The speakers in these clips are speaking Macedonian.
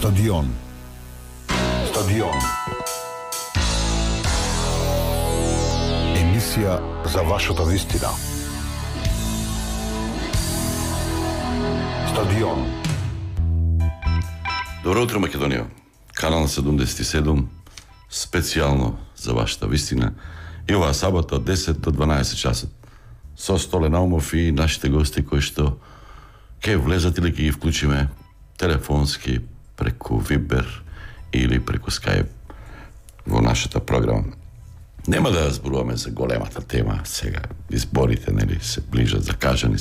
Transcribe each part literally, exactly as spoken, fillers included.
Стадион. Стадион. Емисија за вашата вистина. Стадион. Добро утро, Македонија. Канал седумдесет и седум, специјално за вашата вистина. И оваа сабота од десет до дванаесет часот. Со Столе Наумов и нашите гости кои што ќе влезат или ќе ги вклучиме телефонски, преку Вибер или преку Скајп во нашата програма. Нема да зборуваме за големата тема сега. Изборите, нели, се ближат, закажани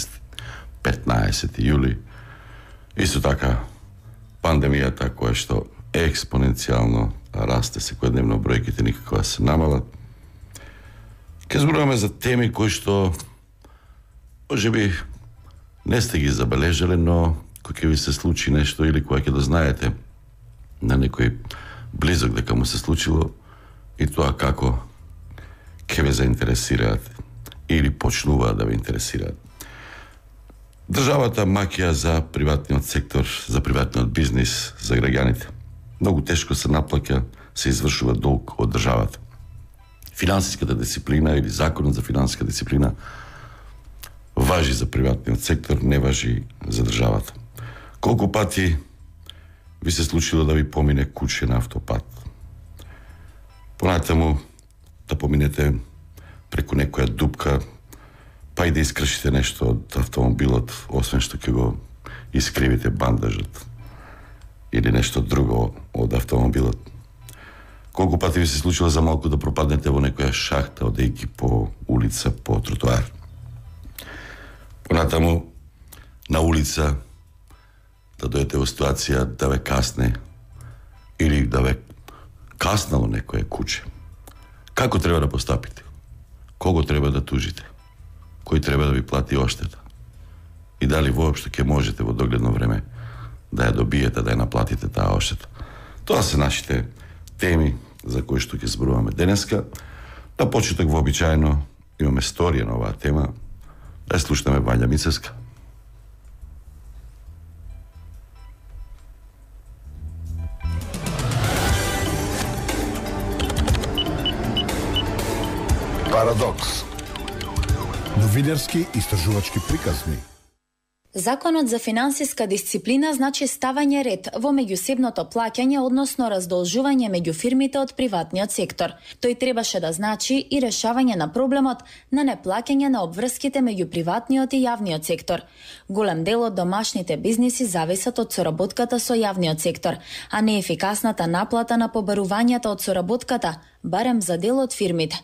петнаесети јули. Исто така, пандемијата која што експоненцијално расте секојдневно, бројките никако да се намалат. Ке зборуваме за теми кои што можеби не сте ги забележале, но кој ќе ви се случи нешто или кој ќе да знаете на некој близок дека му се случило и тоа како ќе ве заинтересираат или почнуваат да ве интересираат. Државата маќа за приватниот сектор, за приватниот бизнис, за граѓаните. Многу тешко се наплаќа, се извршува долг од државата. Финансиската дисциплина или законот за финансиска дисциплина важи за приватниот сектор, не важи за државата. Колку пати ви се случило да ви помине куче на автопат? Понатаму да поминете преку некоја дупка, па и да искршите нешто од автомобилот, освен што ќе го искривите бандажот или нешто друго од автомобилот. Колку пати ви се случило за малку да пропаднете во некоја шахта, одејќи по улица, по тротоар? Понатаму на улица да дојдете во ситуација да ве касне или да ве каснало некое куче. Како треба да постапите? Кого треба да тужите? Кој треба да ви плати оштета? И дали воопшто ќе можете во догледно време да ја добиете, да ја наплатите таа оштета? Тоа се нашите теми за кои што ќе зборуваме денеска. На почеток вообичаено имаме сторија на оваа тема. Да ја слушнеме Вања Мицевска. Парадокс. Новинарски истражувачки приказни. Законот за финансиска дисциплина значи ставање ред во меѓусебното плаќање, односно раздолжување меѓу фирмите од приватниот сектор. Тој требаше да значи и решавање на проблемот на неплаќање на обврските меѓу приватниот и јавниот сектор. Голем дел од домашните бизниси зависат од соработката со јавниот сектор, а неефикасната наплата на побарувањата од соработката, барем за дел од фирмите.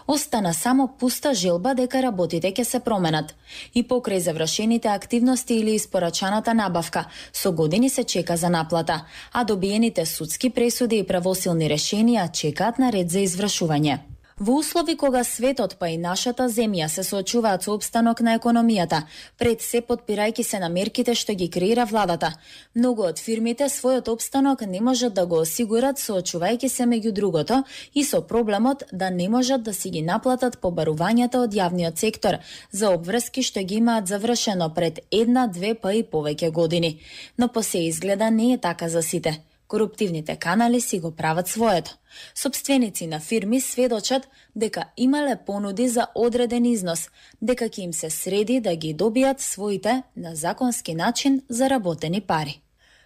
Остана само пуста желба дека работите ќе се променат. И покрај завршените активности или испорачаната набавка, со години се чека за наплата, а добиените судски пресуди и правосилни решенија чекаат на ред за извршување. Во услови кога светот па и нашата земја се соочуваат со обстанок на економијата, пред се подпирајќи се на мерките што ги креира владата, многу од фирмите својот обстанок не можат да го осигурат соочувајќи се меѓу другото и со проблемот да не можат да си ги наплатат побарувањата од јавниот сектор за обврски што ги имаат завршено пред една, две па и повеќе години. Но по се изгледа не е така за сите. Коруптивните канали си го прават своето. Собственици на фирми сведочат дека имале понуди за одреден износ, дека ќе им се среди да ги добијат своите на законски начин заработени пари.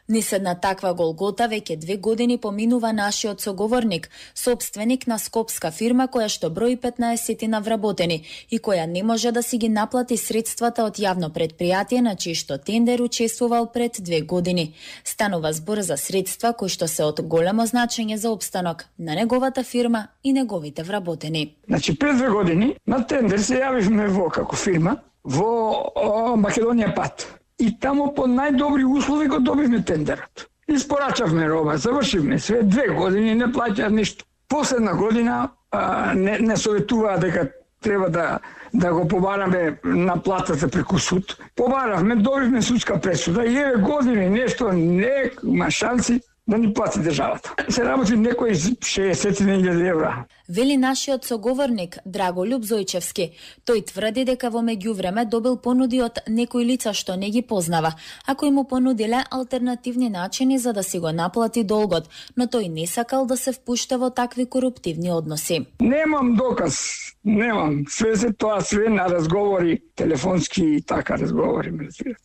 Низ една таква голгота веќе две години поминува нашиот соговорник, собственик на скопска фирма која што брои петнаесет вработени и која не може да си ги наплати средствата од јавно предпријатие на чии што тендер учествувал пред две години. Станува збор за средства кои што се од големо значење за опстанок на неговата фирма и неговите вработени. Значи пред две години на тендер се јавивме во како фирма во о, Македонија пат. И тамо по најдобри услови го добивме тендерот. Испорачавме роба, завршивме све, две години не плаќаат ништо. Последна година а, не, не советуваа дека треба да да го побараме наплатата преку суд. Побаравме, добивме судска пресуда и еве години нешто нема шанси да ни плати државата. Се работи некои шеесет илјади евра. Вели нашиот соговорник Драголюб Зојчевски. Тој тврди дека во меѓувреме добил понуди од некои лица што не ги познава, а кои му понудиле алтернативни начини за да си го наплати долгот, но тој не сакал да се впушта во такви коруптивни односи. Немам доказ, немам. Све се тоа све на разговори, телефонски и така разговори.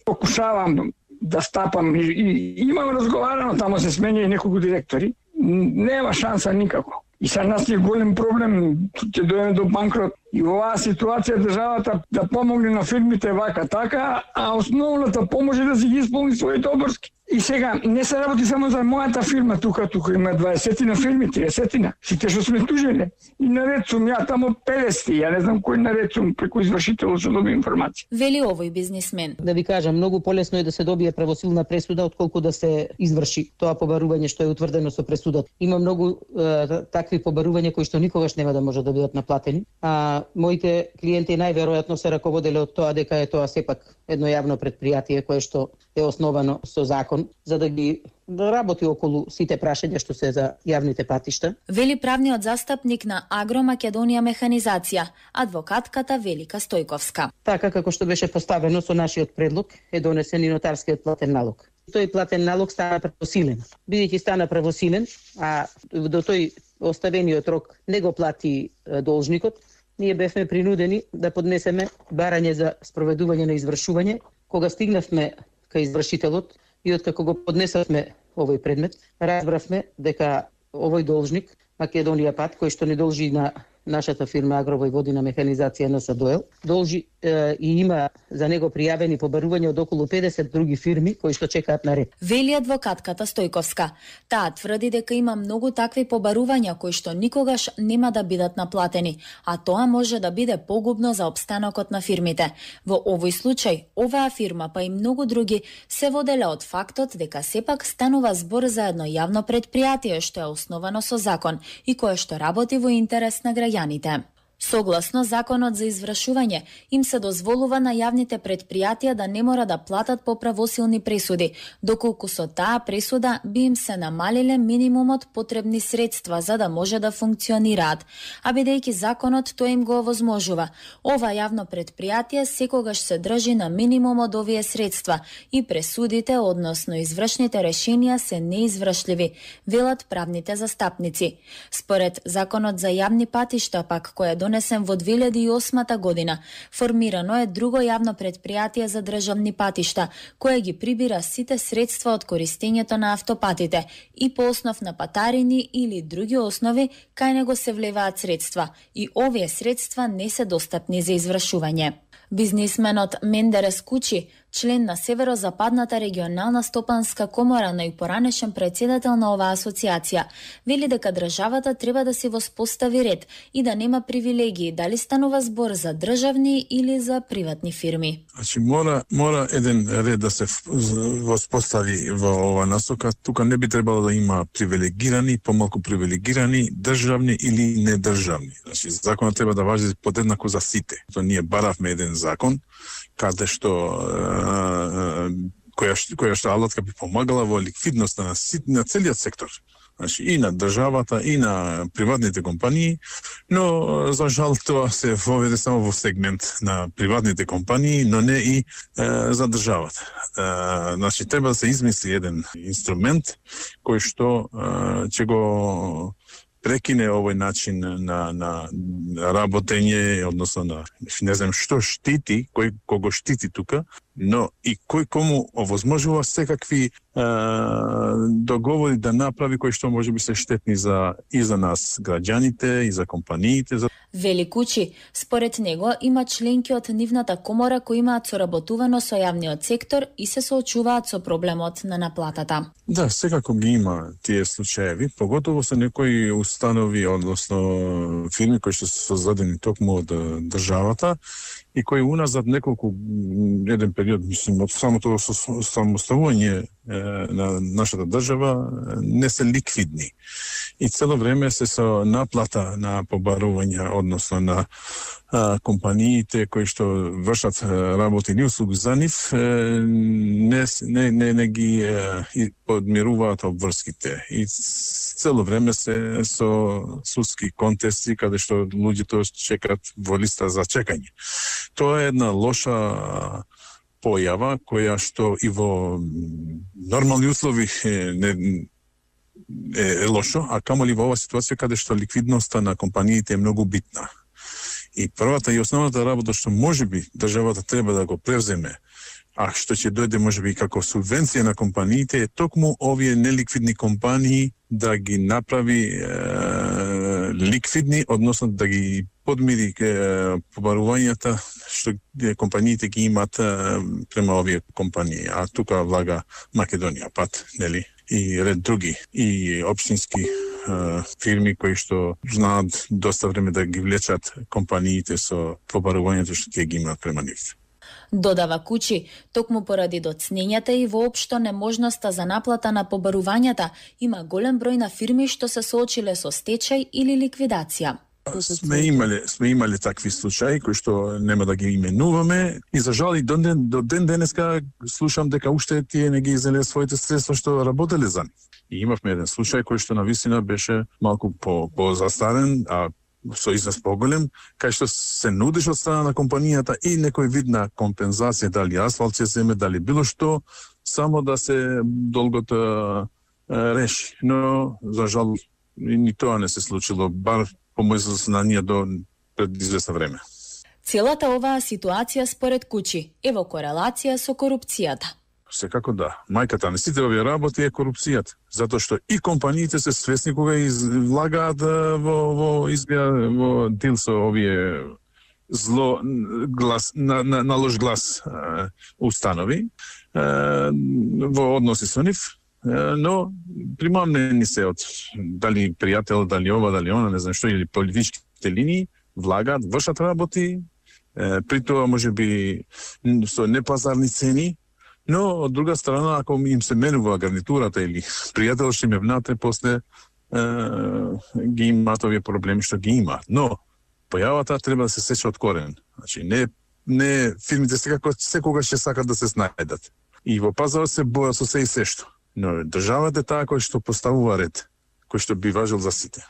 Покушавам да стапам и, и имам разговарано, тамо се сменија и неколку директори. Нема шанса никако. И са нас е голем проблем, ќе дојдеме до банкрот. И во оваа ситуација државата да помогне на фирмите вака така, а основната помош е да си ги исполни своите обврски. И сега не се работи само за мојата фирма, тука тука има дваесетина фирми, триесетина, сите што сме тужеле. И наред сум ја тамо педесет, ја не знам кој наред сум преку извршител што доби информација. Вели овој бизнисмен. Да ви кажам, многу полесно е да се добие правосилна пресуда отколку да се изврши тоа побарување што е утврдено со пресудата. Има многу е, такви побарувања кои што никогаш нема да може да бидат наплатени, а моите клиенти најверојатно се раководеле од тоа дека е тоа сепак едно јавно предпријатие кое што е основано со закон за да ги работи околу сите прашања што се за јавните патишта. Вели правниот застапник на Агро Македонија Механизација, адвокатката Велика Стојковска. Така како што беше поставено со нашиот предлог е донесен и нотарскиот платен налог. Тој платен налог стана правосилен. Бидејќи стана правосилен, а до тој оставениот рок не го плати должникот, ние бевме принудени да поднесеме барање за спроведување на извршување. Кога стигнавме кај извршителот и откако го поднесавме овој предмет, разбравме дека овој должник, Македонија Пат, кој што не должи на нашата фирма Агровојводина Механизација на САДОЕЛ, должи е, и има за него пријавени побарувања од околу педесет други фирми кои што чекаат на ред. Вели адвокатката Стојковска. Таа тврди дека има многу такви побарувања кои што никогаш нема да бидат наплатени, а тоа може да биде погубно за опстанокот на фирмите. Во овој случај, оваа фирма па и многу други се воделе од фактот дека сепак станува збор за едно јавно предпријатие што е основано со закон и кое што работи во интерес на граѓаните. Согласно законот за извршување, им се дозволува на јавните предпријатија да не мора да платат по правосилни пресуди, доколку со таа пресуда би им се намалиле минимумот потребни средства за да може да функционираат, а бидејќи законот тоа им го овозможува. Ова јавно предпријатие секогаш се држи на минимум од овие средства и пресудите, односно извршните решенија се неизвршливи, велат правните застапници. Според законот за јавни патишта пак кој е донесен во две илјади и осма година, формирано е друго јавно предпријатие за државни патишта, кое ги прибира сите средства од користењето на автопатите и по основ на патарини или други основи кај него се влеваат средства и овие средства не се достапни за извршување. Бизнисменот Мендерес Кучи, член на Северозападната регионална стопанска комора, но и поранешен председател на оваа асоциација, вели дека државата треба да си воспостави ред и да нема привилегии, дали станува збор за државни или за приватни фирми. Значи мора мора еден ред да се воспостави во ова насока. Тука не би требало да има привилегирани, помалку привилегирани, државни или недржавни. Значи законот треба да важи подеднако за сите. То ние баравме еден закон каде што која што, која што алатка би помагала во ликвидноста на, на целиот сектор. Значи, и на државата, и на приватните компании, но за жал тоа се воведе само во сегмент на приватните компании, но не и е, за државата. Е, значи, треба да се измисли еден инструмент кој што е, ќе го прекине овој начин на, на работење, односно на не знам што штити, кој кого штити тука, но и кој кому овозможува секакви е, договори да направи кои што може би се штетни за и за нас граѓаните, и за компаниите. За... Вели Кучи, според него има членки од нивната комора кои имаат соработувано со јавниот сектор и се соочуваат со проблемот на наплатата. Да, секако ги има тие случаеви, поготово се некои установи, односно фирми кои што се создадени токму од државата и кои уназад неколку еден период, мислим, од самото самоставување на нашата држава не се ликвидни. И цело време се со наплата на побарување, односно на а, компаниите кои што вршат работи или услуги за нив, не, не, не, не ги е, подмируваат обврските. И цело време се со судски контести каде што луѓето чекат во листа за чекање. Тоа е една лоша појава која што и во нормални услови не е, е лошо, а камоли во оваа ситуација каде што ликвидноста на компаниите е многу битна. И првата и основната работа што можеби државата треба да го превземе, а што ќе дојде можеби како субвенција на компаниите, е токму овие неликвидни компании да ги направи е, ликвидни, односно да ги подмири е, побарувањата што компаниите ги имат е, према овие компании. А тука влага Македонија пат, нели? И ред други, и општински е, фирми кои што знаат доста време да ги влечат компаниите со побарувањето што тие ги имаат према нив. Додава Кучи, токму поради доцнењата и воопшто неможноста за наплата на побарувањата, има голем број на фирми што се соочиле со стечај или ликвидација. Сме имале, сме имале такви случаи кои што нема да ги именуваме и за жал и до ден, до ден денеска слушам дека уште тие не ги изеле своите средства што работеле за нив. И имавме еден случај кој што навистина беше малку по, по застарен, а со износ поголем, кај што се нудиш од страна на компанијата и некој вид на компензација, дали асфалт ќе земе, дали било што, само да се долгото реши. Но, за жал, ни тоа не се случило, бар по моје сознание до пред известно време. Целата оваа ситуација според Кучи е во корелација со корупцијата. Секако да. Мајката на сите овие работи е корупцијата, затоа што и компаниите се свесни кога излагаат во во избија во дил со овие зло глас на, на, на лош глас е, установи е, во односи со нив, е, но примамнени се од дали пријател, дали ова, дали она, не знам што, или политичките линии, влагаат, вршат работи, е, при тоа можеби со непазарни цени. Но, од друга страна, ако им се менува гарнитурата или пријател што им е внатре, после е, ги имаат овие проблеми што ги имаат. Но, појавата треба да се сече од корен. Значи, не, не фирмите секако, секогаш ќе сакат да се снајдат. И во пазарот се боја со се и се што. Но државата е таа кој што поставува ред, кој што би важил за сите.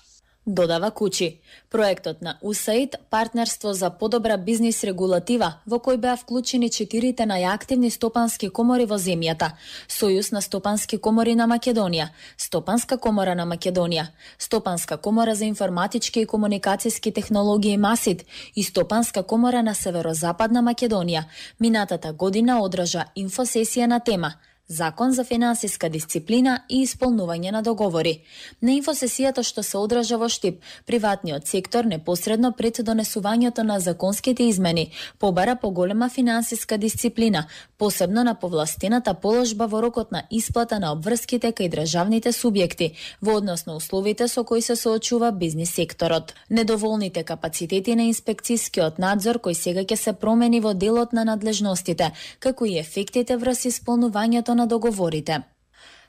Додава Кучи. Проектот на ю ес ей ай ди, партнерство за подобра бизнис регулатива, во кој беа вклучени четирите најактивни стопански комори во земјата: Сојуз на стопански комори на Македонија, Стопанска комора на Македонија, Стопанска комора за информатички и комуникацијски технологии МАСИД и Стопанска комора на Северозападна Македонија, минатата година одржа инфосесија на тема Закон за финансиска дисциплина и исполнување на договори. На инфосесијата што се одржа во Штип, приватниот сектор непосредно пред донесувањето на законските измени побара поголема финансиска дисциплина, посебно на повластената положба во рокот на исплата на обврските кај државните субјекти во однос на условите со кои се соочува бизнис секторот. Недоволните капацитети на инспекцискиот надзор кој сега ќе се промени во делот на надлежностите, како и ефектите врз исполнувањето на договорите.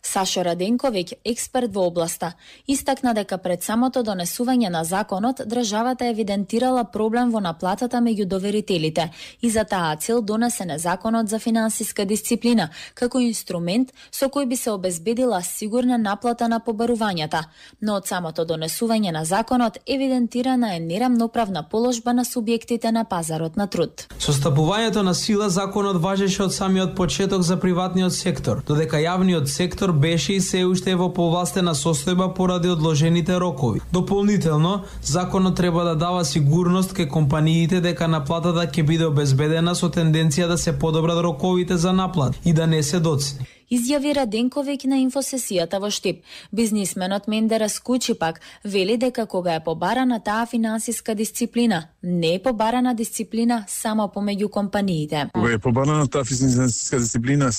Сашо Раденковиќ, експерт во областа, истакна дека пред самото донесување на законот, државата евидентирала проблем во наплатата меѓу доверителите и за таа цел донесен е Законот за финансиска дисциплина, како инструмент со кој би се обезбедила сигурна наплата на побарувањата, но од самото донесување на законот евидентирана е нерамноправна положба на субјектите на пазарот на труд. Со стапувањето на сила, законот важеше од самиот почеток за приватниот сектор, додека јавниот сектор беше и се уште во повластена состојба поради одложените рокови. Дополнително, законот треба да дава сигурност кај компаниите дека наплатата ќе биде обезбедена со тенденција да се подобрат роковите за наплат и да не се доцни. Изјави Раденковиќ на инфосесијата во Штип. Бизнисменот Мендерас Кучи пак вели дека кога е побарана таа финансиска дисциплина, не е побарана дисциплина само помеѓу компаниите. Кога е побарана таа финансиска дисциплина,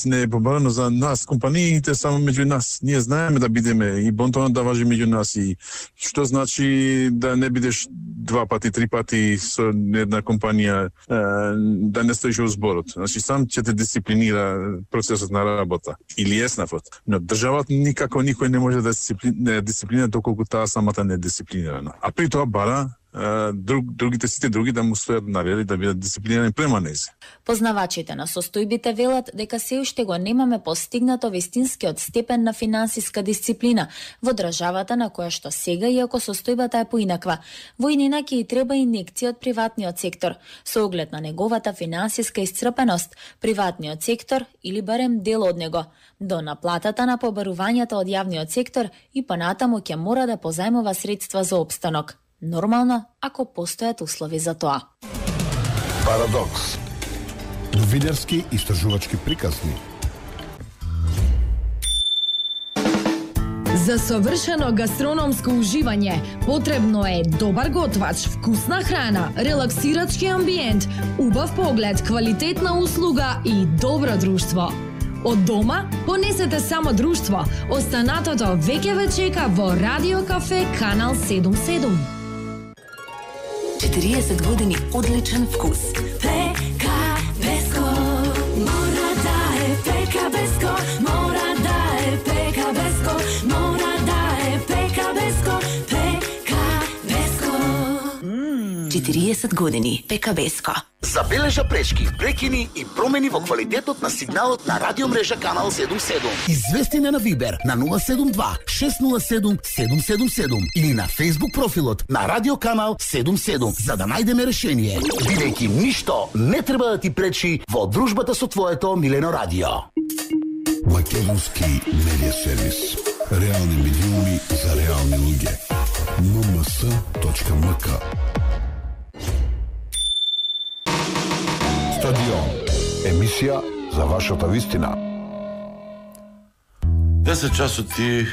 не е побарано за нас, компаниите, само меѓу нас. Ние знаеме да бидеме и бонтонот да важи меѓу нас и што значи да не бидеш два пати, три пати со една компанија, да не стоиш во зборот. Значи сам ќе те дисциплинира процесот на на работа или еснафот, но државата никако никој не може да дисциплинира, дисциплинира доколку таа самата не е дисциплинирана. А при тоа бара друг, другите сите други да му стојат на ред и да бидат дисциплинирани према нејзе. Познавачите на состојбите велат дека се уште го немаме постигнато вистинскиот степен на финансиска дисциплина во државата на која што сега, иако состојбата е поинаква. Во иднина ќе и треба инекција од приватниот сектор. Со оглед на неговата финансиска исцрпеност, приватниот сектор или барем дел од него, до наплатата на побарувањата од јавниот сектор и понатаму ќе мора да позајмува средства за опстанок. Нормално, ако постојат услови за тоа. Парадокс. Новинарски истражувачки приказни. За совршено гастрономско уживање потребно е добар готвач, вкусна храна, релаксирачки амбиент, убав поглед, квалитетна услуга и добро друштво. Од дома понесете само друштво. Останатото веќе ве чека во Радио Кафе Канал седум седум. четириесет години одличен вкус. Пека Беско, мора да е Пека Беско, мора да е Пека Беско, мора да е Пека Беско, Пека Беско. четириесет години Пека Беско. Забележа пречки, прекини и промени во квалитетот на сигналот на радиомрежа Канал седум седум. Извести на Вибер на нула седум два шест нула седум седум седум седум или на Facebook профилот на Радио Канал седум седум за да најдеме решение, бидејќи ништо не треба да ти пречи во дружбата со твоето милено радио. Македонски медиа сервис. Реални медиуми за реални луѓе. ем ем с точка ем к. Стадион. Емисија за вашата вистина. десет часот и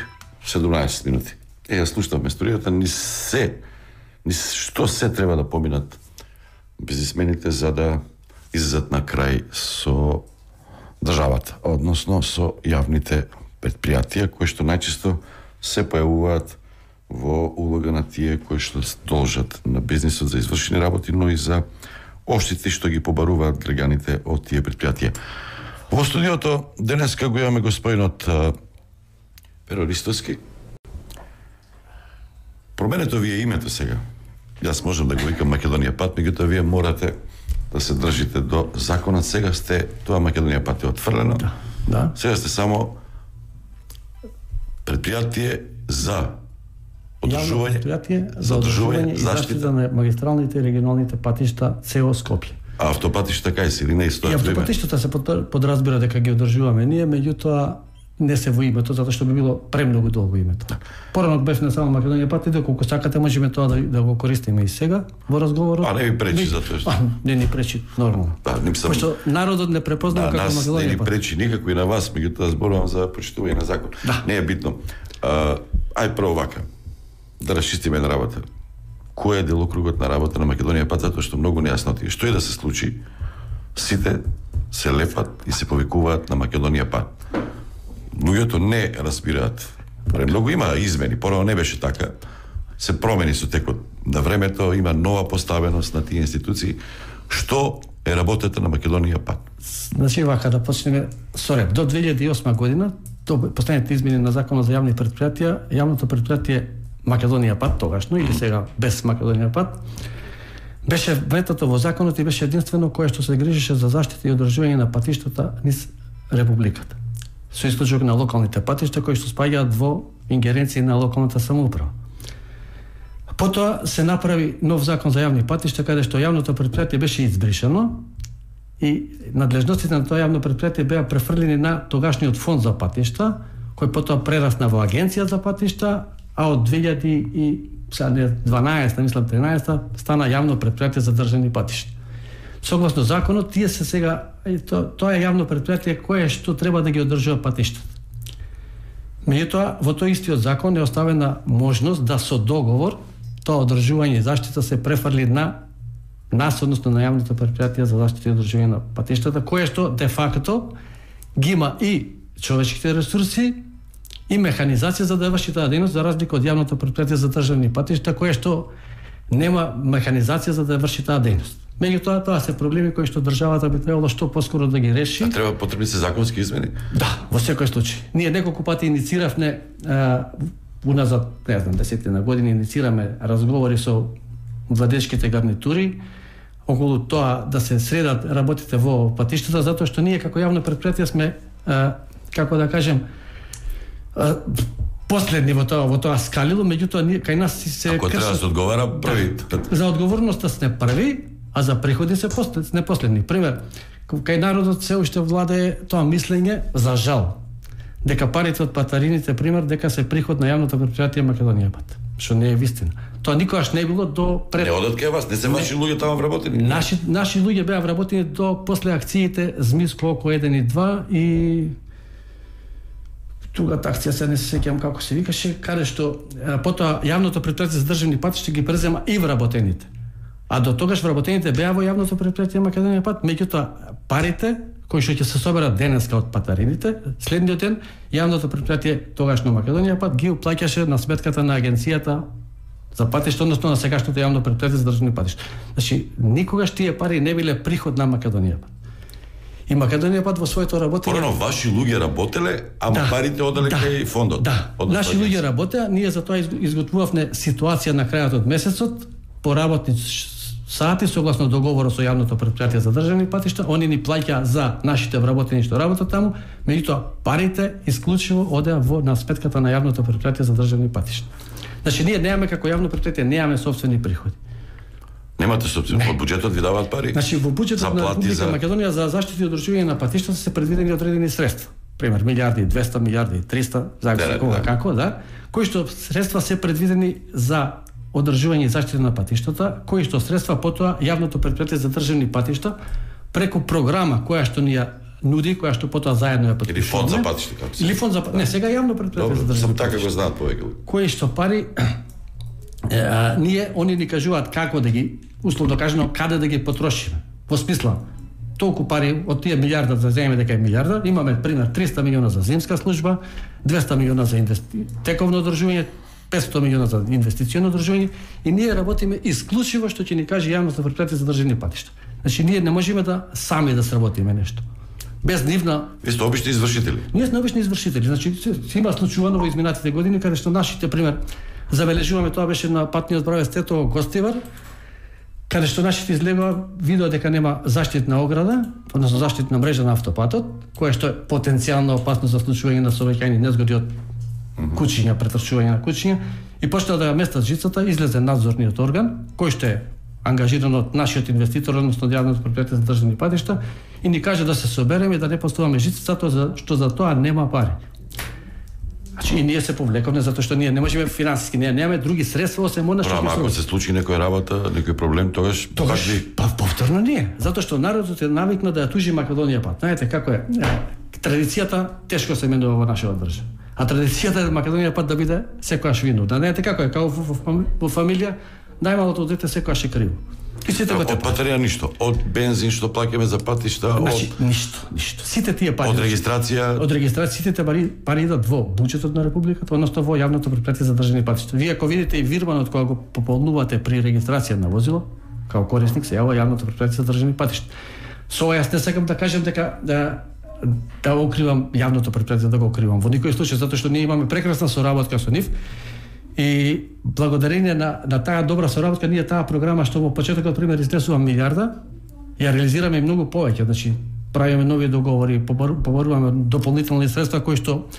седумнаесет минути. Е, ја слушам историјата, ни се, ни што се треба да поминат бизнисмените за да излезат на крај со државата, односно со јавните предпријатија, кои што најчесто се појавуваат во улога на тие кои што должат на бизнисот за извршени работи, но и за оштити што ги побаруваат граѓаните од тие предпријатија. Во студиото денеска го имаме господинот Перо Ристовски. Променето ви е името сега. Јас можам да го викам Македонија пат, меѓутоа вие морате да се држите до законот. Сега сте, тоа Македонија пат е отфрлено. Да. Да. Сега сте само предпријатие за одржување, предпријатие за одржување и заштита на магистралните и регионалните патишта цело Скопје. А автопатишта кај се или не стојат? И автопатиштата се подразбира дека ги одржуваме ние, меѓутоа не се во името, затоа што би било премногу долго името. Порано бев на само Македонија пат и доколку сакате можеме тоа да, да го користиме и сега во разговорот. А не ви пречи затоа што? Не ни пречи нормално. Да, не сам... Пошто народот не препознава да, како Македонија пат. Не ни пречи никако и на вас, меѓутоа зборувам за почитување на закон. Да. Не е битно. А, ај прво вака. Да расчистиме на работа. Кој е делокругот на работа на Македонија пат, затоа што многу нејасно ти. Што и да се случи, сите се лепат и се повикуваат на Македонија пат. Луѓето не разбираат. Премногу има измени, порано не беше така. Се промени со текот на времето, има нова поставеност на тие институции. Што е работата на Македонија пат? Значи вака да почнеме со ред. До две илјади и осма година, до последните измени на Законот за јавни предпријатија, јавното предпријатие Македонија пат тогашно или сега без Македонија пат беше вметато во законот и беше единствено кое што се грижеше за заштита и одржување на патиштата низ републиката. Со исклучок на локалните патишта кои што спаѓаат во ингеренции на локалната самоуправа. Потоа се направи нов закон за јавни патишта каде што јавното предпријатие беше избришано и надлежностите на тоа јавно предпријатие беа префрлени на тогашниот фонд за патишта, кој потоа прерасна во агенција за патишта, а од две илјади и дванаесета, мислам тринаесета, стана јавно предпријатие за државни патишта. Согласно законот, тие се сега, то, тоа е јавно предпријатие кое што треба да ги одржува патиштата. Меѓутоа, во тој истиот закон е оставена можност да со договор тоа одржување и заштита се префрли на нас, односно на јавното предпријатие за заштита и одржување на патиштата, кое што де факто ги има и човечките ресурси и механизација за да врши таа дејност, за разлика од јавното предпријатие за државни патишта, кое што нема механизација за да врши таа дејност. Меѓутоа, тоа се проблеми кои што државата би требало што поскоро да ги реши. А треба потребни се законски измени? Да, во секој случај. Ние неколку пати иницииравме а, уназад, не знам, десетина години инициираме разговори со владечките гарнитури околу тоа да се средат работите во патиштата, затоа што ние како јавно предпријатие сме, а, како да кажем, а, последни во тоа, во тоа скалило, меѓутоа ние кај нас се Ако треба да се одговара први. Да, за одговорноста сме први, а за приходи се послед, не последни. Пример, кај народот се уште владее тоа мислење, за жал, дека парите од патарините, пример, дека се приход на јавното предпријатие Македонија пат, што не е вистина. Тоа никогаш не било до пред... Не одат кај вас, не се ваши луѓе таму вработени. Наши наши луѓе беа вработени до после акциите Змиско око еден и два и тугата акција се не се сеќавам како се викаше, каде што потоа јавното предпријатие за државни патишта ги презема и вработените. А до тогаш вработените беа во јавното предпријатие Македонија пат, меѓутоа парите кои што ќе се соберат денеска од патарините, следниот ден јавното предпријатие тогашно Македонија пат ги уплаќаше на сметката на агенцијата за патишта, односно на сегашното јавно предпријатие за државни патишта. Значи, никогаш тие пари не биле приход на Македонија пат. И Македонија пат во своето работење... Порано ваши луѓе работеле, ама да, парите оделе да, кај фондот. Да, наши луѓе работеа, ние за тоа изготвувавме ситуација на крајот од месецот, по работни сати, согласно договорот со јавното предпријатие за државни патишта, они ни плаќаа за нашите вработени што работат таму, меѓутоа парите исклучиво одеа во на сметката на јавното предпријатие за државни патишта. Значи ние немаме како јавно предпријатие, немаме сопствени приходи. Немате сопствени, од буџетот ви даваат пари? Значи во буџетот на Република за... Македонија за заштита и одржување на патиштата се предвидени одредени средства. Пример милијарди и двесте, милијарди и триста, зависи кога да. Како, да, кои што средства се предвидени за одржување и заштита на патиштата, кои што средства потоа јавното предпријатие за државни патишта преку програма која што ни ја нуди, која што потоа заедно ја потпишуваме. Или фонд за патишта, како се. Или фонд за да. Не, сега јавно предпријатие за државни. Сам така го знаат повеќе. Кои што пари е, а, ние они ни кажуваат како да ги условно кажано каде да ги потрошиме. Во смисла толку пари од тие милијарда да земеме дека е милијарда, имаме пример триста милиона за зимска служба, двесте милиона за инвести... тековно одржување, петстотини милиона за инвестиционо одржување и ние работиме исклучиво што ќе ни каже јавното предпријатие за државни патишта. Значи ние не можеме да сами да сработиме нешто. Без нивна... Ви сте обични извршители. Ние сме обични извршители. Значи се има случувано во изминатите години каде што нашите пример забележуваме, тоа беше на патниот правец Тетово Гостивар, каде што нашите излегува видео дека нема заштитна ограда, односно заштитна мрежа на автопатот, која што е потенцијално опасно за случување на сообраќајни незгоди од кучиња, претрчување на кучиња, и почнаа да ја местат жицата, излезе надзорниот орган, кој што е ангажиран од нашиот инвеститор, односно јавното предпријатие за државни патишта, и ни каже да се собереме и да не поставаме жицата, затоа што за тоа нема пари. Значи и ние се повлековме затоа што ние не можеме финансиски, ние немаме други средства освен она што. Ама ако се случи некоја работа, некој проблем, тогаш тогаш па повторно ние, затоа што народот е навикнат да ја тужи Македонија пат. Знаете како е? Традицијата тешко се менува во нашата држава. А традицијата е Македонија пат да биде секојаш винуда. Знаете како е? Како во, во, во фамилија најмалото дете секојаш е криво. И сите од патарија ништо, од бензин што плаќаме за патишта, значи, од ништо, ништо. Сите тие пари од регистрација, од регистрација сите пари пари идат во буџетот на републиката, односно во јавното предпријатие за државни патишта. Вие ако видите и вирманот кога го пополнувате при регистрација на возило, како корисник се јавува јавното предпријатие за државни патишта. Со ова јас не сакам да кажам дека да да го укривам јавното предпријатие, да го укривам во никој случај, затоа што ние имаме прекрасна соработка со нив. И благодарение на, на таа добра соработка, ние таа програма што во почетокот пример изнесува милијарда, ја реализираме многу повеќе, значи правиме нови договори, поборуваме дополнителни средства кои што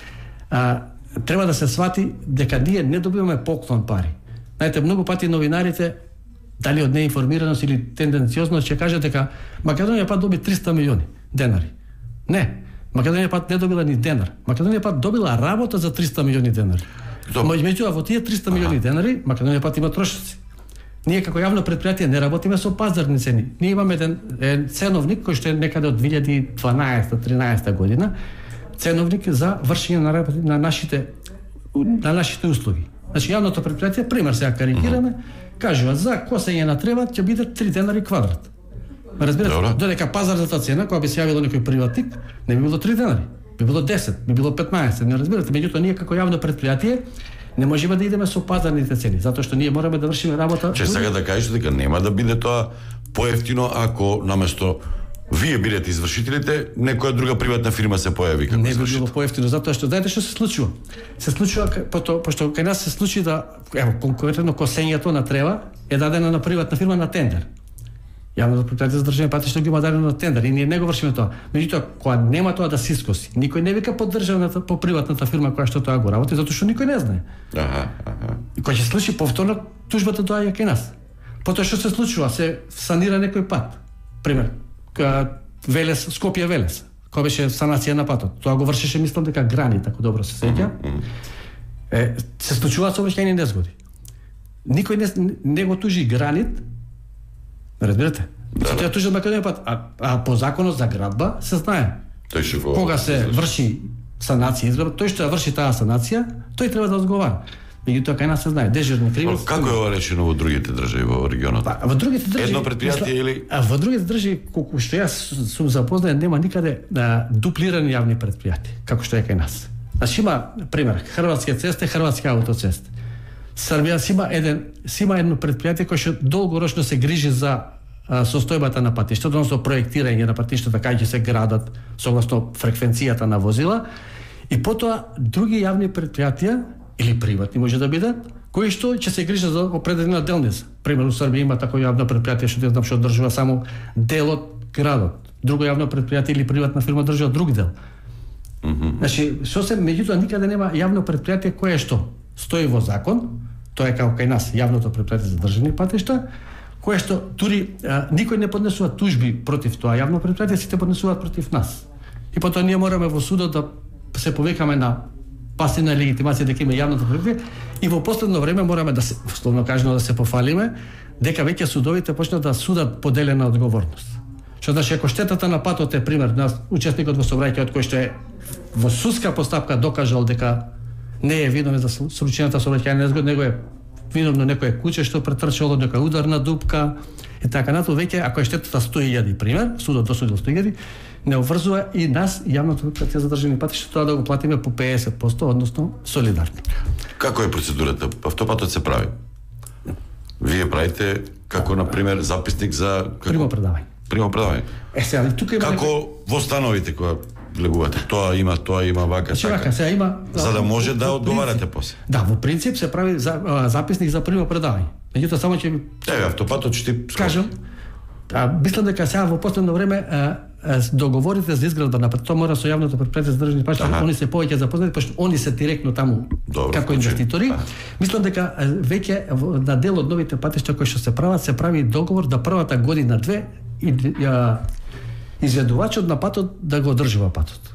а, треба да се свати дека ние не добиваме поклон пари. Знаете, многу пати новинарите, дали од неинформираност или тенденциозност, ќе кажат дека Македонија пат доби триста милиони денари. Не, Македонија пат не добила ни денар. Македонија пат добила работа за триста милиони денари. Меѓутоа во тие триста милиони денари Македонија пат има трошоци. Ние како јавно предпријатие не работиме со пазарни цени. Ние имаме еден, еден ценовник кој што е некаде од две илјади и дванаесета тринаесета година, ценовник за вршење на работи на нашите на нашите услуги. Значи јавното предпријатие, пример сега карикираме, кажува за косење на трева ќе биде три денари квадрат. Разбирате, додека пазарната цена кога би се јавило некој приватник, не би било три денари. Би било десет, би било петнаесет, не разбирате, меѓутоа ние како јавно предпријатие Не можеме да идеме со пазарните цени, затоа што ние мораме да вршиме работа. Че сега да кажеш дека нема да биде тоа поевтино ако наместо вие бидете извршителите, некоја друга приватна фирма се појави како не би извршител. било поевтино, затоа што знаете што се случува? Се случува пото, пошто кај нас се случи да ево конкретно косењето на трева е дадено на приватна фирма на тендер. Јавното предпријатие за државни патишта ги има дадено на тендер и ние не го вршиме тоа. Меѓутоа, кога нема тоа да се искоси, никој не вика под државната, по приватната фирма која што тоа го работи, затоа што никој не знае. Аха, аха. И кога ќе се случи повторно, тужбата доаѓа кај нас. Потоа што се случува? Се санира некој пат. Пример, Велес, Скопје Велес, која беше санација на патот. Тоа го вршеше, мислам дека Гранит, ако добро се сеќа. Е, се случуваат сообраќајни незгоди. Никој не, не го тужи Гранит. Разбирате? Да, се тоа тужи Македонија пат, а, а по законот за градба се знае. Тој што го кога се врши санација, изградба, тој што ја врши таа санација, тој треба да одговара. Меѓутоа кај нас се знае дежурни кривец. Како е ова решено во другите држави во регионот? Па, во другите држави едно предпријатие или а во другите држави колку што јас сум запознаен нема никаде да дуплирани јавни предпријатија како што е кај нас. Значи има пример Хрватски цесте, Хрватски автоцесте. Србија си има еден си има едно предпријатие кое што долгорочно се грижи за а, состојбата на патиштата, односно проектирање на патиштата кај ќе се градат согласно фреквенцијата на возила и потоа други јавни предпријатија или приватни може да бидат, кои што ќе се грижат за определена делница. Пример, у Србија има такво јавно предпријатие што не знам што одржува само дел од градот. Друго јавно предпријатие или приватна фирма држува друг дел. Mm -hmm. Значи, што се меѓутоа никаде нема јавно предпријатие кое што стои во закон, тоа е како кај нас јавното предпријатие за државни патишта, кое што дури а, никој не поднесува тужби против тоа јавно предпријатие, сите поднесуваат против нас. И потоа ние мораме во судот да се повикаме на пасивна легитимација дека има јавното предпријатие и во последно време мораме да се условно кажано да се пофалиме дека веќе судовите почнат да судат поделена одговорност. Што значи ако штетата на патот е пример на учесникот во сообраќајот кој што е во судска постапка докажал дека не е виновен за случајната сообраќајна незгода, него е виновно некое куќе што претрчало некоја ударна дупка и така натаму, веќе ако е штетата сто илјади пример, судот досудил сто илјади, не обврзува и нас јавното предпријатие за државни патишта тоа да го платиме по педесет проценти, односно солидарно. Како е процедурата? Автопатот се прави. Вие правите како на пример записник за како примопредавање. Примопредавање. Е сега тука има како нека... во становите кога влегувате, тоа има, тоа има вака така. Вака, сега има за да може во, да во одговарате принцип, после. Да, во принцип се прави за, а, записник за примопредавање. Меѓутоа само ќе Еве автопатот ќе ти кажам. А, мислам дека сега во последно време а, а, договорите за изградба на тоа мора со јавното предпријатие за државни патишта, они се повеќе запознати, пошто они се директно таму Добро, како инвеститори. А. Мислам дека веќе на дел од новите патишта кои што се прават, се прави договор да првата година две и ја, изведувачот на патот да го одржува патот.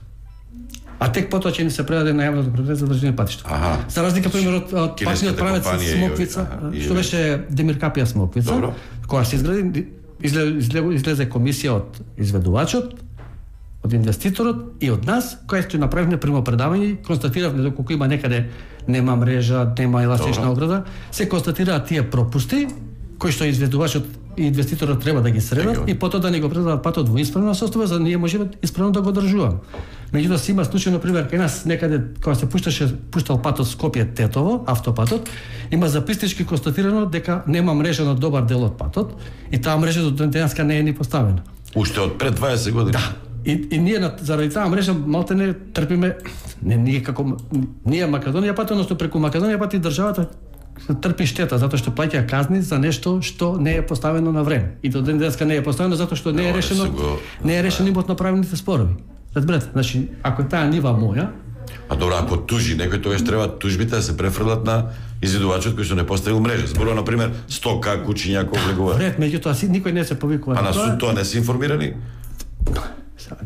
А тек потоа ќе ни се предаде на јавното предпријатие за државни патишта. Ага. За разлика пример од, од патниот правец Смоквица, и, што беше Демиркапија Смоквица, Добро. кога се изгради излезе, излезе комисија од изведувачот, од инвеститорот и од нас, која што направивме примопредавање, констатиравме доколку има некаде нема мрежа, нема еластична ограда, се констатираат тие пропусти кои што изведувачот и инвеститорот треба да ги средат и потоа да ни го предадат патот во исправна состојба за да ние можеме исправно да го одржуваме. Меѓутоа се има случај на пример кај нас некаде кога се пушташе пуштал патот Скопје Тетово, автопатот, има записнички констатирано дека нема мрежа на добар дел од патот и таа мрежа до денеска не е ни поставена. Уште од пред дваесет години. Да. И, и ние на, заради таа мрежа малте не трпиме не ние како ние Македонија пат, односно преку Македонија пат и државата трпи штета затоа што плаќа казни за нешто што не е поставено на време. И до ден денеска не е поставено затоа што не е решено го... не е решено имотно правните спорови. Разберете, значи ако таа нива моја, а добро, ако тужи некој тогаш треба тужбите да се префрлат на изведувачот кој што не поставил мрежа. Зборува на пример сто ка куќи някој влегува. Ред, меѓутоа си никој не се повикува. А на суд тоа не се информирани?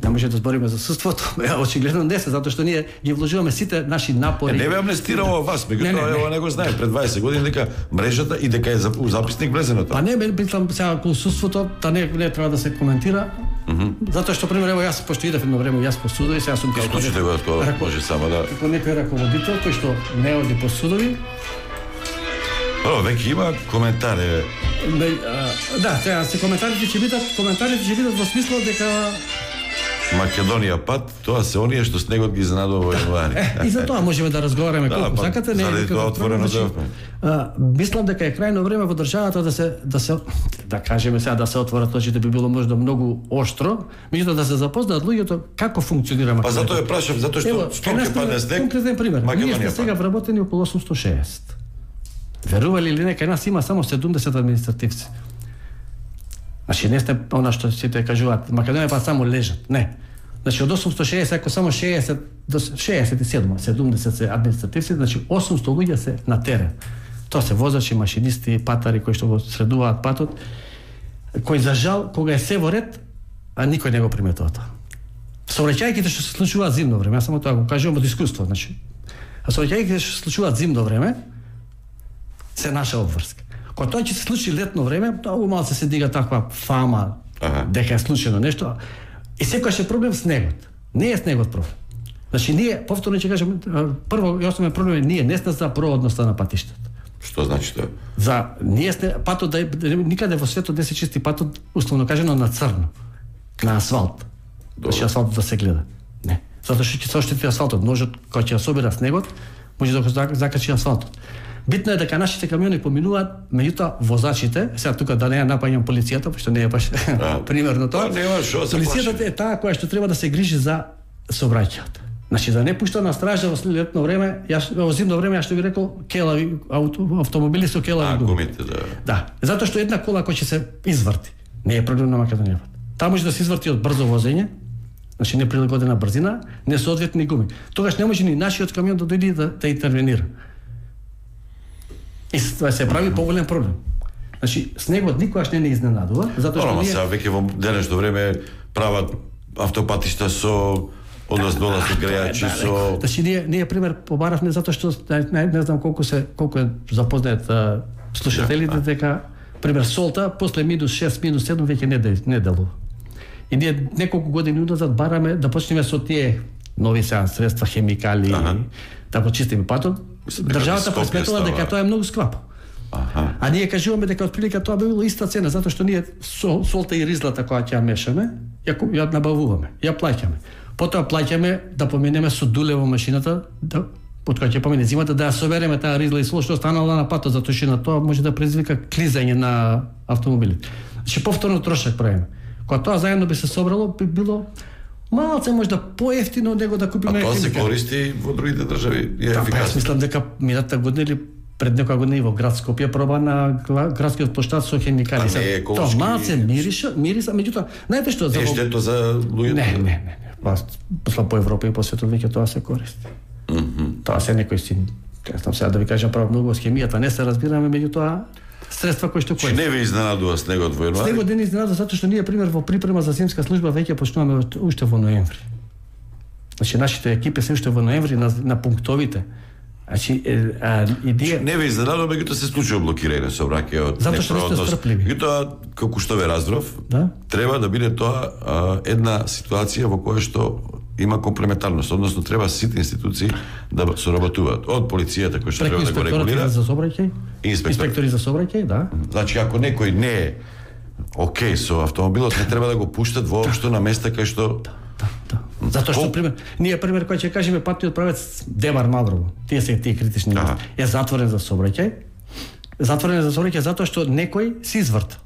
Не може да збориме за судството, очигледно не се, затоа што ние ги вложуваме сите наши напори. Е, не бе амнестирало вас, меѓутоа ова не го знае пред дваесет години дека мрежата и дека е записник влезено тоа. Па не, мислам сега околу судството, та не не треба да се коментира. Mm -hmm. Затоа што пример ево јас пошто идев едно време јас по судови, сега сум како Исклучите го тоа, може само да како некој раководител кој што не оди по судови. О, веќе има коментари. Да, сега се коментарите ќе бидат, коментарите ќе бидат во смисло дека Македонија пат, тоа се оние што снегот ги изненадува во јануари. Е, и за тоа можеме да разговараме да, колку па, сакате, не заради тоа отворено да. Мислам дека е крајно време во државата да се да се да кажеме сега да се отворат очите, би било можда многу оштро, меѓутоа да се запознаат луѓето како функционира Македонија. Па затоа ја прашав, затоа што што ќе падне снег. Конкретен пример. Ние сме сега вработени околу осумстотини и шеесет. Верували или не, кај нас има само седумдесет административци. Значи не сте она што сите кажуваат, Македонија па само лежат. Не. Значи од осумстотини и шеесет, ако само шеесет до шеесет и седум, седумдесет се административци, значи осумсто луѓе се на терен. Тоа се возачи, машинисти, патари кои што го средуваат патот, кои за жал кога е се во ред, а никој не го приметува тоа. Сообраќајките што се случуваат зимно време, јас само тоа го кажувам од искуство, значи. А сообраќајките што се случуваат зимно време се наша обврска. Кога тоа ќе се случи летно време, тоа умал се дига таква фама ага. дека е случено нешто. И секогаш е проблем снегот. Не е снегот проблем. Значи ние повторно ќе кажам, прво и основен проблем е ние не сме за проводноста на патиштата. Што значи тоа? За ние сте патот да никаде во светот не се чисти патот, условно кажано на црно, на асфалт. Значи асфалтот да се гледа. Не. Затоа што ќе се оштети асфалтот, ножот кој ќе собира снегот, може да го закачи асфалтот. Битно е дека нашите камиони поминуваат, меѓутоа возачите, сега тука да не ја напаѓам полицијата, пошто не е баш примерно тоа. Полицијата е таа која што треба да се грижи за сообраќајот. Значи да не пушта на стража во летно време, јас во зимно време ја што ви рекол, келави автомобили со келави гуми. Да. Да, затоа што една кола која ќе се изврти, не е проблем на Македонија. Таа може да се изврти од брзо возење, значи неприлагодена брзина, несоодветни гуми. Тогаш не може ни нашиот камион да дојде да, да интервенира. И тоа се прави поголем проблем. Значи снегот никогаш не не изненадува, затоа што ние сега веќе во денешно време прават автопатишта со однос долази грејачи со. Значи ние ние пример побаравме затоа што не, не знам колку се колку е запознаат слушателите дека пример солта после минус шест, минус седум веќе не не делува. И ние неколку години уназад бараме да почнеме со тие нови сега средства, хемикали, ага. да го чистиме патот. Државата пресметала дека тоа е многу скапо. Аха. А ние кажуваме дека отприлика тоа би било иста цена затоа што ние сол, солта и ризлата која ќе ја мешаме, ја, ја набавуваме, ја плаќаме. Потоа плаќаме да поменеме со дуле во машината, да под која ќе помене зимата да ја собереме таа ризла и сол што останала на патот, затоа што на тоа може да предизвика клизање на автомобилите. Значи повторно трошак правиме. Кога тоа заедно би се собрало, би било малце можда поевтино него да купиме. А тоа се користи во другите држави и е да, ефикасно. Јас мислам дека минатата година или пред некоја година и во град Скопје проба на градскиот плоштад со хемикали. Тоа малце мириша, мириса, меѓутоа, знаете што за е штето за луѓето? Не, не, не, не. Па по Европа и по светот веќе тоа се користи. Mm -hmm. Тоа се некој си, кажам сега да ви кажам право многу со хемијата, не се разбираме, меѓутоа средства кои што кои. Не ви изненадува снегот во јануари? Снегот не ни изненадува затоа што ние пример во припрема за зимска служба веќе почнуваме уште во ноември. Значи нашите екипи се уште во ноември на, на пунктовите. Значи а, идеја не ви изненадува, меѓутоа се случува блокирање сообраќај од затоа што сте стрпливи. Меѓутоа како што ве разбрав, да? Треба да биде тоа а, една ситуација во која што има комплементарност, односно треба сите институции да соработуваат, од полицијата кој што треба да го регулира, за сообраќај, инспектор. инспектори за сообраќај, да. Значи ако некој не е окей со автомобилот, не треба да го пуштат воопшто на места кај што да, да, да. Затоа што пример, ние пример кој ќе кажеме патниот правец Демар Маврово, тие се тие критични места, е затворен за сообраќај. Затворен за сообраќај затоа што некој се изврта.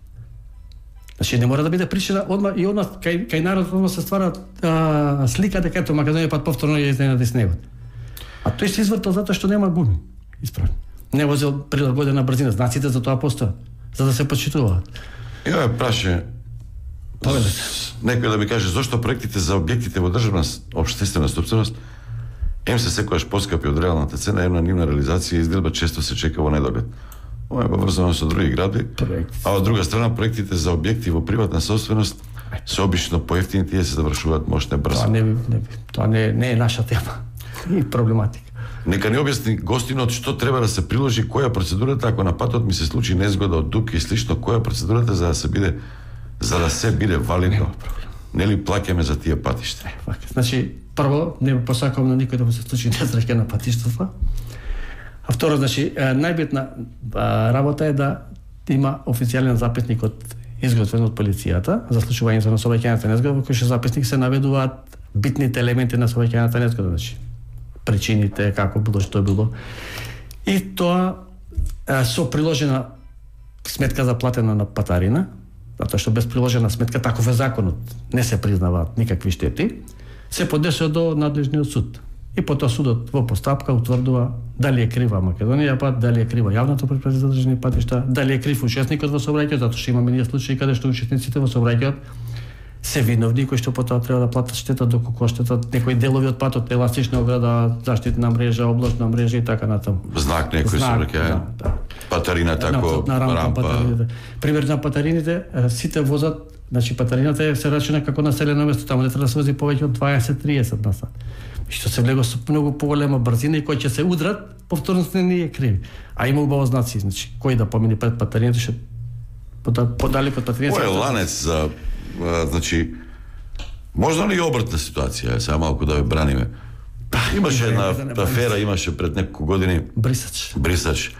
Значи не мора да биде причина одма и одма кај кај народот одма се ствара а, слика дека ето Македонија пат повторно ја изненади снегот. А тој се извртал затоа што нема гуми. Исправно. Не возел прилагодена брзина, знаците за тоа постојат, за да се почитуваат. Ја ме праше некој да ми каже зошто проектите за објектите во државна општествена собственост ем се секогаш поскапи од реалната цена, ем на нивна реализација и изгледа често се чека во недоглед. Ова е поврзано со други гради, а од друга страна проектите за објекти во приватна собственост се обично поевтини, тие се завршуваат мошне брзо. Тоа не не тоа не не е наша тема и проблематика. Нека ни објасни гостинот што треба да се приложи, која процедурата ако на патот ми се случи незгода од дупки и слично, која процедурата за да се биде за да се биде валидно. Нели плаќаме за тие патишта? Значи, прво не посакувам на никој да му се случи несреќа на патиштата. А второ, значи, најбитна работа е да има официјален записник од изготвен од полицијата за случувањето на сообраќајната незгода, во кој што записник се наведуваат битните елементи на сообраќајната незгода, значи причините, како било, што било. И тоа а, со приложена сметка за платена на патарина, затоа што без приложена сметка, таков е законот, не се признаваат никакви штети, се поднесе до надлежниот суд. И потоа судот во постапка утврдува дали е крива Македонија пат, дали е крива јавното претпријатие за државни патишта, дали е крив учесникот во сообраќајот, затоа што имаме ние случаи каде што учесниците во сообраќајот се виновни, кои што потоа треба да платат штета, доколку штета некои делови од патот, еластична ограда, заштитна мрежа, обложна мрежа и така натаму. Знак некој сообраќај. Да, да. Патарина тако, на, на рампа. Патарините. Пример на патарините, сите возат, значи патарината е се рачуна како населено место, таму не треба да се вози повеќе од дваесет до триесет на сат. Што се влего со многу поголема брзина и кои ќе се удрат, повторно се не е криви. А има убаво знаци, значи кој да помине пред патарината, што подалеку од патарината. Кој е ланец за а, значи можна ли обратна ситуација, сега малку да ве браниме. Имаше една афера, имаше пред неколку години Брисач. Брисач.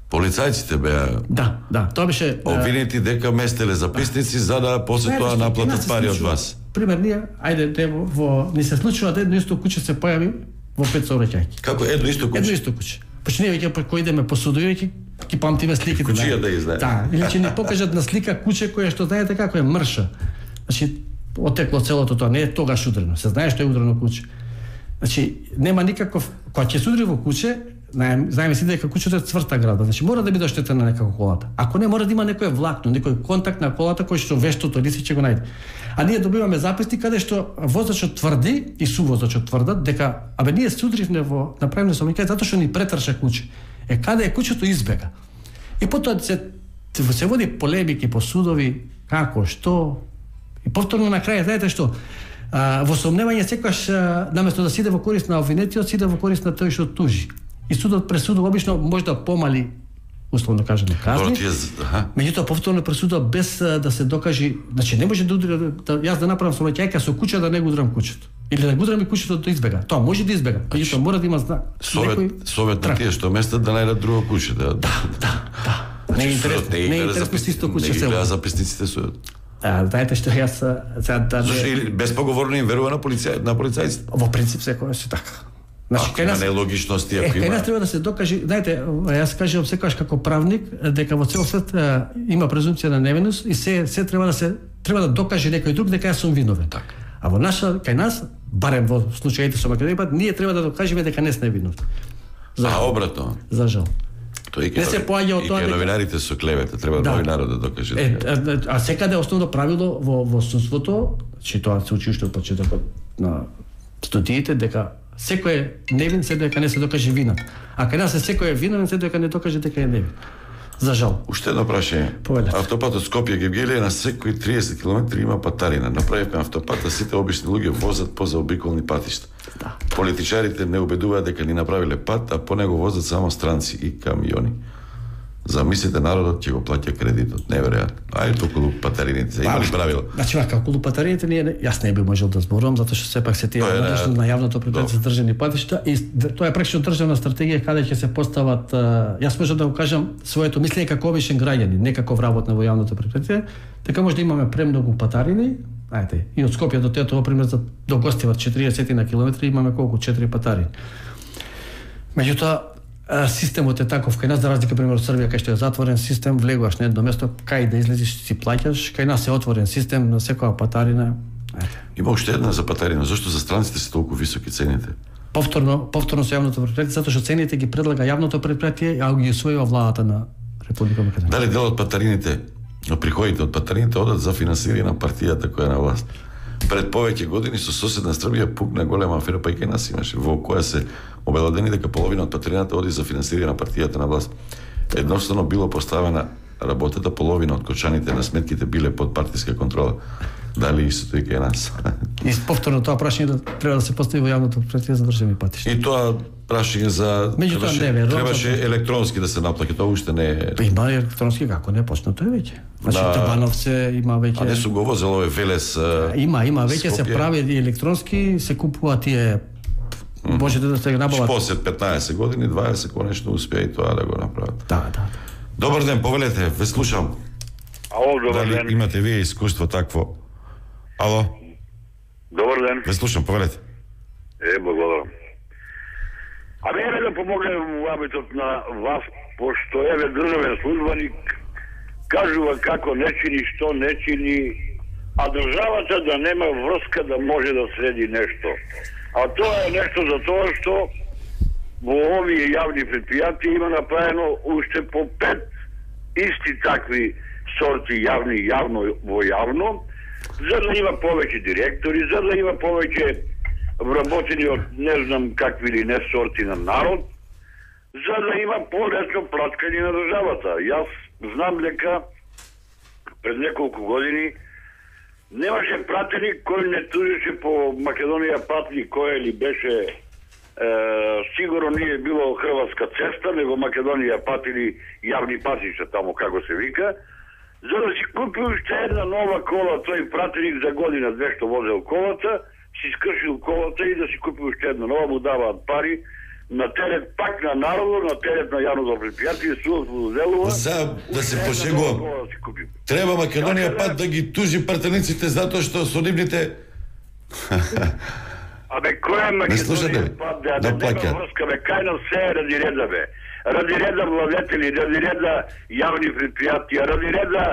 Полицајците беа Да, да, тоа беше обвинети дека местеле записници за да после тоа наплатат пари од вас. Пример, ние, ајде, те во, во ни се случува да едно исто куче се појави во пет сообраќајки. Како едно исто куче? Едно исто куче. Почне веќе кој идеме по судови, веќе ќе памтиме сликите. Кучија да издаде. Да, или ќе ни покажат на слика куче која што знаете како е мрша. Значи, отекло целото тоа, не е тогаш удрено. Се знае што е удрено куче. Значи, нема никаков, кога ќе се удри во куче, знаеме си дека кучето е цврта градба, значи мора да биде оштетена некако колата. Ако не, мора да има некој влакно, некој контакт на колата кој што вештото лице ќе го најде. А ние добиваме записник каде што возачот тврди и сувозачот тврдат дека абе ние се удривме во направено сообраќај затоа што ни претрша куче. Е каде е кучето избега. И потоа се се води полемики по судови, како, што и повторно на крај знаете што а, во сомневање секогаш наместо да сиде во корист на обвинетиот, сиде во корист на тој што тужи. И судот пресудува обично може да помали условно кажано казни. Меѓутоа повторно пресудува без да се докаже, значи не може да удри да јас да направам сообраќајка со куче да не го удрам кучето. Или да го удрам и кучето да избега. Тоа може да избега, меѓутоа мора да има знак. Совет, совет на тие што местат да најдат друго куче, да. Да, да, да. Не е интересно, не е интересно си исто куче се. Не записниците со А, знаете што јас сега да безпоговорно им верува на полиција, на полицајците. Во принцип секој е така. Значи, кај нас нелогичности ако има. Кај нас треба да се докаже, знаете, јас кажувам секогаш како правник дека во цел свет има презумпција на невиност и се се треба да се треба да докаже некој друг дека јас сум виновен. Така. А во наша кај нас, барем во случаите со Македонија, ние треба да докажеме дека не сме виновни. За а обратно. За жал. Тој не се поаѓа од тоа дека новинарите со клевета, треба да. Новинарот да докаже. Е, а, а секаде основно правило во во судството, че тоа се учи уште од почетокот на студиите дека секој е невин се дека не се докаже вината. А кај нас е секој е виновен се дека не докаже дека е невин. За жал. Уште едно прашање. Автопатот Скопје-Гевгелија на секои триесет километри има патарина. Направивме автопата, сите обични луѓе возат по заобиколни патишта. Да. Политичарите не убедуваат дека ни направиле пат, а по него возат само странци и камиони. Замислите, народот ќе го плаќа кредитот. Неверојатно. Ајде околу патарините, има ли правила? Значи, вака, околу патарините ние јас не би можел да зборувам затоа што сепак се тие надлежни на јавното претпријатие за државни патишта и тоа е прекшно државна стратегија каде ќе се постават, јас можам да го кажам своето мислење како обичен граѓанин, не како вработен во јавното претпријатие, дека може да имаме премногу патарини, ајде, и од Скопје до Тетово пример за до Гостивар четириесет на километри имаме колку четири патарини. Меѓутоа системот е таков кај нас, за разлика пример од Србија кај што е затворен систем, влегуваш на едно место, кај да излезеш си плаќаш, кај нас е отворен систем на секоја патарина. Има уште една за патарина, зашто за странците се толку високи цените? Повторно, повторно со јавното претпријатие, затоа што цените ги предлага јавното претпријатие, а ги усвојува владата на Република Македонија. Дали дел од патарините, приходите од патарините одат за финансирање на партијата која е на власт? Пред повеќе години со соседна Србија пукна голема афера, па и кај нас имаше, во која се обелодени дека половина од патарината оди за финансирање на партијата на власт. Едноставно било поставена работата, половина од кочаните на сметките биле под партиска контрола. Дали истото и кај нас? И повторно тоа прашање да треба да се постави во јавното претпријатие за државни патишта. И тоа прашање за требаше, не, требаше електронски да се наплаќа, тоа уште не е. Има електронски како не почнато е веќе. Значи на... Табановце има веќе. А не су го возел овој Велес. А... Има, има веќе се прави и електронски, се купуваат тие можете да се набават. После петнаесет години, дваесет конечно успеа и тоа да го направат. Да, да. Добар ден, повелете, ве слушам. Ало, добар Дали ден. имате вие искуство такво? Ало? Добар ден. Ве слушам, повелете. Е, благодарам. Абе, еве да помогнем во абитот на вас, пошто еве државен службеник кажува како не чини, што не чини, а државата да нема врска да може да среди нешто. А тоа е нешто за тоа што во овие јавни предпријатија има направено уште по пет исти такви сорти јавни јавно во јавно, за да има повеќе директори, за да има повеќе вработени од не знам какви или не сорти на народ, за да има полесно платкање на државата. Јас знам дека пред неколку години немаше пратеник кој не тужеше по Македонија патни кој ли беше е, сигурно не е било Хрватска цеста, него Македонија патили јавни патишта, тамо како се вика, за да си купи уште една нова кола, тој пратеник за година две што возел колата, си скршил колата и да си купи уште една нова, му даваат пари на терет пак на народот, на терет на јавното предпријатие, судот во Делова. За да се пошегувам. Треба Македонија пат да ги тужи пратениците затоа што со нивните Абе, кој е Македонија пат да да нема врска, бе, кај нас се е ради реда, бе. Ради реда владетели, ради реда јавни предпријатија, ради реда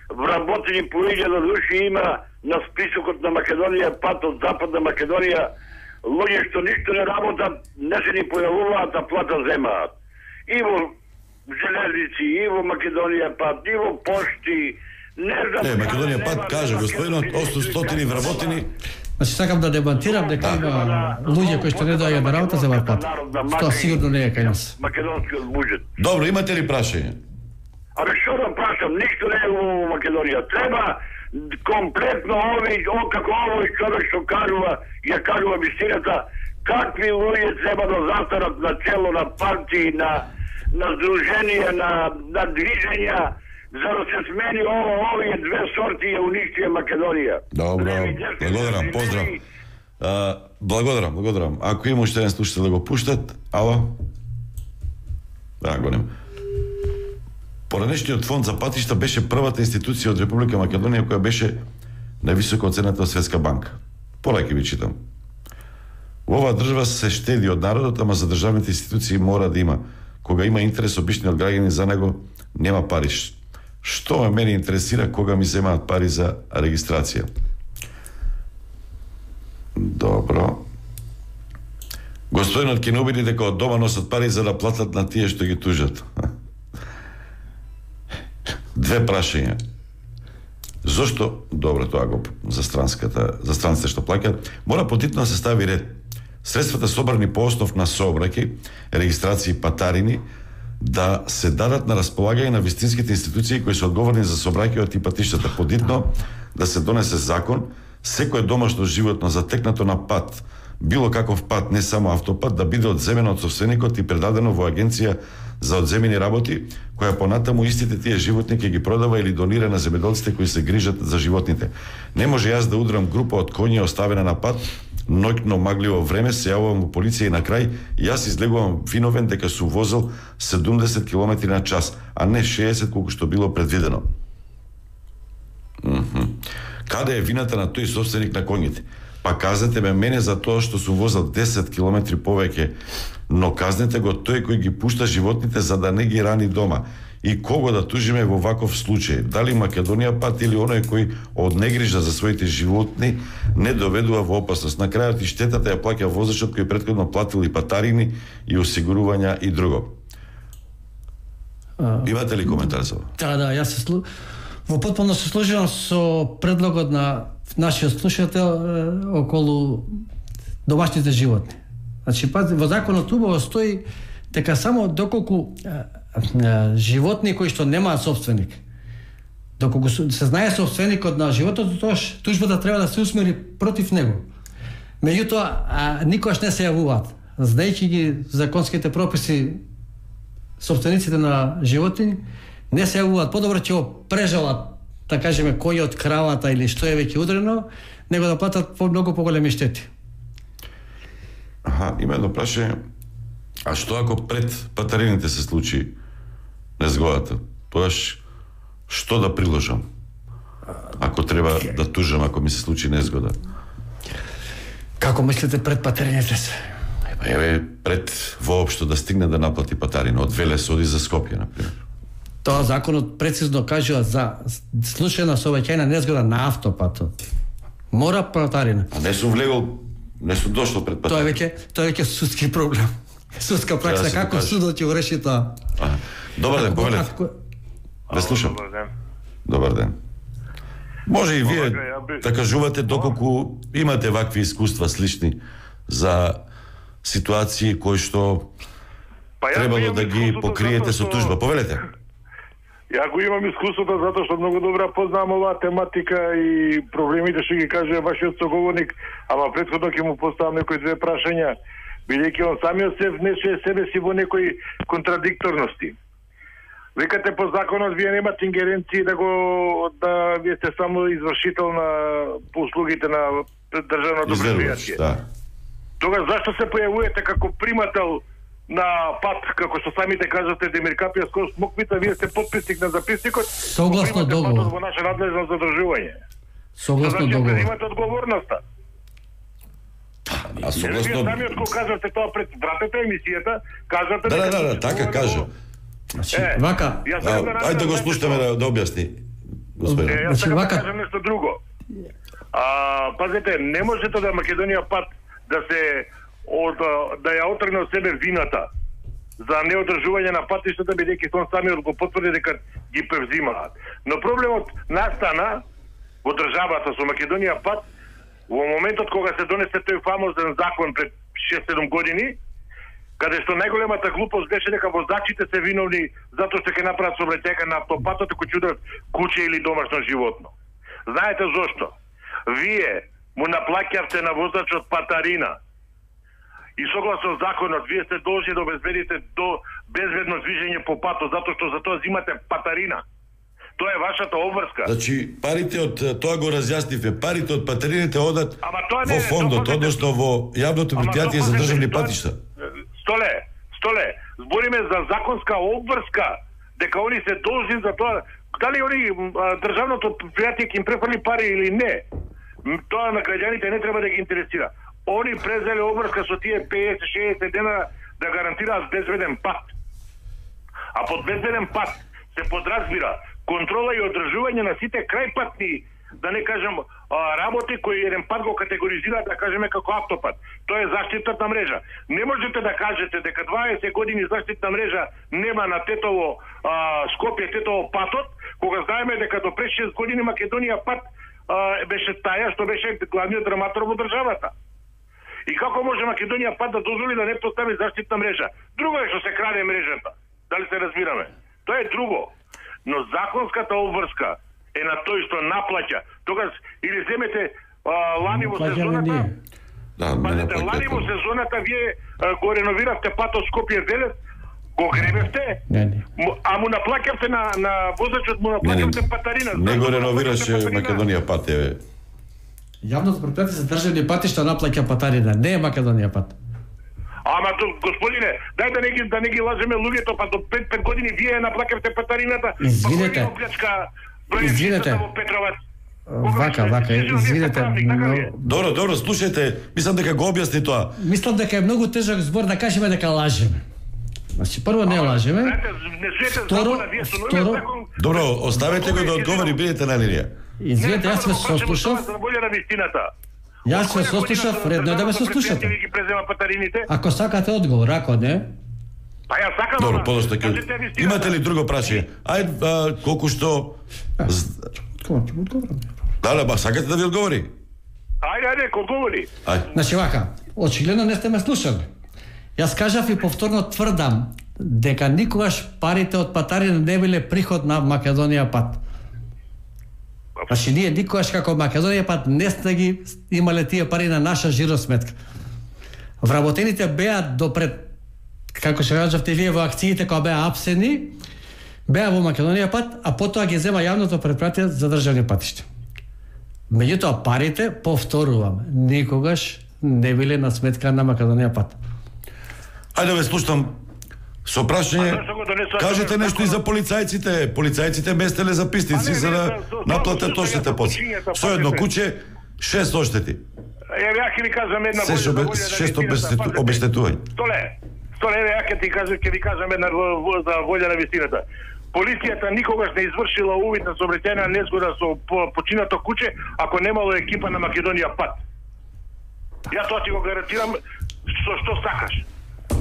вработени по илјада души има на списокот на Македонија пат од Западна Македонија, луѓе што ништо не работат, не се ни појавуваат, а плата земаат. И во железници, и во Македонија пат, и во пошти, не знам... Не, Македонија пат каже, господинот, осумстотини вработени. Значи, сакам да дебатирам дека има луѓе кои што не доаѓаат на работа земаат пат. Тоа сигурно не е кај нас. Македонскиот буџет. Добро, имате ли прашање? Абе, што да прашам, ништо не е во Македонија. Треба комплетно ови, о, како овој човек што кажува, ја кажува вистината, какви луѓе треба да застанат на чело на партии, на, на здруженија, на, на движења, за да се смени ово, овие две сорти ја уништија Македонија. Добро, благодарам, поздрав. А, благодарам, благодарам. Ако има уште еден слушател да го пуштат, ало? Да, го нема. Поранешниот фонд за патишта беше првата институција од Република Македонија која беше највисоко оценета од Светска банка. Полеќе ви читам. Во оваа држава се штеди од народот, ама за државните институции мора да има. Кога има интерес обичниот граѓанин за него, нема пари. Што ме мене интересира кога ми земаат пари за регистрација? Добро. Господинот ќе не убеди дека од дома носат пари за да платат на тие што ги тужат. Две прашања. Зошто, добро тоа го за странската, за странците што плаќаат, мора потитно да се стави ред. Средствата собрани по основ на сообраќај, регистрации и патарини да се дадат на располагање на вистинските институции кои се одговорни за сообраќајот и патиштата. Подитно да се донесе закон, секое домашно животно затекнато на пат, било каков пат, не само автопат, да биде одземено од собственикот и предадено во агенција за одземени работи, која понатаму истите тие животни ќе ги продава или донира на земјоделците кои се грижат за животните. Не може јас да удрам група од коњи оставена на пат, ноќно магливо време, се јавувам во полиција и на крај јас излегувам виновен дека сум возел седумдесет километри на час, а не шеесет колку што било предвидено. Mm-hmm. Каде е вината на тој собственик на коњите? Па казнете ме мене за тоа што сум возел десет километри повеќе, но казнете го тој кој ги пушта животните за да не ги рани дома. И кого да тужиме во ваков случај? Дали Македонија пат или оној кој од негрижа за своите животни не доведува во опасност? На крајот и штетата ја плаќа возачот кој претходно платил и патарини и осигурувања и друго. А... Имате ли коментар за ова? Да, да, јас се слу... во потполно се служувам со предлогот на нашиот слушател околу домашните животни. Значи, пази, во законот убаво стои дека само доколку а, а, животни кои што немаат собственик, доколку се знае собственикот на животот, тоа тужбата треба да се усмери против него. Меѓутоа, никогаш не се јавуваат. Знаејќи ги законските прописи, собствениците на животни не се јавуваат. Подобро ќе го прежалат, да кажеме, којот, кравата или што е веќе удрено, него да платат по многу поголеми штети. Аха, има едно прашање. А што ако пред патарините се случи незгодата? Тоаш што да приложам? Ако треба да тужам, ако ми се случи незгода. Како мислите пред патерењето се? Еве, пред воопшто да стигне да наплати патарина, од Велес оди за Скопје, например. Тоа законот прецизно кажува за случај на сообраќајна незгода на автопатот. Мора патарина. А не сум влегол, не сум дошол пред патарина. Тоа е веќе, тоа е веќе судски проблем. Судска пракса, да како судот ќе реши тоа. А, добар ден, повелете. Ако... Ве слушам. Добар ден. Добар ден. Може и вие да кажувате доколку имате вакви искуства слични за ситуации кои што па требало да ги покриете со тужба. Повелете. Ја го имам искуството затоа што многу добра познавам оваа тематика и проблемите што ги каже вашиот соговорник, ама претходно ќе му поставам некои две прашања, бидејќи он самиот се внесе себе си во некои контрадикторности. Викате по законот вие немате ингеренции да го да вие сте само извршител на услугите на државното предпријатие. Да. Тогаш зашто се појавувате како примател на пат, како што самите кажате, Демир Капија скоро смоквита, вие сте подписник на записникот. Согласно договор. Во наша надлежност задржување. Согласно договор. Значи, имате одговорноста. А согласно... Вие самиот го кажате тоа пред вратата емисијата, кажате... Да, да, да, така кажа. Значи, вака... Ајде да го слушаме да, да објасни. Господин. Е, јас сакам да кажам нешто друго. А, пазете, не можете да Македонија пат да се од, да ја отргне од себе вината за неодржување на патиштата, бидејќи он самиот го потврди дека ги превзимаат. Но проблемот настана во државата со Македонија пат во моментот кога се донесе тој фамозен закон пред шест-седум години, каде што најголемата глупост беше дека возачите се виновни затоа што ќе направат сообраќајка на автопатот кој чудат куќе или домашно животно. Знаете зошто? Вие му наплаќавте на возачот патарина. И согласно законот, вие сте должни да обезбедите до безбедно движење по патот, затоа што за тоа взимате патарина. Тоа е вашата обврска. Значи, парите од тоа го разјаснивме, парите од патарините одат не, во фондот, односно во јавното предпријатие за државни патишта. Столе, столе, збориме за законска обврска, дека они се должни за тоа, дали они државното предпријатие ќе им префрли пари или не. Тоа на граѓаните не треба да ги интересира. Они презеле обврска со тие петдесет-шеесет дена да гарантираат безбеден пат. А под безбеден пат се подразбира контрола и одржување на сите крајпатни, да не кажем, работи кои еден пат го категоризираат, да кажеме како автопат. Тоа е заштитната мрежа. Не можете да кажете дека дваесет години заштитна мрежа нема на Тетово, а, Скопје, Тетово патот, кога знаеме дека до пред шест години Македонија пат а, беше таја што беше главниот драматор во државата. И како може Македонија пат да дозволи да не постави заштитна мрежа? Друго е што се краде мрежата. Дали се разбираме? Тоа е друго. Но законската обврска е на тој што наплаќа. Тогаш или земете а, лани во сезоната. Да, пазете, лани во сезоната вие а, го реновиравте патот Скопје Велес, го гребевте, не, не. а му наплаќавте на на возачот, му наплаќавте патарина. Не го реновираше Македонија пат, еве. Јавното предпријатие за државни патишта наплаќа патарина, не е Македонија пат. Ама господине, дај да не ги да не ги лажеме луѓето, па до пет пет години вие наплаќавте патарината. Извинете. Извинете. Вака, вака, извинете. Но... Добро, добро, слушајте, мислам дека го објасни тоа. Мислам дека е многу тежок збор да кажеме дека лажеме. Значи, прво не лажеме. Второ, второ... Добро, оставете го да одговори, бидете на линија. Извинете, јас се сослушав. Јас се сослушав, редно е да ме сослушате. Ако сакате одговор, ако не... Па ја сакам. Добро, подошто ќе... Имате ли друго прашање? Ајде, колку што... Да, да, ба, сакате да ви одговори? Ајде, ајде, одговори. Значи, вака, очигледно не сте ме слушали. Јас кажав и повторно тврдам дека никогаш парите од патарина не биле приход на Македонија пат. Значи, ние никогаш како Македонија пат не сте ги имале тие пари на наша жиросметка. Вработените беа допред, како што кажавте вие во акциите кои беа апсени, беа во Македонија пат, а потоа ги зема јавното предпријатие за државни патишта. Меѓутоа парите, повторувам, никогаш не биле на сметка на Македонија пат. Ајде ве слушам Со прашање, кажете нешто и за полицајците. Полицајците местеле записници за да наплатат оштете после. Со едно куќе, шест оштети. Еве, ја ќе ви кажам една Се шест обештетување. Столе, столе, еве, ја ќе ти кажам, ќе ви кажам една за волја на вистината. Полицијата никогаш не извршила увид на сообраќајна незгода со починато куќе ако немало екипа на Македонија пат. Ја тоа ти го гарантирам со што сакаш.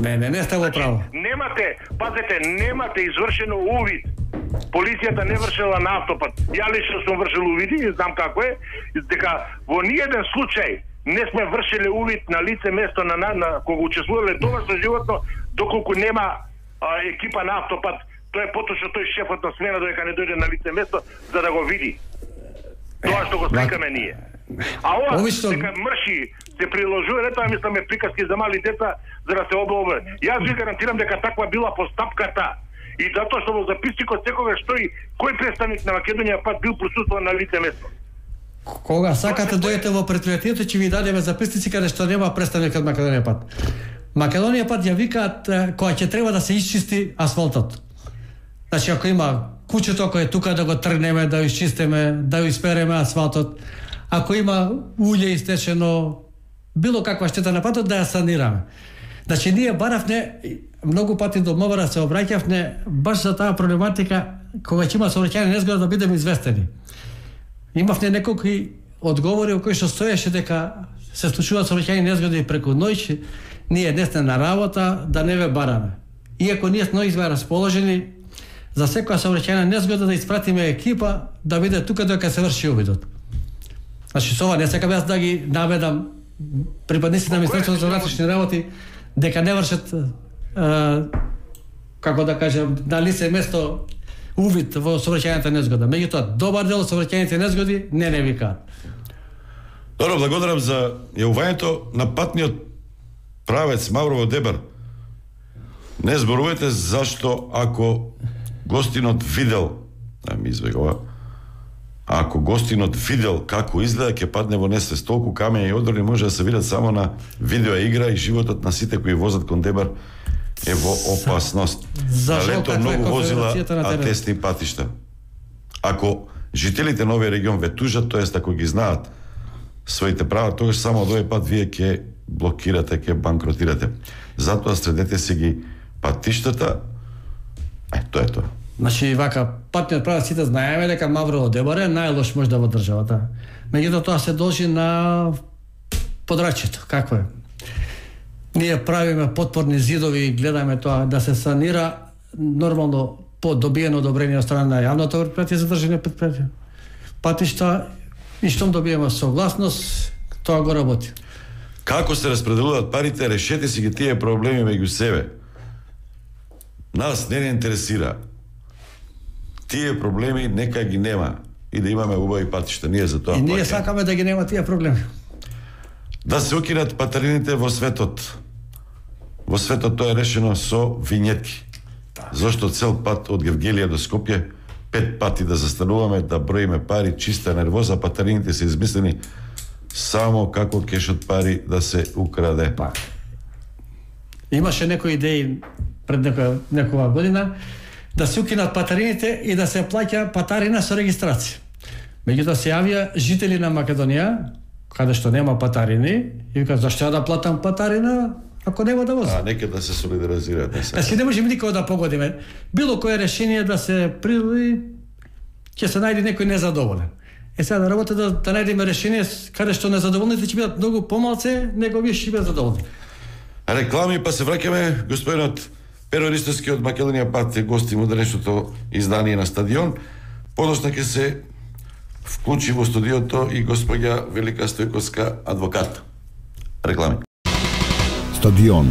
Не, не, не сте во право. Немате, пазете, немате извршено увид. Полицијата не вршила на автопат. Ја лично сум вршил увиди, знам како е, дека во ниеден случај не сме вршиле увид на лице место на, на, на кога учествувале доважно животно, доколку нема а, екипа на автопат. Тоа е поточно тој шефот на смена додека не дојде на лице место за да го види. Тоа што го сакаме ние. А ова Обично... дека мрши се приложува, не тоа мисламе приказки за мали деца за да се облобе. Јас ви гарантирам дека таква била постапката. И затоа што во записникот секогаш стои кој представник на Македонија пат бил присуствуван на лице место. Кога сакате дојдете во предпријатието, ќе ви дадеме записници каде што нема представник од Македонија пат. Македонија пат ја викаат кога ќе треба да се исчисти асфалтот. Значи, ако има куќето кој е тука да го тргнеме, да го исчистиме, да го испереме асфалтот, ако има уље истечено, било каква штета на патот, да ја санираме. Значи, ние баравне, многу пати до МВР се обраќавне баш за таа проблематика, кога ќе има сообраќајна незгода да бидеме известени. Имавне неколку одговори кои што стоеше дека се случуваат сообраќајни незгоди преку ноќ, ние не сме на работа, да не ве бараме. Иако ние сме сме расположени за секоја сообраќајна незгода да испратиме екипа да биде тука додека се врши увидот. Значи, со ова не сакам јас да ги наведам припадници на Министерството за внатрешни работи дека не вршат е, како да кажем на лице место увид во сообраќајната незгода. Меѓутоа, добар дел од сообраќајните незгоди не не викаат. Добро, благодарам за јавувањето на патниот правец Маврово Дебар. Не зборувате зашто ако гостинот видел, да ми избегува, ако гостинот видел како изгледа, ќе падне во несвест. Толку камења и одрони може да се видат само на видео игра и животот на сите кои возат кон Дебар е во опасност. Налето многу возила, а тесни патишта. Ако жителите на овој регион ве тужат, тоест ако ги знаат своите права, тогаш само од овој пат вие ќе блокирате, ќе банкротирате. Затоа средете се ги патиштата. Е, тоа е тоа. Значи, вака, патниот правец сите знаеме дека Маврово Дебар е најлош можда во државата. Меѓутоа тоа се должи на подрачјето. Какво е? Ние правиме потпорни зидови и гледаме тоа да се санира нормално по добиено одобрение од страна на јавното предпријатие за државни предпријатија. Патишта и штом добиеме согласност, тоа го работи. Како се распределуваат парите, решете си ги тие проблеми меѓу себе. Нас не не интересира. Тие проблеми нека ги нема и да имаме убави патишта. Ние за тоа И ние плаќаме. сакаме да ги нема тие проблеми. Да се укинат патарините во светот. Во светот тоа е решено со винјетки. Зошто цел пат од Гевгелија до Скопје пет пати да застануваме, да броиме пари, чиста нервоза, патарините се измислени само како кешот пари да се украде. Па. Имаше некои идеи пред некоја, некоја година да се укинат патарините и да се плаќа патарина со регистрација. Меѓутоа се јавија жители на Македонија, каде што нема патарини, и вика, зашто ја да платам патарина ако нема да возам? А, нека да се солидаризираат. Не, Значи не можеме никога да погодиме. Било кое решение да се приложи, ќе се најде некој незадоволен. Е сега да работи да, да најдеме решение каде што незадоволните ќе бидат многу помалце, него вие ќе бидат задоволни. Реклами, па се враќаме. Господинот Перо Ристовски од Македонија пат е гости во денешното издание на Стадион. Подоцна ќе се вклучи во студиото и господја Велика Стојковска, адвокат. Реклами. Стадион.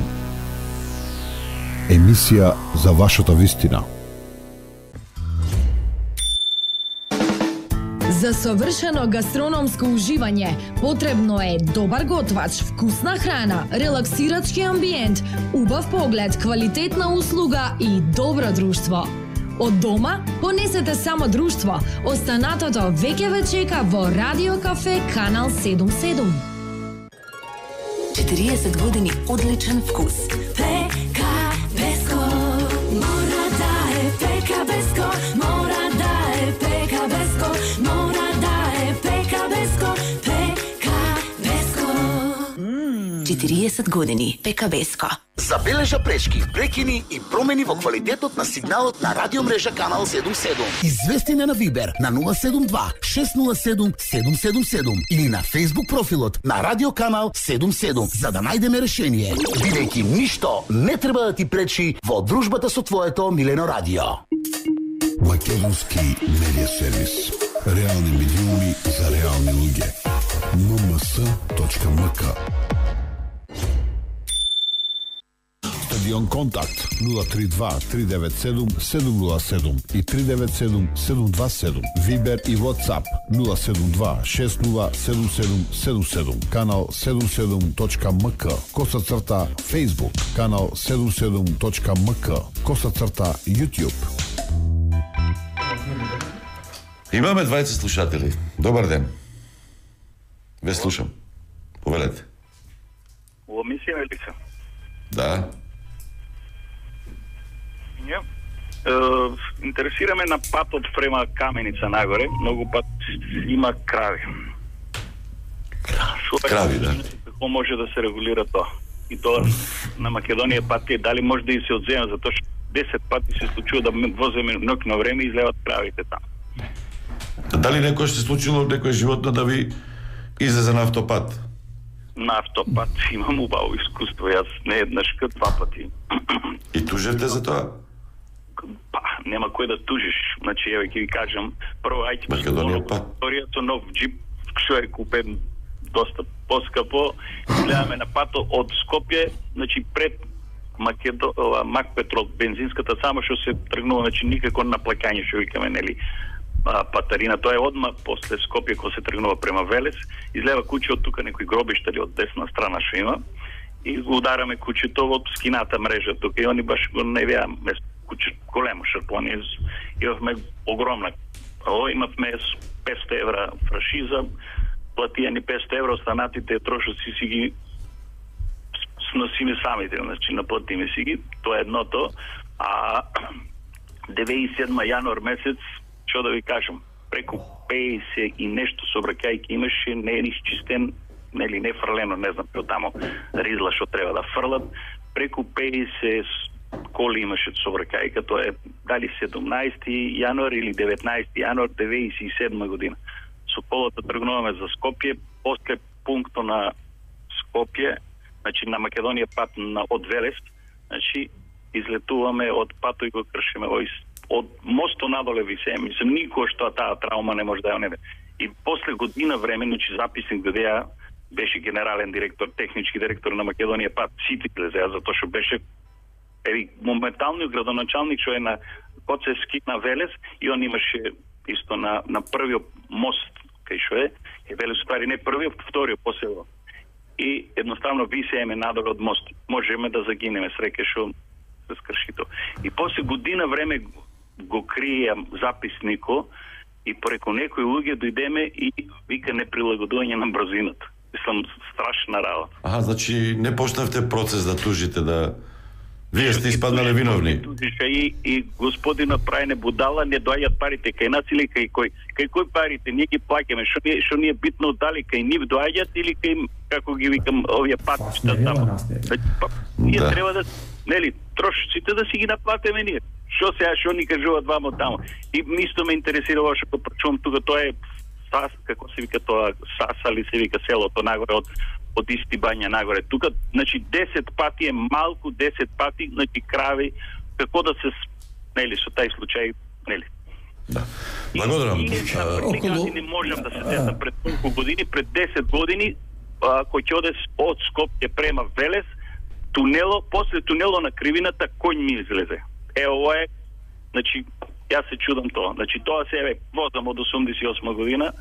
Емисија за вашата вистина. За совршено гастрономско уживање потребно е добар готвач, вкусна храна, релаксирачки амбиент, убав поглед, квалитетна услуга и добро друштво. Од дома понесете само друштво. Останатото веќе ве чека во Радио Кафе Канал седум седум. четириесет години одличен вкус. Пека Беско. триесет години. Пекабеско. Забележа пречки, прекини и промени во квалитетот на сигналот на радиомрежа Канал седум седум. Извести на Вибер на нула седум два шест нула седум седум седум седум или на Facebook профилот на Радио Канал седум седум за да најдеме решение. Бидејќи ништо не треба да ти пречи во дружбата со твоето милено радио. Македонски медиа сервис. Реални медиуми за реални луѓе. ем ем с точка ем к. Стадион Контакт нула три два три девет седум седум нула седум и три девет седум седум два седум. Вибер и WhatsApp нула седум два шест нула седум седум седум седум. Канал седум седум точка ем к. Коса црта Facebook. Канал седум седум точка ем к. Коса црта YouTube. Имаме двајца слушатели. Добар ден. Ве слушам. Повелете. Во емисија е лица. Да. Ја. Е, интересираме на патот према Каменица нагоре. Многу пат има крави. Крави, да. Како може да се регулира тоа? И тоа на Македонија пати дали може да и се одзема, затоа што десет пати се случува да возиме нок на време и излеват кравите таму. Дали некој се случило некој животно да ви излезе на автопат? На автопат имам убаво искуство, јас не еднаш, два пати. И тужевте за тоа? Па, нема кој да тужиш. Значи, еве ќе ви кажам, прво ајде Македонија пат. Историјата нов джип, што е купен доста поскапо, гледаме на пато од Скопје, значи пред Македо, Макпетрол, бензинската, само што се тргнува, значи никако на плакање, што викаме, нели, патарина, тоа е одма после Скопје кога се тргнува према Велес, излева куќе од тука некои гробишта или од десна страна што има и го удараме куќето во скината мрежа тука и они баш го не веа место куќе големо шарпони, имавме огромна, о, имавме песто евра фрашиза, платијани песто евра, останатите трошоци си ги сносиме самите, значи наплатиме си ги, тоа е едното, а деветдесет и седма јануар месец, што да ви кажам, преку пеесет и нешто сообраќајки имаше, не е исчистен, нели не фрлено, не знам, што тамо ризла што треба да фрлат, преку пеесет коли имаше сообраќајка, тоа е дали седумнаесети јануар или деветнаесети јануар деветдесет и седма година. Со колата тргнуваме за Скопје, после пункто на Скопје, значи на Македонија пат на од Велес, значи излетуваме од пато и го кршиме овој од мосто надоле висеме. Мислам, никој што таа траума не може да ја неде. И после година време, значи записник ДДА беше генерален директор, технички директор на Македонија пат, сите глезеа, затоа што беше еви моментално градоначалник што е на Коцевски на Велес и он имаше исто на на првиот мост кај што е, е Велес ствари не првиот, вториот посело. И едноставно висееме надоле од мост. Можеме да загинеме среќа што се скрши тоа. И после година време го крија записнико и преку некои луѓе дојдеме и вика неприлагодување на брзината. Мислам, страшна работа. Аха, значи не почнавте процес да тужите, да вие сте испаднале виновни. И, и господина прајне будала, не доаѓаат парите кај нас или кај кој? Кај кој парите? Ние ги плаќаме. Што ни, што ни е битно дали кај нив доаѓаат или кај, како ги викам, овие патишта таму. Ние да. Треба да, нели, трошците да си ги наплатиме ние. Што сега, што ни кажуваат вамо таму. И исто ме интересира ова што прочувам тука, тоа е Сас, како се вика тоа, Саса ли се вика селото нагоре од од Исти Бања нагоре. Тука, значи, десет пати е малку, десет пати, значи, крави, како да се, нели, со тај случај, нели. Да. Благодарам. И, и околу... не можам да се сетам пред колку години, пред десет години, а, кој ќе оде од Скопје према Велес, тунело, после тунело на кривината, кој ми излезе. Е, ова е, значи, јас се чудам тоа. Значи, тоа се, еве, возам од осумдесет и осма година,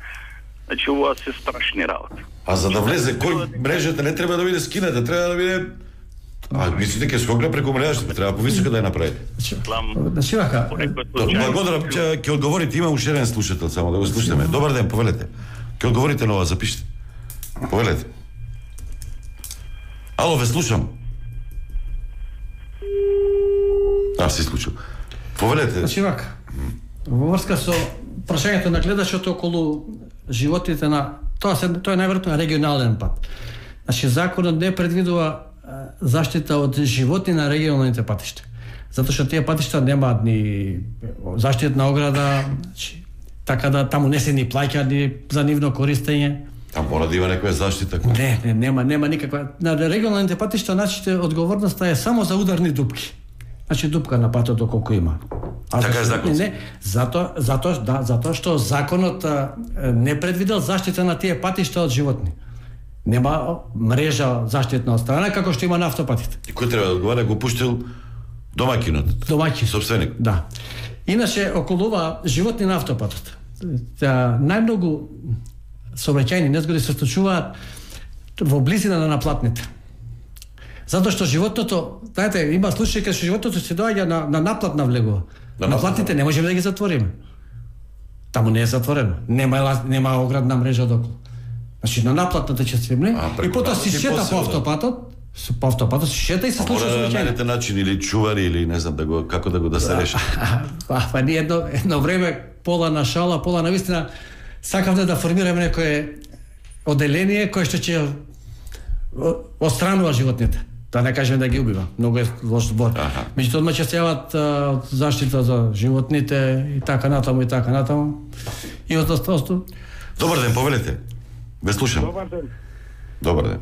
значи, ова се страшни работи. А за да влезе кој мрежата не треба да биде скината, треба да биде... А, мислите ќе скокне преку мрежата, треба повисока да ја направите. Значи, вака... Благодарам, ќе одговорите, има уште еден слушател, само да го слушаме. Добар ден, повелете. Ќе одговорите на ова, запишете. Повелете. Ало, ве слушам. А, се случил. Повелете. Значи, вака, во врска со прашањето на гледачот околу животите на... Тоа, се, тоа е најверојатно регионален пат. Значи законот не предвидува заштита од животни на регионалните патишта. Затоа што тие патишта немаат ни заштитна ограда, значи, така да таму не се ни плаќа ни за нивно користење. Там мора да има некоја заштита. Не, не, нема, нема никаква. На регионалните патишта значи одговорноста е само за ударни дупки. Значи дупка на патот доколку има. А така е законот. Не, затоа, затоа, да, затоа што законот а, не предвидел заштита на тие патишта од животни. Нема мрежа заштитна од страна како што има на автопатите. И кој треба да одговара, го пуштил домаќинот? Домаќин. Собственик. Да. Иначе околу ова животни на автопатот. Најмногу сообраќајни незгоди се случуваат во близина на наплатните. Затоа што животното, знаете, има случаи кога животното се доаѓа на, на наплатна влегува. На наплатните не можеме да ги затвориме. Таму не е затворено. Нема нема оградна мрежа доколу. Значи на наплатната ќе се мне и потоа си шета по автопатот, по автопатот си шета и се случува сообраќајни. Мора да начин или чувари или не знам да го како да го да се реши. Па па ние едно едно време пола на шала, пола на вистина сакавме да формираме некое оделение кое што ќе отстранува животните. Да не кажем да ги убива. Многу е лош збор. Меѓутоа одма ќе се јават заштита за животните и така натаму и така натаму. И од остатото. Добар ден, повелете. Ве слушам. Добар ден. Добар ден.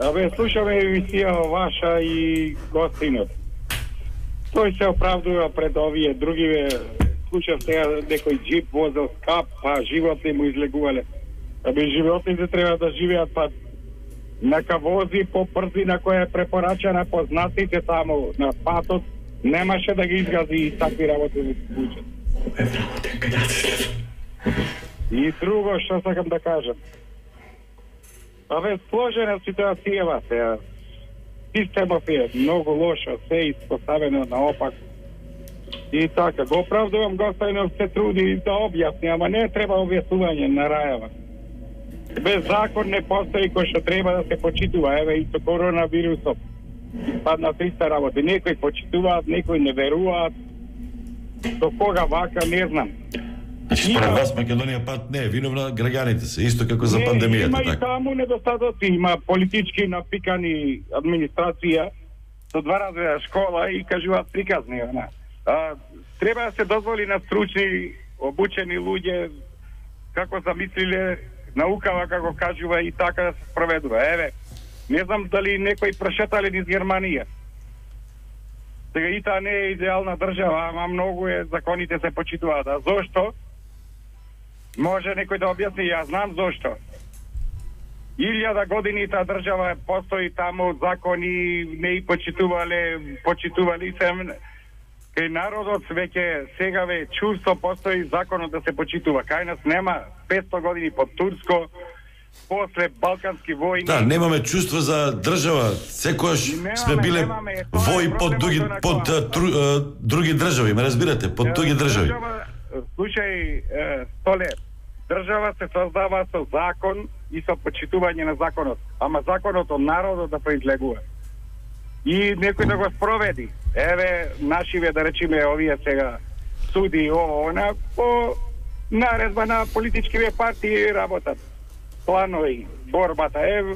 Абе, слушаме емисија ваша и гостинот. Тој се оправдува пред овие другиве. Слушав сега некој джип возел скап, па животни му излегувале. Абе, животните треба да живеат, па нека вози по брзина која е препорачана познатите таму на патот, немаше да ги изгази и такви работи да се случат. И друго што сакам да кажам. Абе, сложена ситуацијава се. Системот е многу лошо, се испоставено наопак. И така, го оправдувам Гостајнов се труди да објасни, ама не треба објаснување на рајава. Без закон не постои кој што треба да се почитува. Еве и со коронавирусот. Падна триста работи. Некои почитуваат, некои не веруваат. До кога вака, не знам. Значи, според вас Македонија пат не е виновна, граѓаните се, исто како за пандемијата. Има така. и таму недостатоци, има политички напикани администрација со два развоја школа и кажуваат приказни. А, треба да се дозволи на стручни, обучени луѓе како замислиле наукава, како кажува, и така да се спроведува. Еве, не знам дали некој прошетале низ Германија. Сега и таа не е идеална држава, ама многу е, законите се почитуваат. А зошто? Може некој да објасни, јас знам зошто. Илјада години таа држава постои таму, закони не и почитувале, почитували се. Кај народот веќе сегаве чувство постои законот да се почитува. Кај нас нема петсто години под турско, после балкански војни. Да, немаме чувство за држава. Секојаш сме биле вои под други под а, тру, а, други држави, ме разбирате, под други држави. Држава, слушај, е, Столе, држава се создава со закон и со почитување на законот, ама законот од народот да произлегува. И некој да го спроведи. Еве, нашиве, да речеме, овие сега суди, ово, она, по наредба на политичкиве партии работат. Планови, борбата, еве,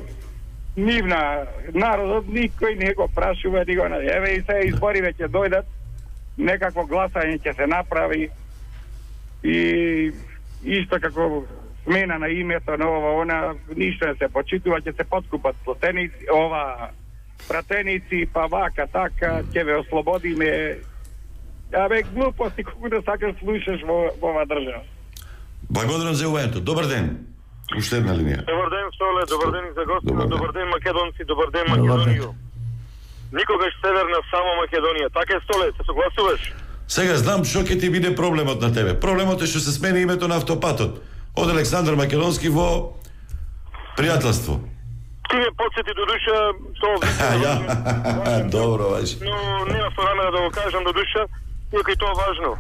нивна, народот никој не го прашува, ни го, еве и се избори веќе дојдат, некакво гласање ќе се направи и исто како смена на името на ова, она, ништо не се почитува, ќе се подкупат плотеници, ова, пратеници, па вака, така, ќе ве ослободиме. Абе, глупости, колку да сакаш слушаш во, во ова држава. Благодарам за уведението. Добар ден. Уште една линија. Добар ден, Соле, добар ден за гостите, добар, добар ден македонци, добар ден Македонију. Никогаш северна само Македонија. Така е, Соле, се согласуваш? Сега знам што ќе ти биде проблемот на тебе. Проблемот е што се смени името на автопатот од Александар Македонски во пријателство. Ти ме подсети до душа тоа ја. Добро, важи. Но нема со намера да го кажам до душа, иако и тоа важно.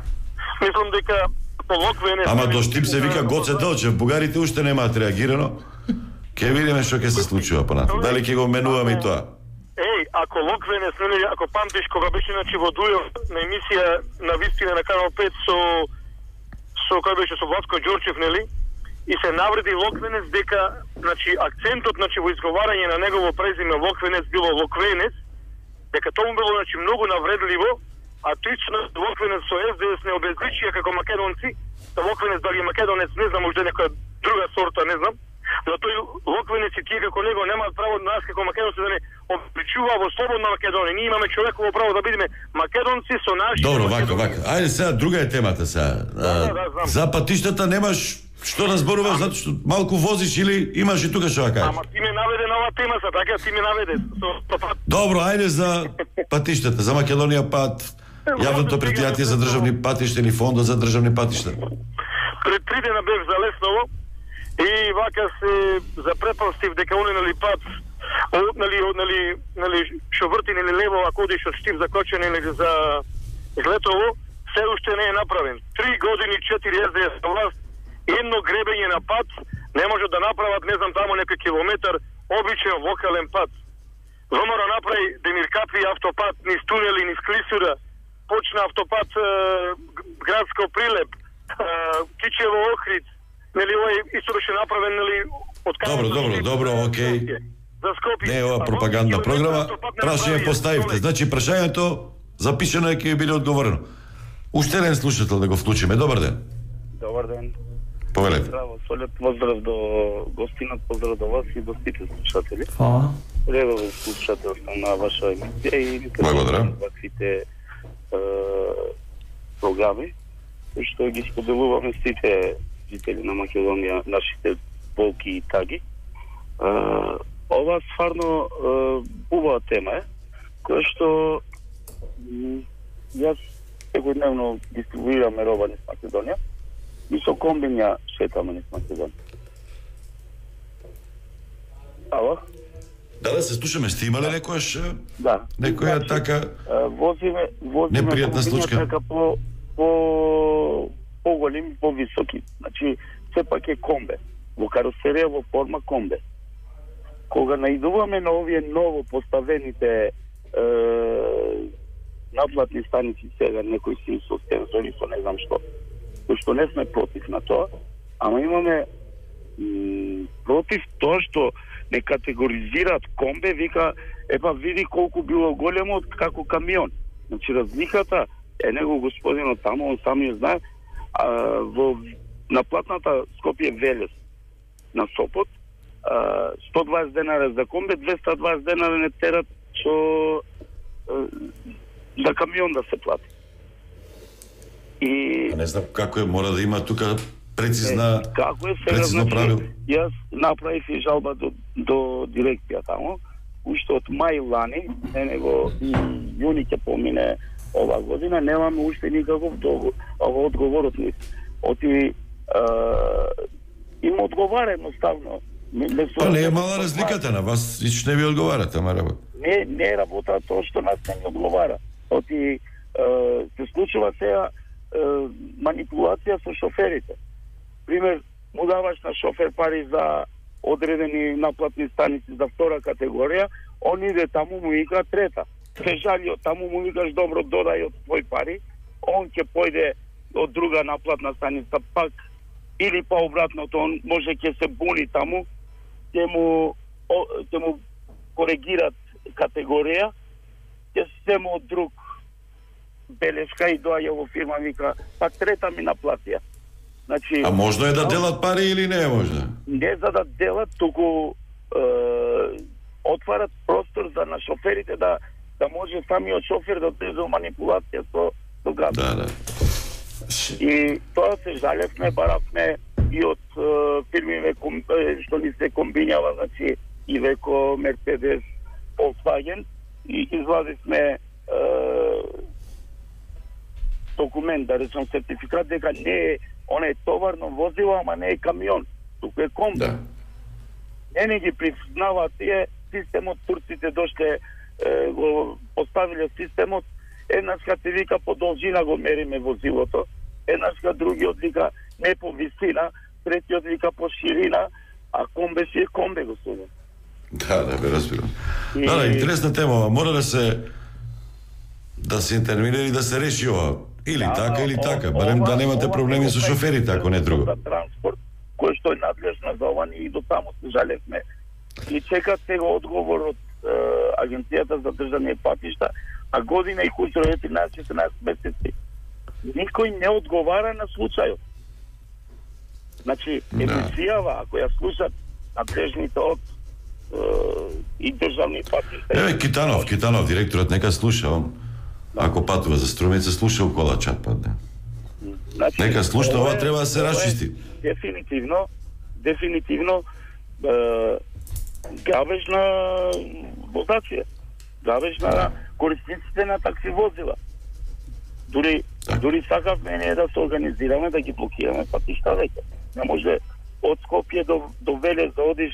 Мислам дека полокве не. Ама до Штип се вика Гоце Делчев. Бугарите уште немаат реагирано. Ке видиме што ќе се случува понатаму. Дали ќе го менуваме и тоа? Еј, ако Локвене снели, ако памтиш кога беше значи во Дујов на емисија на Вистина на Канал пет со со кој беше со Васко Ѓорчев, нели? и се навреди Локвенец дека, значи, акцентот, значи, во изговарање на негово презиме Локвенец било Локвенец, дека тоа му било, значи, многу навредливо, а точно Локвенец со Ес Де Ес не обезличија како македонци, да Локвенец дали македонец, не знам, може некоја друга сорта, не знам, но тој Локвенец и тие како него немаат право на нас како македонци да не обличува во слободна Македонија. Ние имаме човеково право да бидеме македонци со наши. Добро, вака, вака. Ајде сега, друга е темата сега. Да, да, да, за патиштата немаш што да зборуваш, затоа што малку возиш или имаш и тука што да кажеш? Ама ти ме наведе на оваа тема, са така, ти ме наведе. Добро, ајде за патиштата, за Македонија пат, јавното претпријатие за државни патишта или фондот за државни патишта. Пред три дена бев за Лесново и вака се запретпоставив дека оне нели пат, нели нели нели што врти нели лево, ако одиш од Штип за Кочани нели за Злетово, се уште не е направен. Три години, четири Ес Де Ес на власт, едно гребење на пат не може да направат, не знам, тамо некој километар обичен локален пат. ВМРО направи Демиркапи автопат низ тунели, низ Клисура, почна автопат е, градско Прилеп, е, Кичево Охрид, нели овој исто беше направен, нели, од Добро, добро, добро, окей. За Скопје. Не е ова пропагандна програма. Прашање поставивте. Значи прашањето запишено е, ќе биде одговорено. Уште еден слушател да го вклучиме. Добар ден. Добар ден. Повелете. Здраво, солет поздрав до гостинот, поздрав до вас и до сите слушатели. Фала. Редовен слушател сум на ваша емисија и благодарам ваквите програми, што ги споделуваме сите жители на Македонија, нашите болки и таги. Ова стварно убава тема е, која што јас секојдневно дистрибуираме роба низ Македонија и со комбинја шетаме низ Македонија. Ало? Да, да се слушаме. Сте имале некојаш да. некоја значи, така возиме, возиме непријатна случка? Така по, по, по-големи, по-високи. Значи, сепак е комбе. Во каросерија во форма комбе. Кога наидуваме на овие ново поставените е, наплатни станици сега, некои си со сензори, со не знам што, што не сме против на тоа, ама имаме м, против тоа што не категоризираат комбе, вика, епа види колку било големо како камион. Значи разликата е него господинот таму, он сами знае, а, во наплатната Скопје Велес на Сопот, а, сто дваесет денара за комбе, двесте и дваесет денара не терат со за камион да се плати. И не знам како е, мора да има тука прецизна е, како е сега, прецизно значи, правило. Јас направив и жалба до, до дирекција таму, уште од мај лани, не него и јуни ќе помине ова година, немаме уште никаков одговор од нив. Оти им одговара едноставно. Па не е мала разликата на вас, ич не ви одговарате, ама работа. Не, не е работа тоа што нас не одговара. Оти се случува сега манипулација со шоферите. Пример, му даваш на шофер пари за одредени наплатни станици за втора категорија, он иде таму, му вика трета. Се жали, таму му викаш добро, додај од твој пари, он ќе појде од друга наплатна станица, пак или па обратното, он може ќе се буни таму, ќе му ќе му коригират категорија, ќе се му од друг белешка и доаѓа во фирма, вика, па трета ми наплатија. Значи, а можно е да делат пари или не е можно? Не за да делат, туку е, отварат простор за на шоферите да да може самиот шофер да отиде манипулација со со град. Да, да. И тоа се жалевме, баравме и од е, фирми што ни се комбинјава, значи и веко Мерцедес, Volkswagen, и извадивме е, документ, да речем сертификат дека не е, он е товарно возило, ама не е камион, туку е комби. Да. Не не ги признаваат тие системот, турците дошле е, го поставиле системот, еднашка ти вика по должина го мериме возилото, еднашка другиот вика не по висина, третиот вика по ширина, а комбе си е комбе, господи. Да, да, бе разбирам. И... Да, да, интересна тема, мора да се да се интервенира и да се реши ова. Или да, така, или о, така. Барем да немате проблеми со шоферите, ако не друго. За транспорт, која што е надлежна за ова, и до таму се жалевме. И чекат сега одговор од е, Агенцијата за државни патишта, а година и куќро е тринаесет-четинаесет месеци. Никој не одговара на случајот. Значи, емисијава, ако ја слушат надлежните од и државни патишта. Еве Китанов, Китанов, директорот, нека слуша, он, ако патува за Струмица, слуша у кола чат падне. Значи, нека слуша, ова треба да се расчисти. Дефинитивно, дефинитивно е, гавеж на водачија, гавеж на корисниците на такси возила. Дури, дури сакавме не да се организираме, да ги блокираме патишта веќе. Не може од Скопје до, до Велес да одиш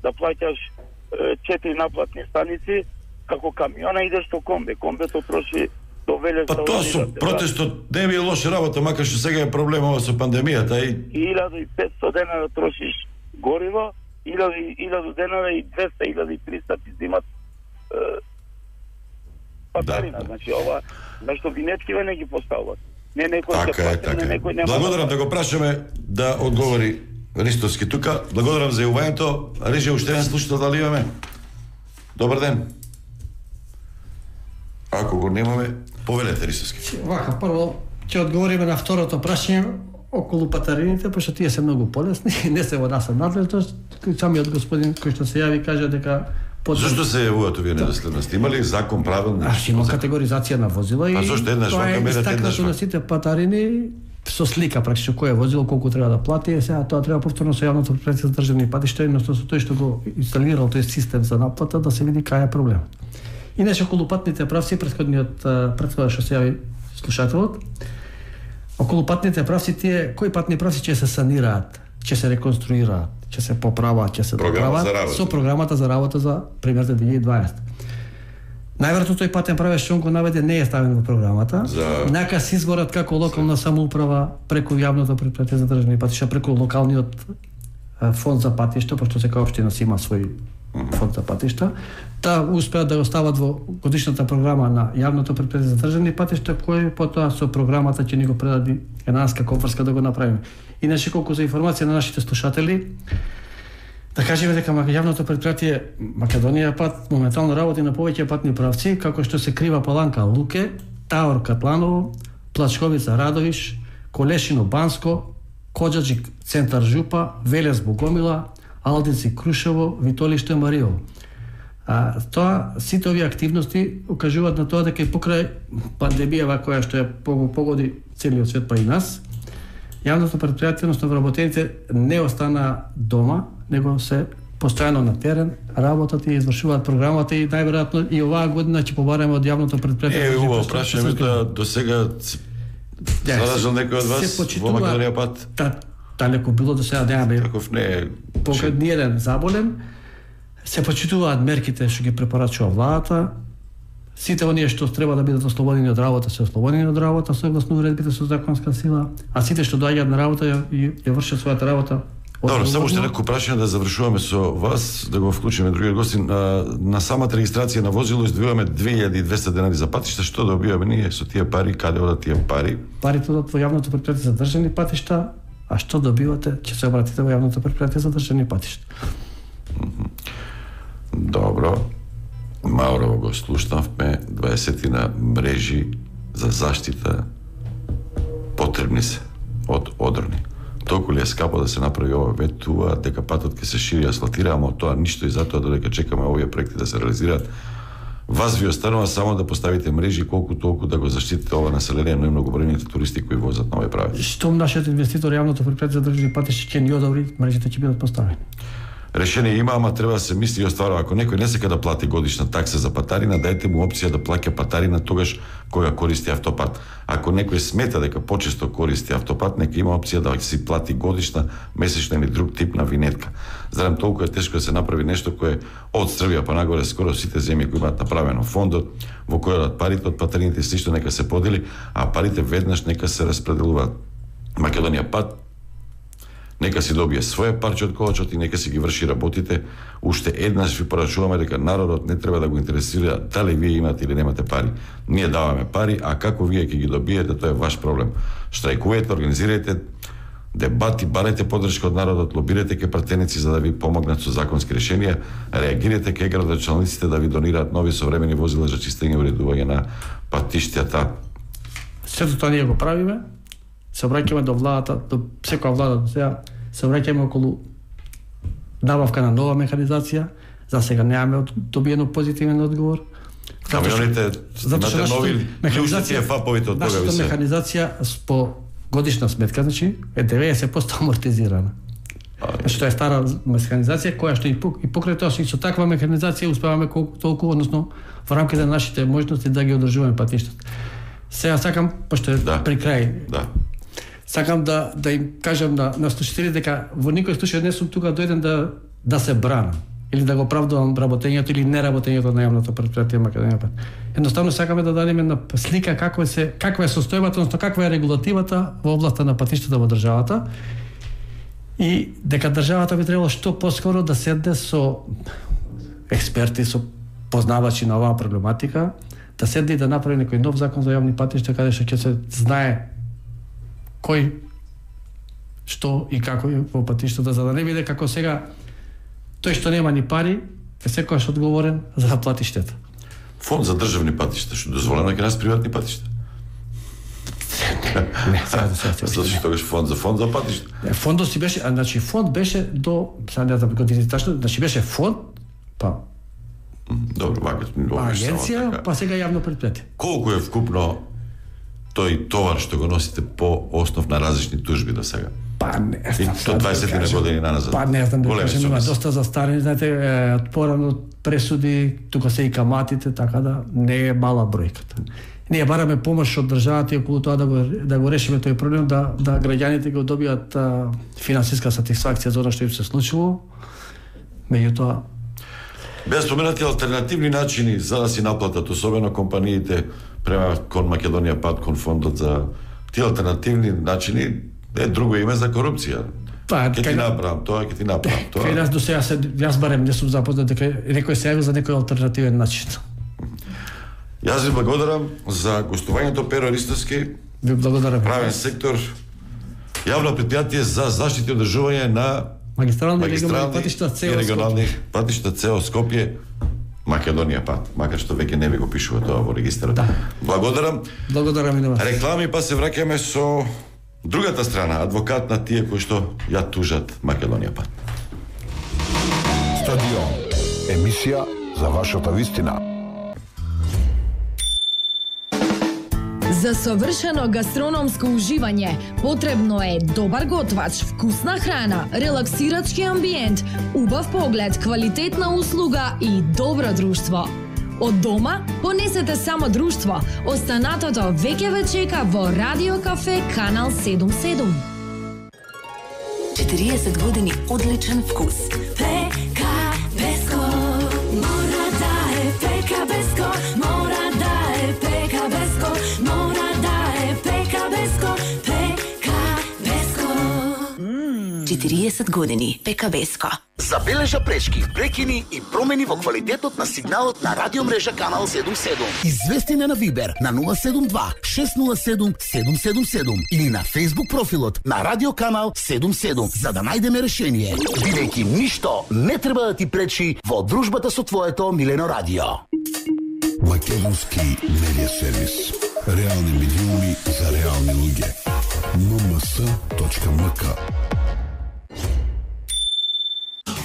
да плаќаш е, четири наплатни станици, како камиона идеш до Комбе. Комбето троши до Велес. Па да тоа одиш, со да, протестот не е лоша работа, макар што сега е проблемова со пандемијата и илјада и петстотини денари да трошиш гориво, илјада денари и двеста, илјада и триста ти зимат е, патарина. Да. Значи ова, зашто винеткиве не ги поставуват. Не некој така се е, плати, така не е. некој нема. Благодарам да го прашаме да одговори Ристовски тука. Благодарам за јавувањето. Режија уште еден слушател дали имаме? Добар ден. Ако го немаме, повелете Ристовски. Вака, прво ќе одговориме на второто прашање околу патарините, пошто тие се многу полесни, не се во наша надлежност. Самиот господин кој што се јави кажа дека Потреб... Зашто се јавуваат овие недоследности? Има ли закон правилник? А, има категоризација на возила и а зашто еднаш вака мерат, еднаш на сите патарини со слика практично кој е возило, колку треба да плати, е сега тоа треба повторно со јавното предпријатие за државни патишта, едноставно со тој што го инсталирал тој систем за наплата да се види кај е проблемот. Иначе околу патните правци, претходниот претходот што се јави слушателот, околу патните правци тие кои патни правци ќе се санираат, ќе се реконструираат, ќе се поправаат, ќе се доправаат со програмата за работа за пример за две илјади и дваесета. Најверојатно тој патен правец што он го наведе не е ставен во програмата. За... Нека се изборат како локална самоуправа преку јавното предпријатие за државни патишта, преку локалниот фонд за патишта, пошто секоја општина си има свој фонд за патишта, да успеат да го стават во годишната програма на јавното предпријатие за државни патишта, кој потоа со програмата ќе ни го предади Енанска Копарска да го направиме. Иначе колку за информација на нашите слушатели, да кажеме дека јавното предпријатие Македонија пат моментално работи на повеќе патни правци, како што се Крива Паланка Луке, Таор Катланово, Плачковица Радовиш, Колешино Банско, Коџаџик Центар Жупа, Велес Богомила, Алдици Крушево, Витолиште Мариово. А тоа сите овие активности укажуваат на тоа дека и покрај пандемијава која што ја погоди целиот свет па и нас, јавното предпријатие, односно вработените не остана дома, него се постојано на терен, работат и извршуваат програмата и најверојатно и оваа година ќе побараме од јавното предпријатие. Е, убаво прашаме тоа до сега заражал некој од вас во Македонија пат? Далеко било до сега немаме. Таков не е. Покад ни еден заболен, се почитуваат мерките што ги препорачува владата. Сите оние што треба да бидат ослободени од работа се ослободени од работа согласно уредбите со законска сила, а сите што доаѓаат на работа ја, ја вршат својата работа. Добро, само уште некој прашање да завршуваме со вас, да го вклучиме другиот гостин. На, на самата регистрација на возило издвојуваме две илјади и двесте денари за патишта. Што добиваме ние со тие пари, каде одат тие пари? Парите одат во јавното предпријатие за државни патишта, а што добивате, ќе се обратите во јавното предпријатие за државни патишта. Добро. Маурово го слушнавме, дваесетина мрежи за заштита потребни се од одрони. Толку ли е скапо да се направи ова, ветува дека патот ќе се шири и асфалтира, ама тоа ништо и затоа додека чекаме овие проекти да се реализираат. Вас ви останува само да поставите мрежи колку толку да го заштитите ова население, но и многобројните туристи кои возат на овој правец. Штом нашиот инвеститор јавното предпријатие за државни патишта ќе ни одобри, мрежите ќе бидат поставени. Решение има, ама треба да се мисли и остварува. Ако некој не сека да плати годишна такса за патарина, дајте му опција да плаќа патарина тогаш кога користи автопат. Ако некој смета дека почесто користи автопат, нека има опција да си плати годишна, месечна или друг тип на винетка. Зарем толку е тешко да се направи нешто кое од Србија па нагоре скоро сите земји кои имаат направено фондот, во кој одат парите од патарините слично нека се подели, а парите веднаш нека се распределуваат. Македонија пат нека си добие своја парче од колачот и нека си ги врши работите. Уште еднаш ви порачуваме дека народот не треба да го интересира дали вие имате или немате пари. Ние даваме пари, а како вие ќе ги добиете, тоа е ваш проблем. Штрајкувајте, организирајте, дебати, барете подршка од народот, лобирате ке пратеници за да ви помогнат со законски решенија, реагирате ке градоначалниците да ви донираат нови современи возила за чистење и уредување на патиштата. Сето тоа ние го правиме, се обраќаме до владата, до секоја влада до сега, се обраќаме околу набавка на нова механизација, за сега немаме добиено позитивен одговор. Камионите, имате нови клучници, фаповите од тога ви се. Нашата механизација по годишна сметка, значи, е деветдесет проценти амортизирана. Значи, тоа е стара механизација, која што и покрај тоа, со таква механизација успеваме колку толку, односно, во рамките на нашите можности да ги одржуваме патиштата. Сега сакам, пошто е да. При крај, да. Сакам да, да им кажам на, на слушателите дека во никој случај не сум тука дојден да, да се брана или да го оправдувам работењето или неработењето на јавното претпријатие Македонија Пат. Едноставно сакаме да дадеме на слика каква се каква е состојбата, односно каква е регулативата во областа на патиштата во државата и дека државата би требало што поскоро да седне со експерти, со познавачи на оваа проблематика, да седне и да направи некој нов закон за јавни патишта каде што ќе се знае кој што и како е во патиштата, за да не биде како сега тој што нема ни пари е секојаш одговорен за да плати штета. Фонд за државни патишта, што дозволено ќе нас приватни патишта. Не, сега да се Зашто тогаш фонд за фонд за патишта. Фондот си беше, значи фонд беше до, сега не знам години тачно, значи беше фонд, па добро, вака, агенција, па сега јавно предпријатие. Колку е вкупно тој товар што го носите по основ на различни тужби до сега? Па не знам. И то дваесет години наназад. Па не знам да кажем, има доста застарени, знаете, порано пресуди, тука се и каматите, така да не е мала бројката. Ние бараме помош од државата и околу тоа да го да го решиме тој проблем, да да граѓаните го добијат а, финансиска сатисфакција за она што им се случило. Меѓутоа без споменати алтернативни начини за да си наплатат, особено компаниите према кон Македонија Пат, кон фондот за тие алтернативни начини е друго име за корупција. Па, ќе ти направам тоа, ќе ти направам тоа. Кај нас до сега се јас барем не сум запознат дека некој се јави за некој алтернативен начин. Јас ви благодарам за гостувањето, Перо Ристовски. Ви благодарам. Правен сектор, јавно предпријатие за заштита и одржување на магистрални и регионални патишта цел регионални патишта цел Скопје, Македонија Пат, макар што веќе не ви го пишува тоа во регистарот. Да. Благодарам. Благодарам и на вас. Реклами, па се враќаме со другата страна, адвокат на тие кои што ја тужат Македонија Пат. Стадион. Емисија за вашата вистина. За совршено гастрономско уживање потребно е добар готвач, вкусна храна, релаксирачки амбиент, убав поглед, квалитетна услуга и добро друштво. Од дома понесете само друштво. Останатото веќе ве чека во Радио Кафе Канал седум седум. четириесет години одличен вкус. Пека Беско, мора да е Пека Беско, мора да е Пека Беско, мора да е Пека Беско, Пека Беско. четириесет години Пека Беско. Забележа пречки, прекини и промени во квалитетот на сигналот на радиомрежа Канал седум седум. Извести на Вибер на нула седум два шест нула седум седум седум седум или на Facebook профилот на Радио Канал седум седум за да најдеме решение, бидејќи ништо не треба да ти пречи во дружбата со твоето милено радио. Македонски медиа сервис. Реални медиуми за реални луѓе. ен ем ес точка ем ка.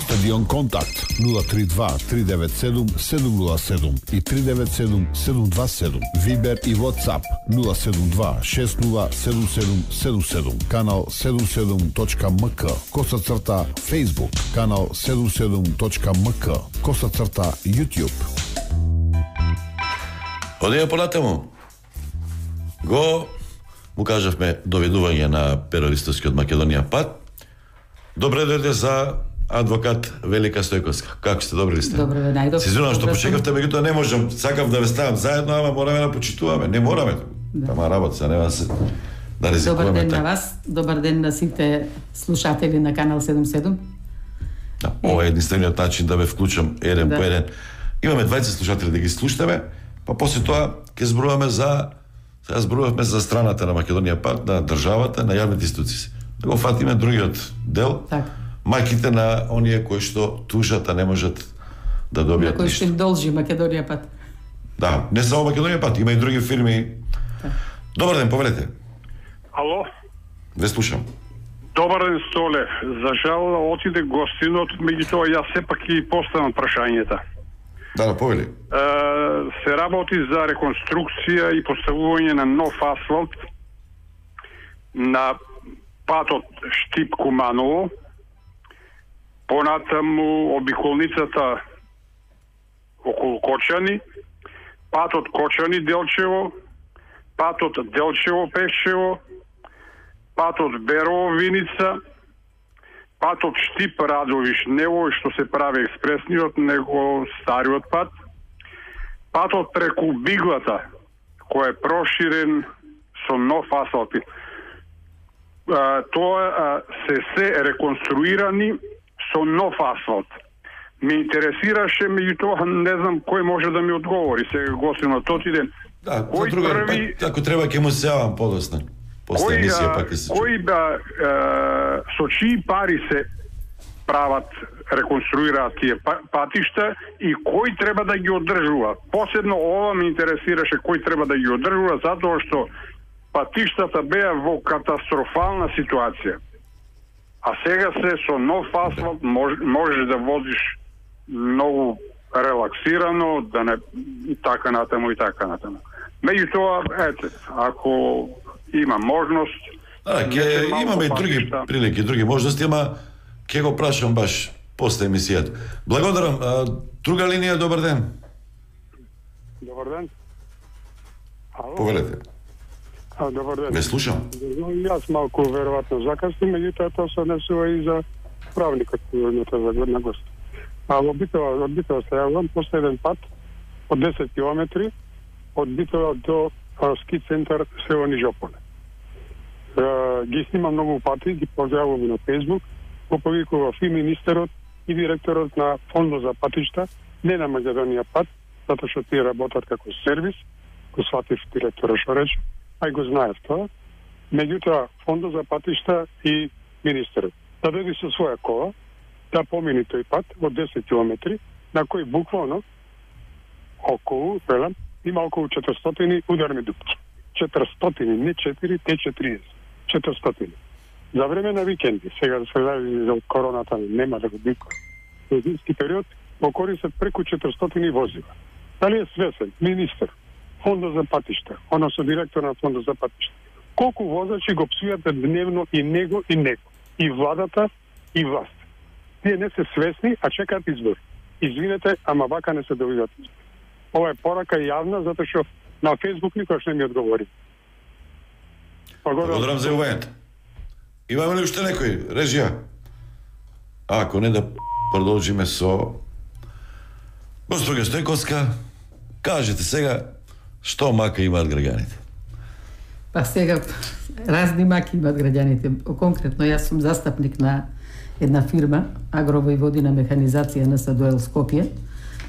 Стадион Контакт нула три два три девет седум седум нула седум и три девет седум седум два седум. Вибер и WhatsApp нула седум два шест нула седум седум седум седум. Канал седум седум точка ем ка. Коса црта Facebook. Канал седум седум точка ем ка. Коса црта YouTube. Одеја понатаму. Го му кажавме доведување на Перо Ристовски од Македонија Пат. Добре дојде за адвокат Велика Стојковска. Како сте, добри ли сте? Добре, најдобро. Се извинувам што почекавте, меѓутоа не можам, сакав да ве ставам заедно, ама мораме да почитуваме. Не мораме. Да. Тама работа, се нема се да ризикуваме. Добар ден така. на вас, добар ден на сите слушатели на Канал седум седум. Да, ова е единствениот начин да ве вклучам еден Да. по еден. Имаме двајцет слушатели да ги слушаме, па после тоа ќе зборуваме за сега зборувавме за страната на Македонија Пат, на државата, на јавните институции. да го фатиме другиот дел. Така. Мајките на оние кои што тужат, а не можат да добијат кој што ништо. им должи Македонија пат. Да, не само Македонија пат, има и други фирми. Добар ден, повелете. Ало? Ве слушам. Добар ден, Столе. За жал отиде гостинот, меѓутоа јас сепак и поставам прашањата. Да, да, повели. Е, се работи за реконструкција и поставување на нов асфалт на патот Штип-Куманово, понатаму обиколницата околу Кочани, патот Кочани-Делчево, патот Делчево-Пешчево, патот Берово-Виница, патот Штип-Радовиш-Нево, што се прави експресниот, него стариот пат, патот преку Биглата, кој е проширен со нов асфалт. Тоа се се реконструирани со нов асфалт. Ме интересираше, меѓутоа не знам кој може да ми одговори. Сега гостинот отиде. Да, кој за друга, први... па, ако треба ќе му се јавам подоцна. После кој, емисија а, пак ќе се кој да е, со чии пари се прават, реконструираат тие патишта и кој треба да ги одржува? Посебно ова ме интересираше кој треба да ги одржува, затоа што патиштата беа во катастрофална ситуација. А сега се со нов асфалт мож, можеш да возиш многу релаксирано, да не така натаму и така натаму. Меѓутоа, ете, ако има можност, Да, ќе имаме и други прилики, други можности, ама ќе го прашам баш после емисијата. Благодарам. А, друга линија, добар ден. Добар ден. Ало? Повелете. А, добар ден. Ве слушам. Јас малку веројатно закаснам, меѓутоа тоа се однесува и за правникот на гост. А во Битола, од Битола се јавам после еден пат од десет километри од Битола до а, ски центар село Нижополе. Е, ги снимам многу пати, ги поздравувам на Facebook, го повикував и министерот и директорот на фондот за патишта, не на Македонија пат, затоа што тие работат како сервис, го сватив директорот што рече, ај го знаев тоа. Меѓутоа, фондот за патишта и министерот да дојде со своја кола, да помини тој пат од десет километри, на кој буквално околу, велам, има околу четиристотини ударни дупки. четиристотини, не четири, те четириесет. четиристотини. За време на викенди, сега да се зависи за короната, нема да го бика. Во зимски период го користат преку четиристотини возила. Дали е свесен министер, фондот за патишта, односно директор на фондот за патишта, колку возачи го псујат дневно и него и него, и владата и власт. Тие не се свесни, а чекаат избори. Извинете, ама вака не се довидат избори. Ова е порака јавна, затоа што на Фейсбук никош не ми одговори. Благодарам за јавувањето. Имаме ли уште некој? Режија? А, ако не да продолжиме со госпоѓа Стојковска, кажете сега што мака имаат граѓаните. Па сега разни маки имаат граѓаните. Конкретно јас сум застапник на една фирма Агровојводина механизација на Садоел Скопје,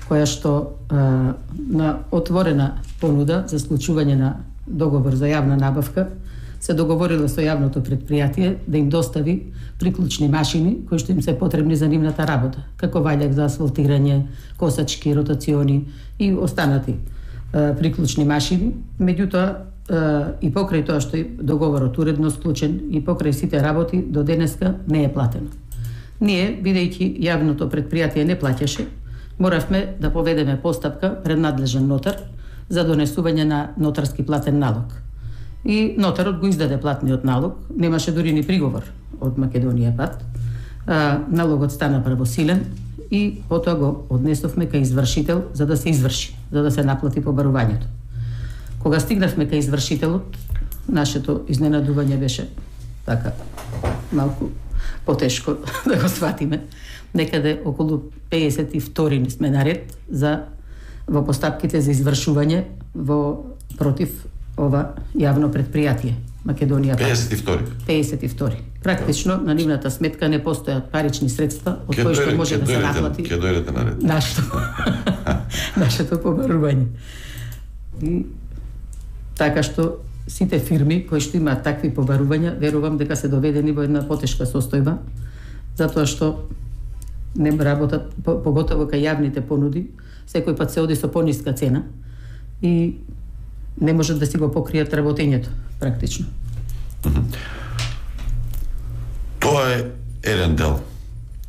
која што а, на отворена понуда за случување на договор за јавна набавка се договорила со јавното предпријатие да им достави приклучни машини кои што им се потребни за нивната работа, како ваљак за асфалтирање, косачки, ротациони и останати а, приклучни машини. Меѓутоа и покрај тоа што договорот уредно склучен и покрај сите работи до денеска не е платено. Ние, бидејќи јавното предпријатие не плаќаше, моравме да поведеме постапка пред надлежен нотар за донесување на нотарски платен налог. И нотарот го издаде платниот налог, немаше дури ни приговор од Македонија пат. А, налогот стана правосилен и потоа го однесовме кај извршител за да се изврши, за да се наплати побарувањето. Кога стигнавме кај извршителот, нашето изненадување беше така малку потешко да го сватиме. Некаде околу пеесет и втори сме наред за во постапките за извршување во против ова јавно предпријатие Македонија. пеесет и втори. пеесет и втори. Практично на нивната сметка не постојат парични средства од кои што може да се наплати. Ке дојдете наред. Нашето нашето побарување. И така што сите фирми кои што имаат такви побарувања, верувам дека се доведени во една потешка состојба, затоа што не работат, поготово кај јавните понуди, секој пат се оди со пониска цена и не можат да си го покријат работењето, практично. Тоа е еден дел.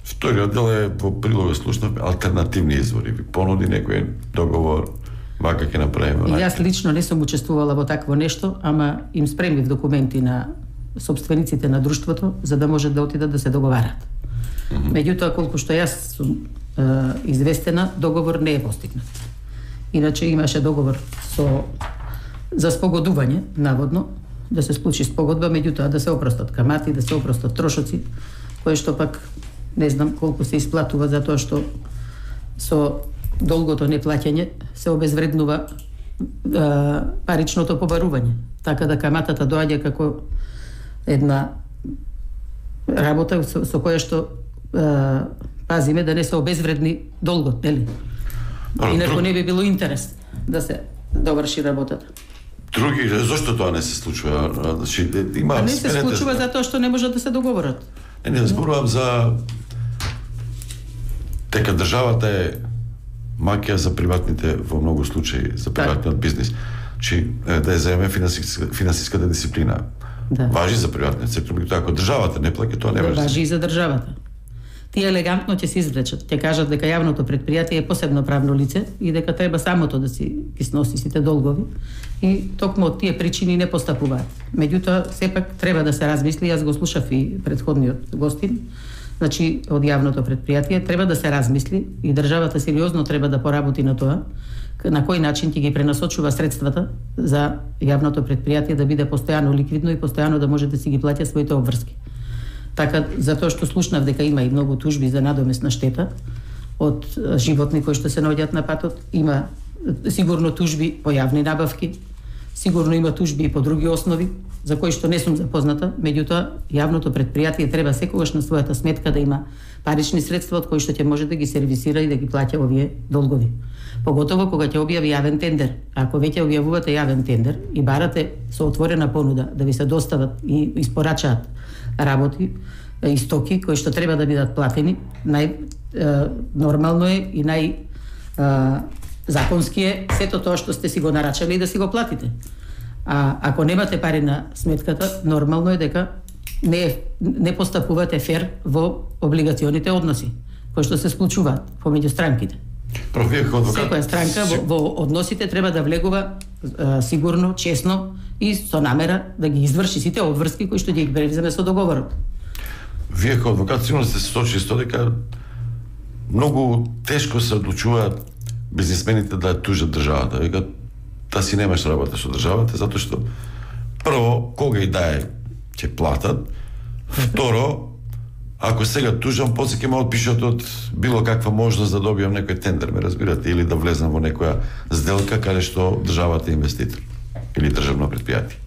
Вториот дел е во прилога слушнав алтернативни извори. Ви понуди некој договор, вака ќе направиме. И јас лично не сум учествувала во такво нешто, ама им спремив документи на собствениците на друштвото за да можат да отидат да се договарат. Mm -hmm. Меѓутоа, колку што јас сум е, известена, договор не е постигнат. Иначе имаше договор со за спогодување, наводно, да се случи спогодба, меѓутоа да се опростат камати, да се опростат трошоци, кои што пак не знам колку се исплатува, затоа што со долгото неплаќање се обезвреднува е, паричното побарување. Така да каматата доаѓа како една работа со, со која што е, пазиме да не се обезвредни долгот, нели? Инаку не би било интерес да се доврши работата. Други, зошто тоа не се случува? Значи, има а не се сменете... случува затоа што не можат да се договорат. Не, не зборувам за дека државата е маќа за приватните, во многу случаи, за приватниот бизнис. Чи да ја земе финансиска, финансиската дисциплина. Да. Важи за приватниот сектор, меѓутоа ако државата не плаќа, тоа не важи. Важи и за државата. Тие елегантно ќе се извлечат. Ќе кажат дека јавното претпријатие е посебно правно лице и дека треба самото да си ги сноси сите долгови и токму од тие причини не постапуваат. Меѓутоа, сепак треба да се размисли, јас го слушав и претходниот гостин, значи од јавното претпријатие треба да се размисли и државата сериозно треба да поработи на тоа, на кој начин ќе ги пренасочува средствата за јавното претпријатие да биде постојано ликвидно и постојано да може да си ги плаќа своите обврски. Така, затоа што слушнав дека има и многу тужби за надомесна штета од животни кои што се наоѓаат на патот, има сигурно тужби по јавни набавки, сигурно има тужби и по други основи, за кои што не сум запозната, меѓутоа јавното претпријатие треба секогаш на својата сметка да има парични средства од кои што ќе може да ги сервисира и да ги плаќа овие долгови. Поготово кога ќе објави јавен тендер. Ако веќе објавувате јавен тендер и барате со отворена понуда да ви се достават и испорачаат работи и стоки кои што треба да бидат платени, нај е, нормално е и нај е, законски е сето тоа што сте си го нарачали да си го платите. А ако немате пари на сметката, нормално е дека не не постапувате фер во облигационите односи кои што се случуваат помеѓу странките. Секоја странка во, во односите треба да влегува е, сигурно, честно и со намера да ги изврши сите обврски кои што ги превземе со договорот. Вие како адвокат сигурно сте се сочили со дека многу тешко се одлучуваат бизнисмените да тужат државата. Вика, да си немаш работа со државата, затоа што прво, кога и да е, ќе платат. Второ, ако сега тужам, после ќе ме отпишат од било каква можност да добијам некој тендер, ме разбирате, или да влезам во некоја сделка каде што државата е инвеститор или државно предпријатие.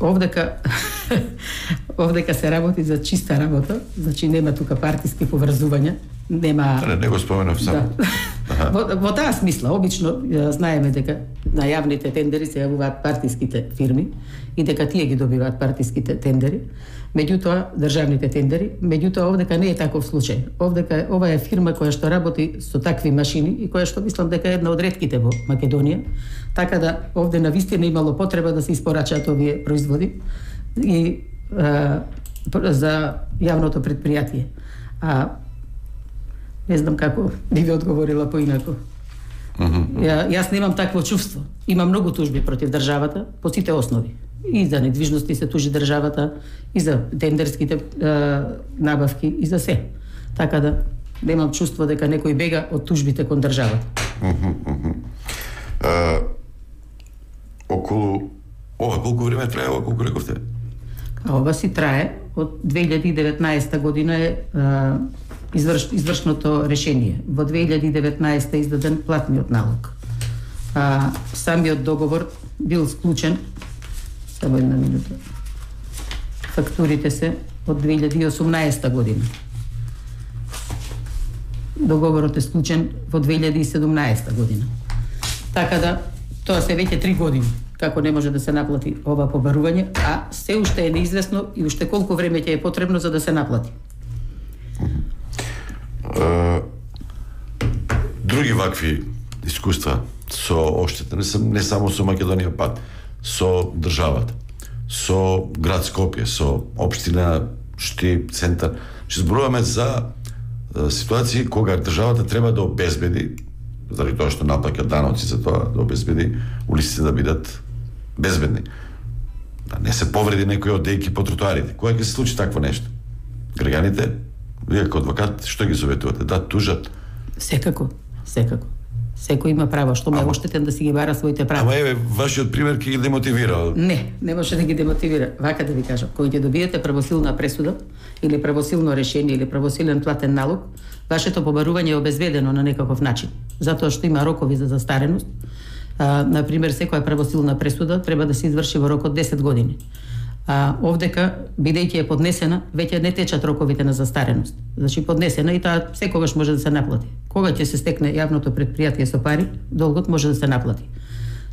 Овдека овдека се работи за чиста работа, значи нема тука партиски поврзувања, нема. Не, не го споменав само. Да. Во, во таа смисла, обично знаеме дека на јавните тендери се јавуваат партиските фирми и дека тие ги добиваат партиските тендери, меѓутоа државните тендери, меѓутоа овдека не е таков случај. Овдека ова е фирма која што работи со такви машини и која што мислам дека е една од ретките во Македонија, така да овде навистина имало потреба да се испорачаат овие производи и а, за јавното предпријатие. А не знам како би ви одговорила поинаку. Ја, јас немам такво чувство. Има многу тужби против државата по сите основи. И за недвижности се тужи државата, и за тендерските е, набавки, и за се. Така да немам чувство дека некој бега од тужбите кон државата. Uh, околу ова колку време трае, ова колку рековте? А ова си трае од две илјади и деветнаесета година е, е изврш, извршното решение. Во две илјади и деветнаесета издаден платниот налог. А, самиот договор бил склучен, само една минута, фактурите се од две илјади и осумнаесета година. Договорот е склучен во две илјади и седумнаесета година. Така да, тоа се веќе три години како не може да се наплати ова побарување, а се уште е неизвестно и уште колку време ќе е потребно за да се наплати. Uh, други вакви искуства со оштета, не, сам, не само со Македонија пат, со државата, со град Скопје, со општина Шти, центар. Ще зборуваме за uh, ситуации кога државата треба да обезбеди, заради тоа што наплаќа даноци за тоа, да обезбеди улиците да бидат безбедни. Да не се повреди некој од дејки по тротоарите. Кога ќе се случи такво нешто? Граѓаните, вие како адвокат, што ги советувате? Да тужат? Секако, секако. Секој има право, што ме е оштетен да си ги бара своите права. Ама еве, вашиот пример ќе ги демотивира. Не, не може да ги демотивира. Вака да ви кажам, кога ќе добиете правосилна пресуда или правосилно решение или правосилен платен налог, вашето побарување е обезведено на некаков начин, затоа што има рокови за застареност. А, например, секоја правосилна пресуда треба да се изврши во рок од десет години. А овдека, бидејќи е поднесена, веќе не течат роковите на застареност. Значи поднесена и таа секогаш може да се наплати. Кога ќе се стекне јавното предпријатие со пари, долгот може да се наплати.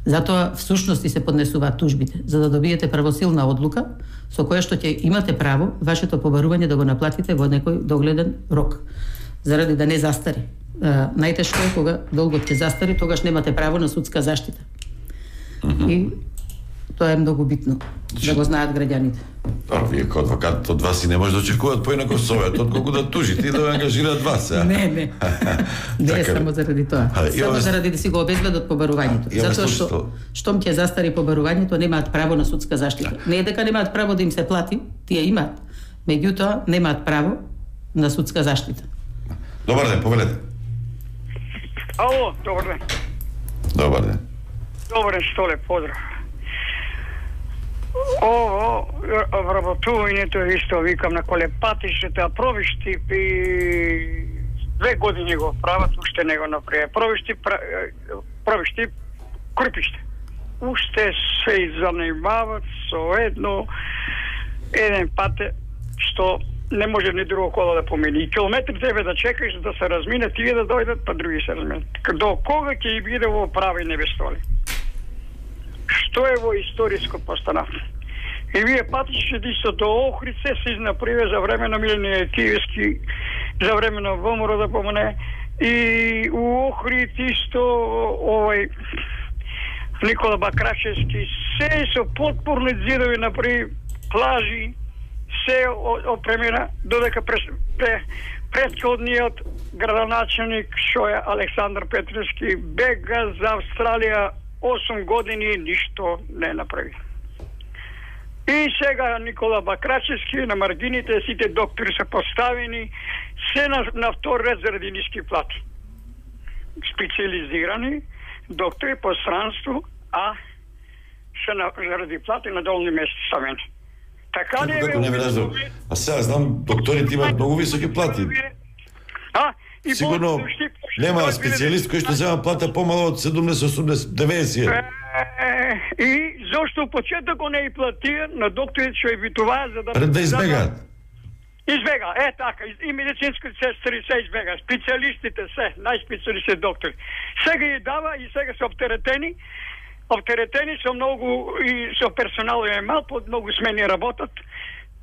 Затоа всушност и се поднесуваат тужбите, за да добиете правосилна одлука со која што ќе имате право вашето побарување да го наплатите во некој догледен рок, заради да не застари. А, најтешко е кога долгот ќе застари, тогаш немате право на судска заштита. Mm-hmm. И тоа е многу битно да го знаат граѓаните. А вие како адвокат од вас и не може да очекуваат поинако совет, отколку да тужите и да ве ангажираат вас, а? Не, не. Не е само заради тоа. А, само имаме... заради да си го обезбедат побарувањето. Затоа што штом ќе застари побарувањето, немаат право на судска заштита. Не е дека немаат право да им се плати, тие имаат. Меѓутоа немаат право на судска заштита. Добар ден, повелете. Ало, добар ден. Добар ден. Добар ден, Столе, поздрав. Ово, вработувањето е исто, викам, на колепатишите, а провиштип и две години го прават, уште не го направи. Провиштип, провиштип, крупиште. Уште се занимават со едно, еден пат, што не може ни друго коло да помени. И километри тебе да чекаш да се размине, тие да дојдат, па други се разминат. До кога ќе биде во прави небестоли? Што е во историско постановка? И вие патичите исто до Охрице се изнаправи за време на Миленије Киевски, за време на ВМРО да помне, и у Охрид исто овој Никола Бакрачевски, се со потпорни зидови направи, плажи, се опремена, додека пред, пред, предходниот градоначелник, што е Александар Петревски, бега за Австралија осум години, ништо не направи. И сега Никола Бакрачевски, на маргините сите доктори се поставени, се на, на втор ред заради ниски плати. Специализирани доктори по странство, а се на, заради плати на долни места ставени. Така не е... Не разбирам. А сега знам, докторите имаат многу високи плати. А, и сигурно нема специјалист кој што зема плата помало од седумдесет, осумдесет, деветдесет. И зошто почеток го не и платија на докторите што ја битуваа за да... Пред да избегаат. Избега, е така, и медицинските сестри се избега, специјалистите се, најспецијалистите доктори. Сега ја дава и сега се оптеретени, оптеретени со многу и со персонал е мал, под многу смени работат,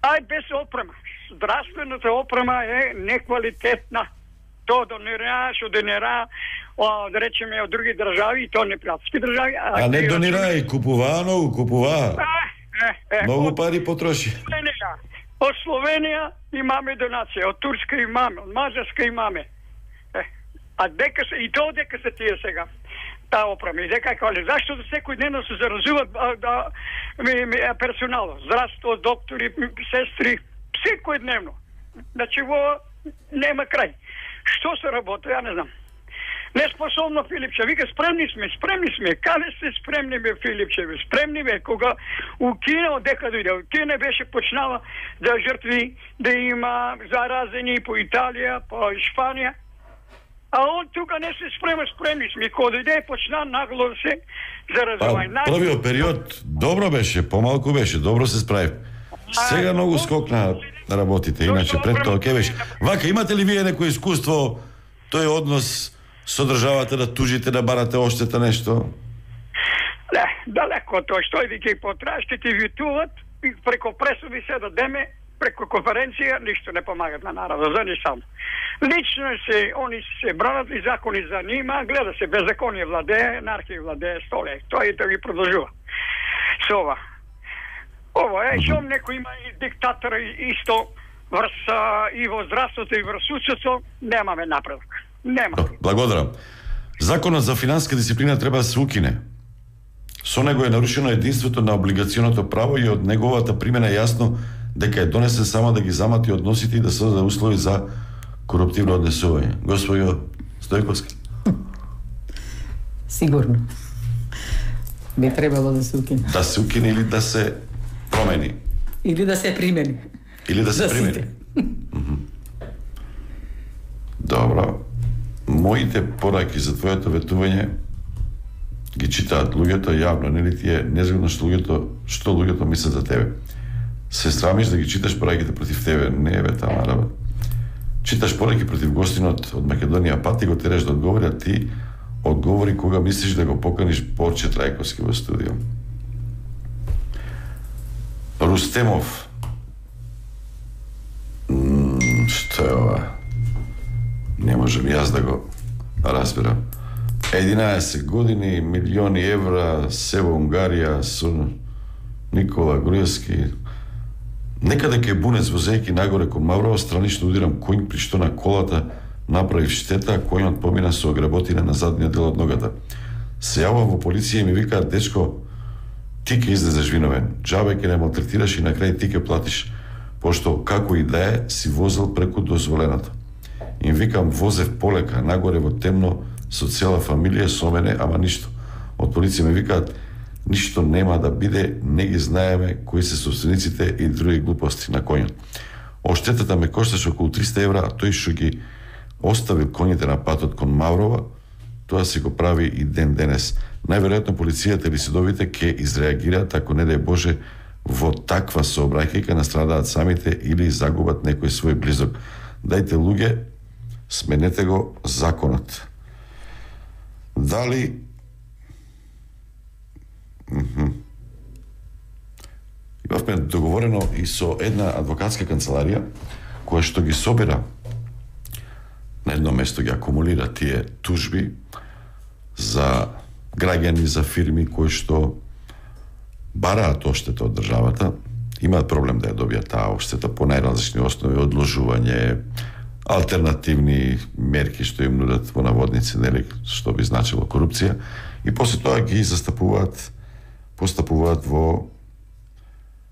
а без опрема. Здравствената опрема е неквалитетна. То донира, што донира, да речеме, од други држави, и то непријателски држави. А, а не донира и купуваа многу, купуваа. Е, е, многу од, пари потроши. Словенија, од Словенија имаме донација, од Турска имаме, од Мажарска имаме. Е, а дека се, и то дека се тие сега, таа опрема. И дека кале, зашто да секој ден се заразуват да, ми, ми, персонал, здравство, доктори, сестри, секој дневно. Значи, во нема крај. Што се работи, ја не знам. Неспособно Филипче, вика спремни сме, спремни сме. Каде се спремни бе Филипче, бе? Спремни бе кога у Кина, дека дојде, Кина беше почнала да жртви, да има заразени по Италија, по Шпанија. А он тука не се спрема, спремни сме. Кога дојде почна нагло се заразување. Па, првиот период добро беше, помалку беше, добро се справи. Сега многу скок на работите, иначе пред тоа ке беше. Вака, имате ли вие некој искуство, тој однос со државата, да тужите, да барате оштета нешто? Не, далеко од тоа, што и ги потраеш, ќе ти витуват и преко пресуди се да деме, преко конференција, ништо не помагат на народот, за ни само. Лично се, они се бранат и закони за нима, гледа се, беззаконие владее, анархија владее, столе, тоа и тоа ги продолжува. Со ова. Ова е, шом некој има и диктатор исто врз и во здравството и врз судството, немаме напредок. Нема. Благодарам. Законот за финансиска дисциплина треба да се укине. Со него е нарушено единството на облигационото право и од неговата примена е јасно дека е донесен само да ги замати односите и да создаде услови за коруптивно однесување. Господјо Стојковски. Сигурно. Би требало да се укине. Да се укине или да се промени. Или да се примени. Или да се примени. Добро. Моите пораки за твоето ветување ги читаат луѓето јавно, нели ти е незгодно што луѓето, што луѓето мислат за тебе. Се срамиш да ги читаш пораките против тебе, не е бе тама работа. Читаш пораки против гостинот од Македонија Пат и го тереш да одговори, а ти одговори кога мислиш да го поканиш Борче Трајковски во студио. Рустемов. М, што е ова? Не можем јас да го разберам. единаесет години, милиони евра, се во Унгарија со Никола Груевски. Некаде ке бунец возејќи нагоре кон Маврово, странично удирам коњ, при што на колата направив штета, а коњот помина со огработина на задниот дел од ногата. Се јавам во полиција и ми викаат: дечко, ти ке излезеш виновен. Џабе ке не малтретираш и на крај ти ке платиш, пошто како и да е си возел преку дозволеното. Им викам: возев полека, нагоре во темно, со цела фамилија со мене, ама ништо. Од полиција ми викаат: ништо нема да биде, не ги знаеме кои се собствениците и други глупости на коњот. Оштетата ме кошташе околу триста евра, а тој што ги оставил коњите на патот кон Маврова, тоа се го прави и ден денес. Најверојатно полицијата или судовите ќе изреагираат ако не дај Боже во таква сообраќајка настрадаат самите или загубат некој свој близок. Дајте луѓе, сменете го законот. Дали Mm-hmm. Имавме договорено и со една адвокатска канцеларија која што ги собира на едно место, ги акумулира тие тужби за граѓани, за фирми кои што бараат оштета од државата, имаат проблем да ја добијат таа оштета по најразлични основи, одложување, алтернативни мерки што им нудат во наводници, нели, што би значило корупција, и после тоа ги застапуваат постапуваат во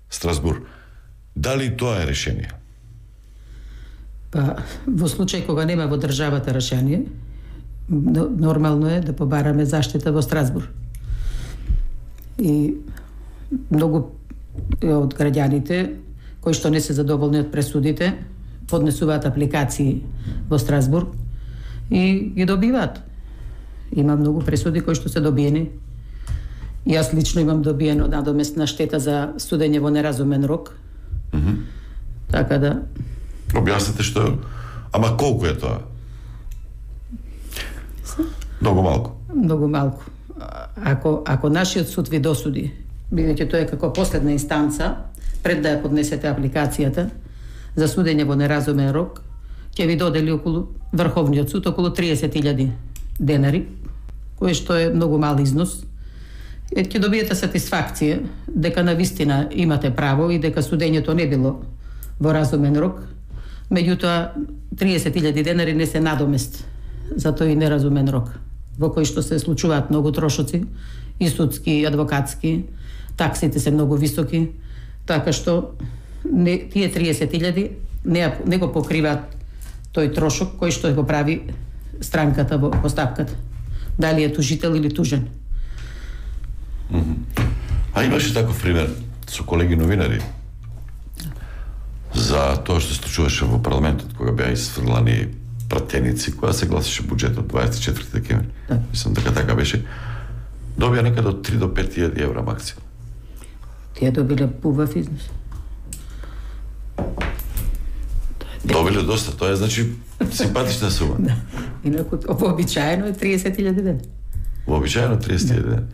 Страсбур. Дали тоа е решение? Па, во случај кога нема во државата решение, нормално е да побараме заштита во Страсбур. И многу од граѓаните кои што не се задоволни од пресудите поднесуваат апликации во Страсбур и ги добиваат. Има многу пресуди кои што се добиени. Јас лично имам добиено надоместна штета за судење во неразумен рок. Mm-hmm. Така да... Објасните што... Ама колку е тоа? Многу малку. Многу малку. Ако, ако нашиот суд ви досуди, бидејќи тоа е како последна инстанца, пред да ја поднесете апликацијата за судење во неразумен рок, ќе ви додели околу Врховниот суд околу триесет илјади денари, кој што е многу мал износ. Ќе добиете сатисфакција дека навистина имате право и дека судењето не било во разумен рок, меѓутоа триесет илјади денари не се надомест за тој неразумен рок, во кој што се случуваат многу трошоци, и судски, и адвокатски, таксите се многу високи, така што не, тие триесет илјади не, не го покриваат тој трошок кој што го прави странката во постапката. Дали е тужител или тужен. Mm-hmm. А имаше таков пример со колеги новинари за тоа што се случуваше во парламентот кога беа изфрлани пратеници, кога се гласеше буџетот дваесет и четврти декември. Да. Мислам дека така беше. Добија некаде од три до пет илјади евра максимум. Тие добиле убав износ. Добиле доста, тоа е значи симпатична сума. Да. Инаку вообичаено е триесет илјади ден. Вообичаено триесет илјади ден.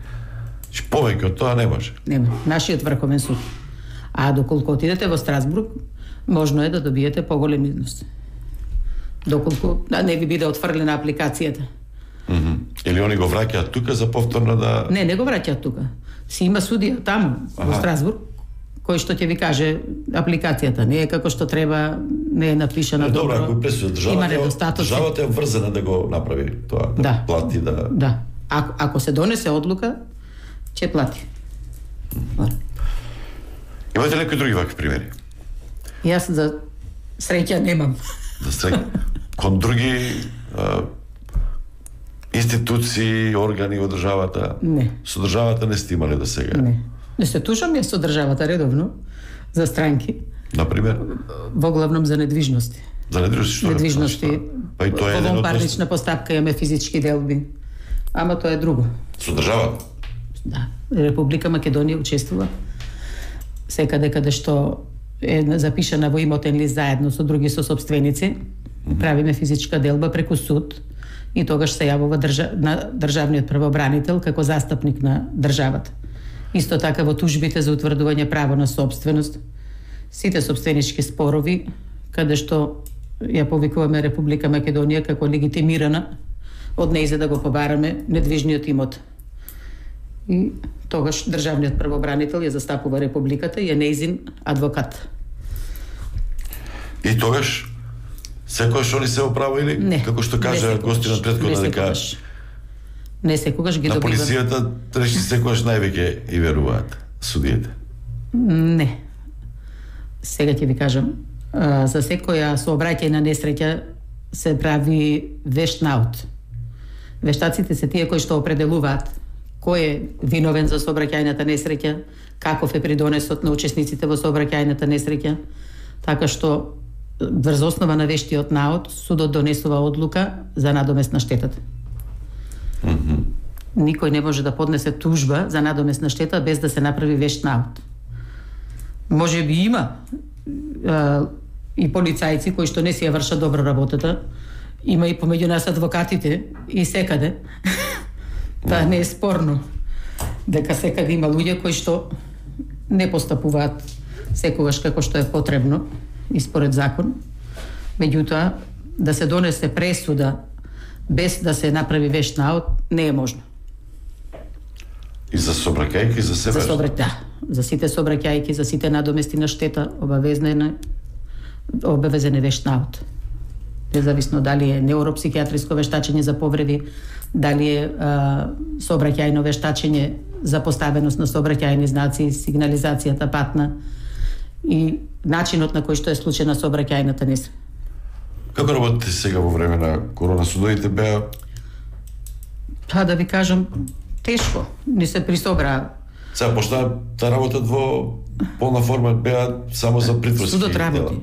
Че повеќе од тоа не може. Нема. Нашиот врховен суд. А доколку отидете во Страсбург, можно е да добиете поголем износ. Доколку да не ви биде отфрлена апликацијата. Mm -hmm. Или они го враќаат тука за повторно да... Не, не го враќаат тука. Си има судија таму, во Страсбург, кој што ќе ви каже апликацијата не е како што треба, не е напишана добро. Добро, ако пресуда државата, државата е врзана да го направи тоа, да, да. плати, да... Да. Ако, ако се донесе одлука, ќе плати. Имате ли некои други вакви примери? Јас за среќа немам. За среќа? Кон други а, институции, органи во државата? Не. Со државата не сте имале до сега? Не. Не се тушам јас со државата редовно за странки. Например? Во главном за недвижности. За недвижности што? Недвижности. Па и тоа е еден од парнична постапка имаме физички делби. Ама тоа е друго. Со државата? Да. Република Македонија учествува секаде каде што е запишана во имотен лист заедно со други сосопственици. Mm -hmm. Правиме физичка делба преку суд и тогаш се јавува држа... на државниот правобранител како застапник на државата. Исто така во тужбите за утврдување право на собственост, сите собственички спорови, каде што ја повикуваме Република Македонија како легитимирана од нејзе да го побараме недвижниот имот. И тогаш државниот правобранител ја застапува Републиката и е нејзин адвокат. И тогаш секогаш они се оправа или не, како што кажа гостинот претходно дека не секогаш ги на добиват. На полицијата реши секогаш највеќе и веруваат судиите. Не. Сега ќе ви кажам, за секоја сообраќајна несреќа се прави вешт наут. Вештаците се тие кои што определуваат кој е виновен за сообраќајната несреќа, каков е придонесот на учесниците во сообраќајната несреќа, така што врз основа на вештиот наут судот донесува одлука за надомест на штетата. Mm -hmm. Никој не може да поднесе тужба за надомест на штета без да се направи вешт наут. Може би има а, и полицајци кои што не си ја вршат добро работата, има и помеѓу нас адвокатите и секаде. Тоа не е спорно. Дека секаде има луѓе кои што не постапуваат секогаш како што е потребно и според закон. Меѓутоа, да се донесе пресуда без да се направи вешт наут не е можно. И за сообраќајки за себе? За сообраќајки, да. За сите сообраќајки, за сите надомести на штета, обавезен е обавезен е вешт наут. Независно дали е неуропсихијатриско вештачење за повреди, дали е а, сообраќајно вештачење за поставеност на сообраќајни знаци, сигнализацијата патна и начинот на кој што е случена сообраќајната несреќа. Како работите сега во време на корона? Судовите беа? Па да ви кажам, тешко. Не се присобраа. Сега почна да работат во полна форма, беа само за притворски Судот работи.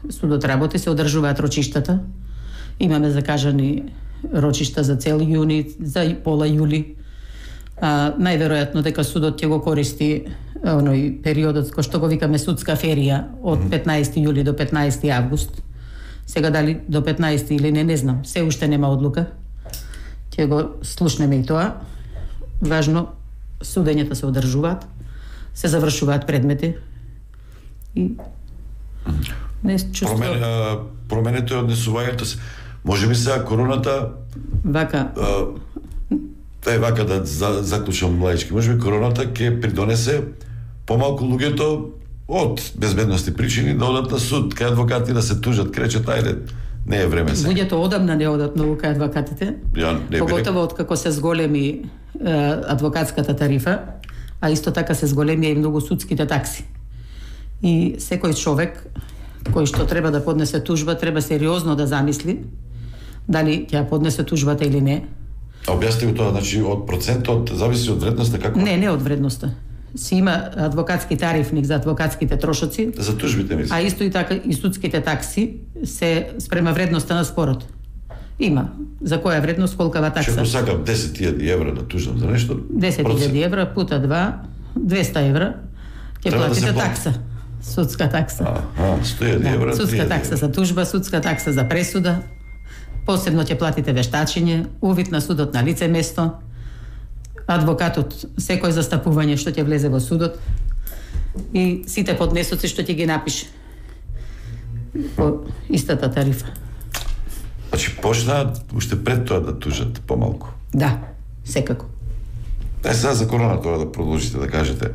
Судот работи, се одржуваат рочиштата. Имаме закажани рочишта за цел јуни, за пола јули. А, најверојатно дека судот ќе го користи оној периодот кој што го викаме судска ферија од петнаесети јули до петнаесети август. Сега дали до петнаесети или не, не знам. Се уште нема одлука. Ќе го слушнеме и тоа. Важно, судењата се одржуваат, се завршуваат предмети и не чувствувам. Промен, променето е однесувањето се. Може би сега короната вака е вака да за, заклучам младички. Може би короната ќе придонесе помалку луѓето од безбедности причини да одат на суд, кај адвокати да се тужат, кречат, ајде, не е време сега. Луѓето одамна не одат многу кај адвокатите. Ја, не Поготово од како се зголеми е, адвокатската тарифа, а исто така се зголеми и многу судските такси. И секој човек кој што треба да поднесе тужба, треба сериозно да замисли дали ќе поднесе тужбата или не. А објасни го тоа, значи од процентот зависи од вредноста како? Не, не од вредноста. Си има адвокатски тарифник за адвокатските трошоци. За тужбите мислам. А исто и така и судските такси се спрема вредноста на спорот. Има. За која вредност колкава такса? Што сакам десет илјади евра да тужам за нешто? десет илјади евра пута два, двеста евра ќе платите да такса. Судска такса. Аха, сто илјади евра. Судска такса за тужба, судска такса за пресуда. Посебно ќе платите вештачење, увид на судот на лице место. адвокатот секој застапување што ќе влезе во судот и сите поднесоци што ќе ги напише по истата тарифа. Значи, почнаат уште пред тоа да тужат помалку. Да, секако. Е, сега за корона тоа да продолжите да кажете.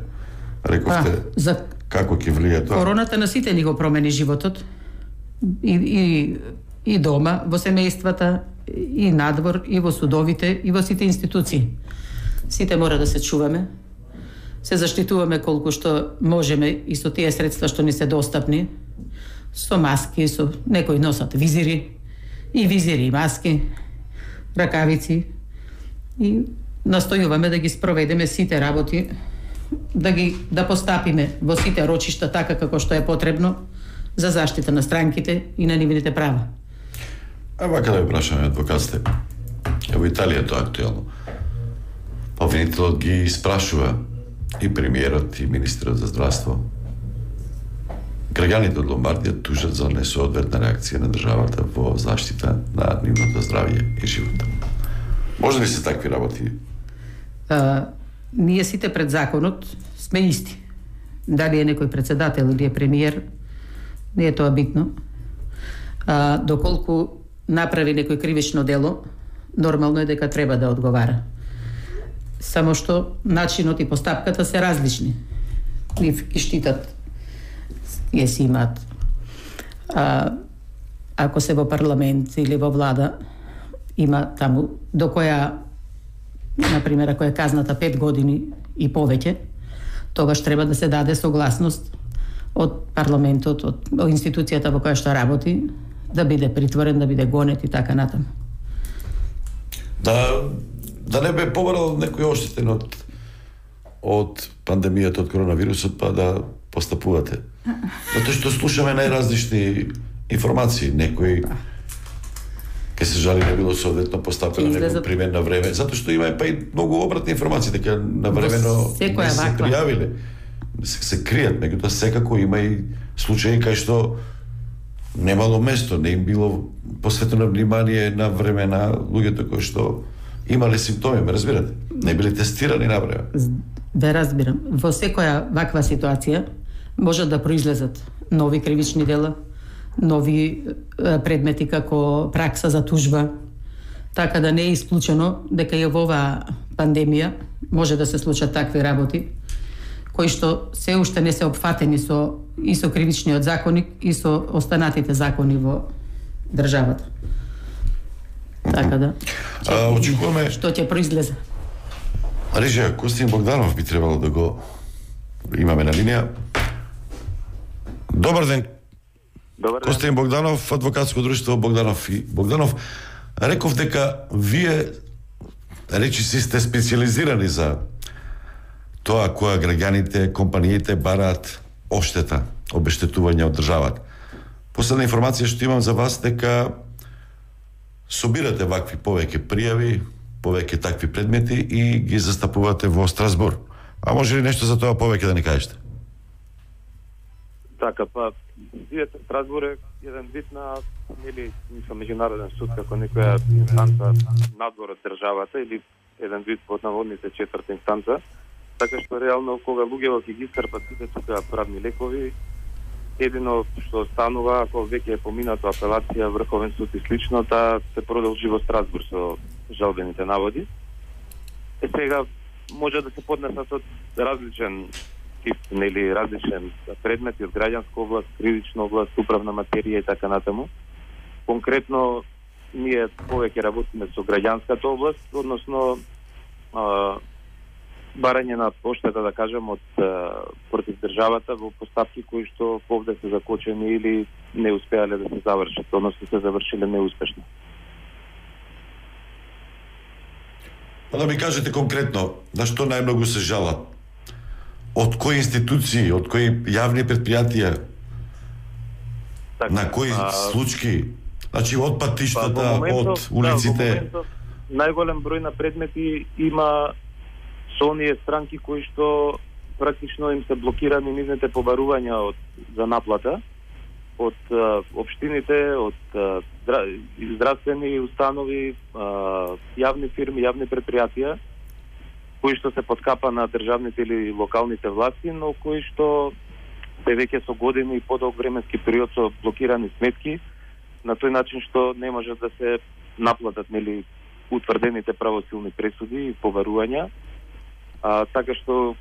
Рековте, а, за... како ќе влие тоа? Короната на сите ни го промени животот. И, и, и дома, во семејствата, и надвор, и во судовите, и во сите институции. Сите мора да се чуваме, се заштитуваме колку што можеме и со тие средства што ни се достапни, со маски, со некои носат визири, и визири и маски, ракавици, и настојуваме да ги спроведеме сите работи, да ги да постапиме во сите рочишта така како што е потребно за заштита на странките и на нивните права. А вака да ви прашаме, адвокатите, во Италија тоа актуелно. Обвинителот ги спрашува и премиерот и министерот за здравство. Граѓаните од Ломбардија тужат за несоодветна реакција на државата во заштита на нивното здравје и живота. Може ли се такви работи? А, ние сите пред законот сме исти. Дали е некој председател или е премиер, не е тоа битно. А, доколку направи некој кривично дело, нормално е дека треба да одговара. Само што начинот и постапката се различни. Нив ги штитат, тие си имаат. А, ако се во парламент или во влада, има таму до која, например, ако е казната пет години и повеќе, тогаш треба да се даде согласност од парламентот, од институцијата во која што работи, да биде притворен, да биде гонет и така натаму. Да, да не бе побарал некој оштетен од од пандемијата, од коронавирусот, па да постапувате. Затоа што слушаме најразлични информации, некои ке се жали не било соодветно постапено, не било примен на време, затоа што има па и многу обратни информации, дека на времено не се пријавиле, се, се кријат, меѓутоа секако има и случаи кај што немало место, не им било посветено внимание на време на луѓето кои што имале симптоми, ме разбирате? Не били тестирани на време. Ве разбирам. Во секоја ваква ситуација може да произлезат нови кривични дела, нови предмети како пракса за тужба, така да не е исклучено дека и во оваа пандемија може да се случат такви работи, кои што се уште не се опфатени со и со кривичниот законник и со останатите закони во државата. Така да. А, очекуваме што ќе произлезе. Режија, Костин Богданов би требало да го имаме на линија. Добар ден. Добар ден. Костин Богданов, адвокатско друштво Богданов и Богданов. Реков дека вие речи си сте специализирани за тоа која граѓаните, компаниите бараат оштета, обештетување од државата. Последна информација што имам за вас дека собирате вакви повеќе пријави, повеќе такви предмети и ги застапувате во Страсбур. А може ли нешто за тоа повеќе да ни кажете? Така, па, видете, Страсбур е еден вид на, или, мислам, меѓународен суд, како некоја инстанца надвор од државата, или еден вид под наводните четврта инстанца, така што реално кога луѓето ќе ги искрпат сите тука правни лекови, едино што станува, ако веќе е поминато апелација, Врховен суд и слично, таа се продолжи во Страсбур со жалбените наводи. Е сега може да се поднесат од различен тип, нели различен предмети од граѓанска област, кривична област, управна материја и така натаму. Конкретно ние повеќе работиме со граѓанската област, односно а, барање на поштета, да кажем, од а, против државата во постапки кои што овде се закочени или не успеале да се завршат, односно се завршиле неуспешно. Па да ми кажете конкретно, на што најмногу се жалат? Од кои институции, од кои јавни предпријатија? Так, на кои а... случаи? Значи, од патиштата, па, моментов, од улиците? Да, во моментов, најголем број на предмети има со оние странки кои што практично им се блокирани нивните побарувања од, за наплата од а, општините, од а, здравствени установи, а, јавни фирми, јавни предпријатија, кои што се подкапа на државните или локалните власти, но кои што се веќе со години и подолг временски период со блокирани сметки, на тој начин што не може да се наплатат нели утврдените правосилни пресуди и поверувања. А, така што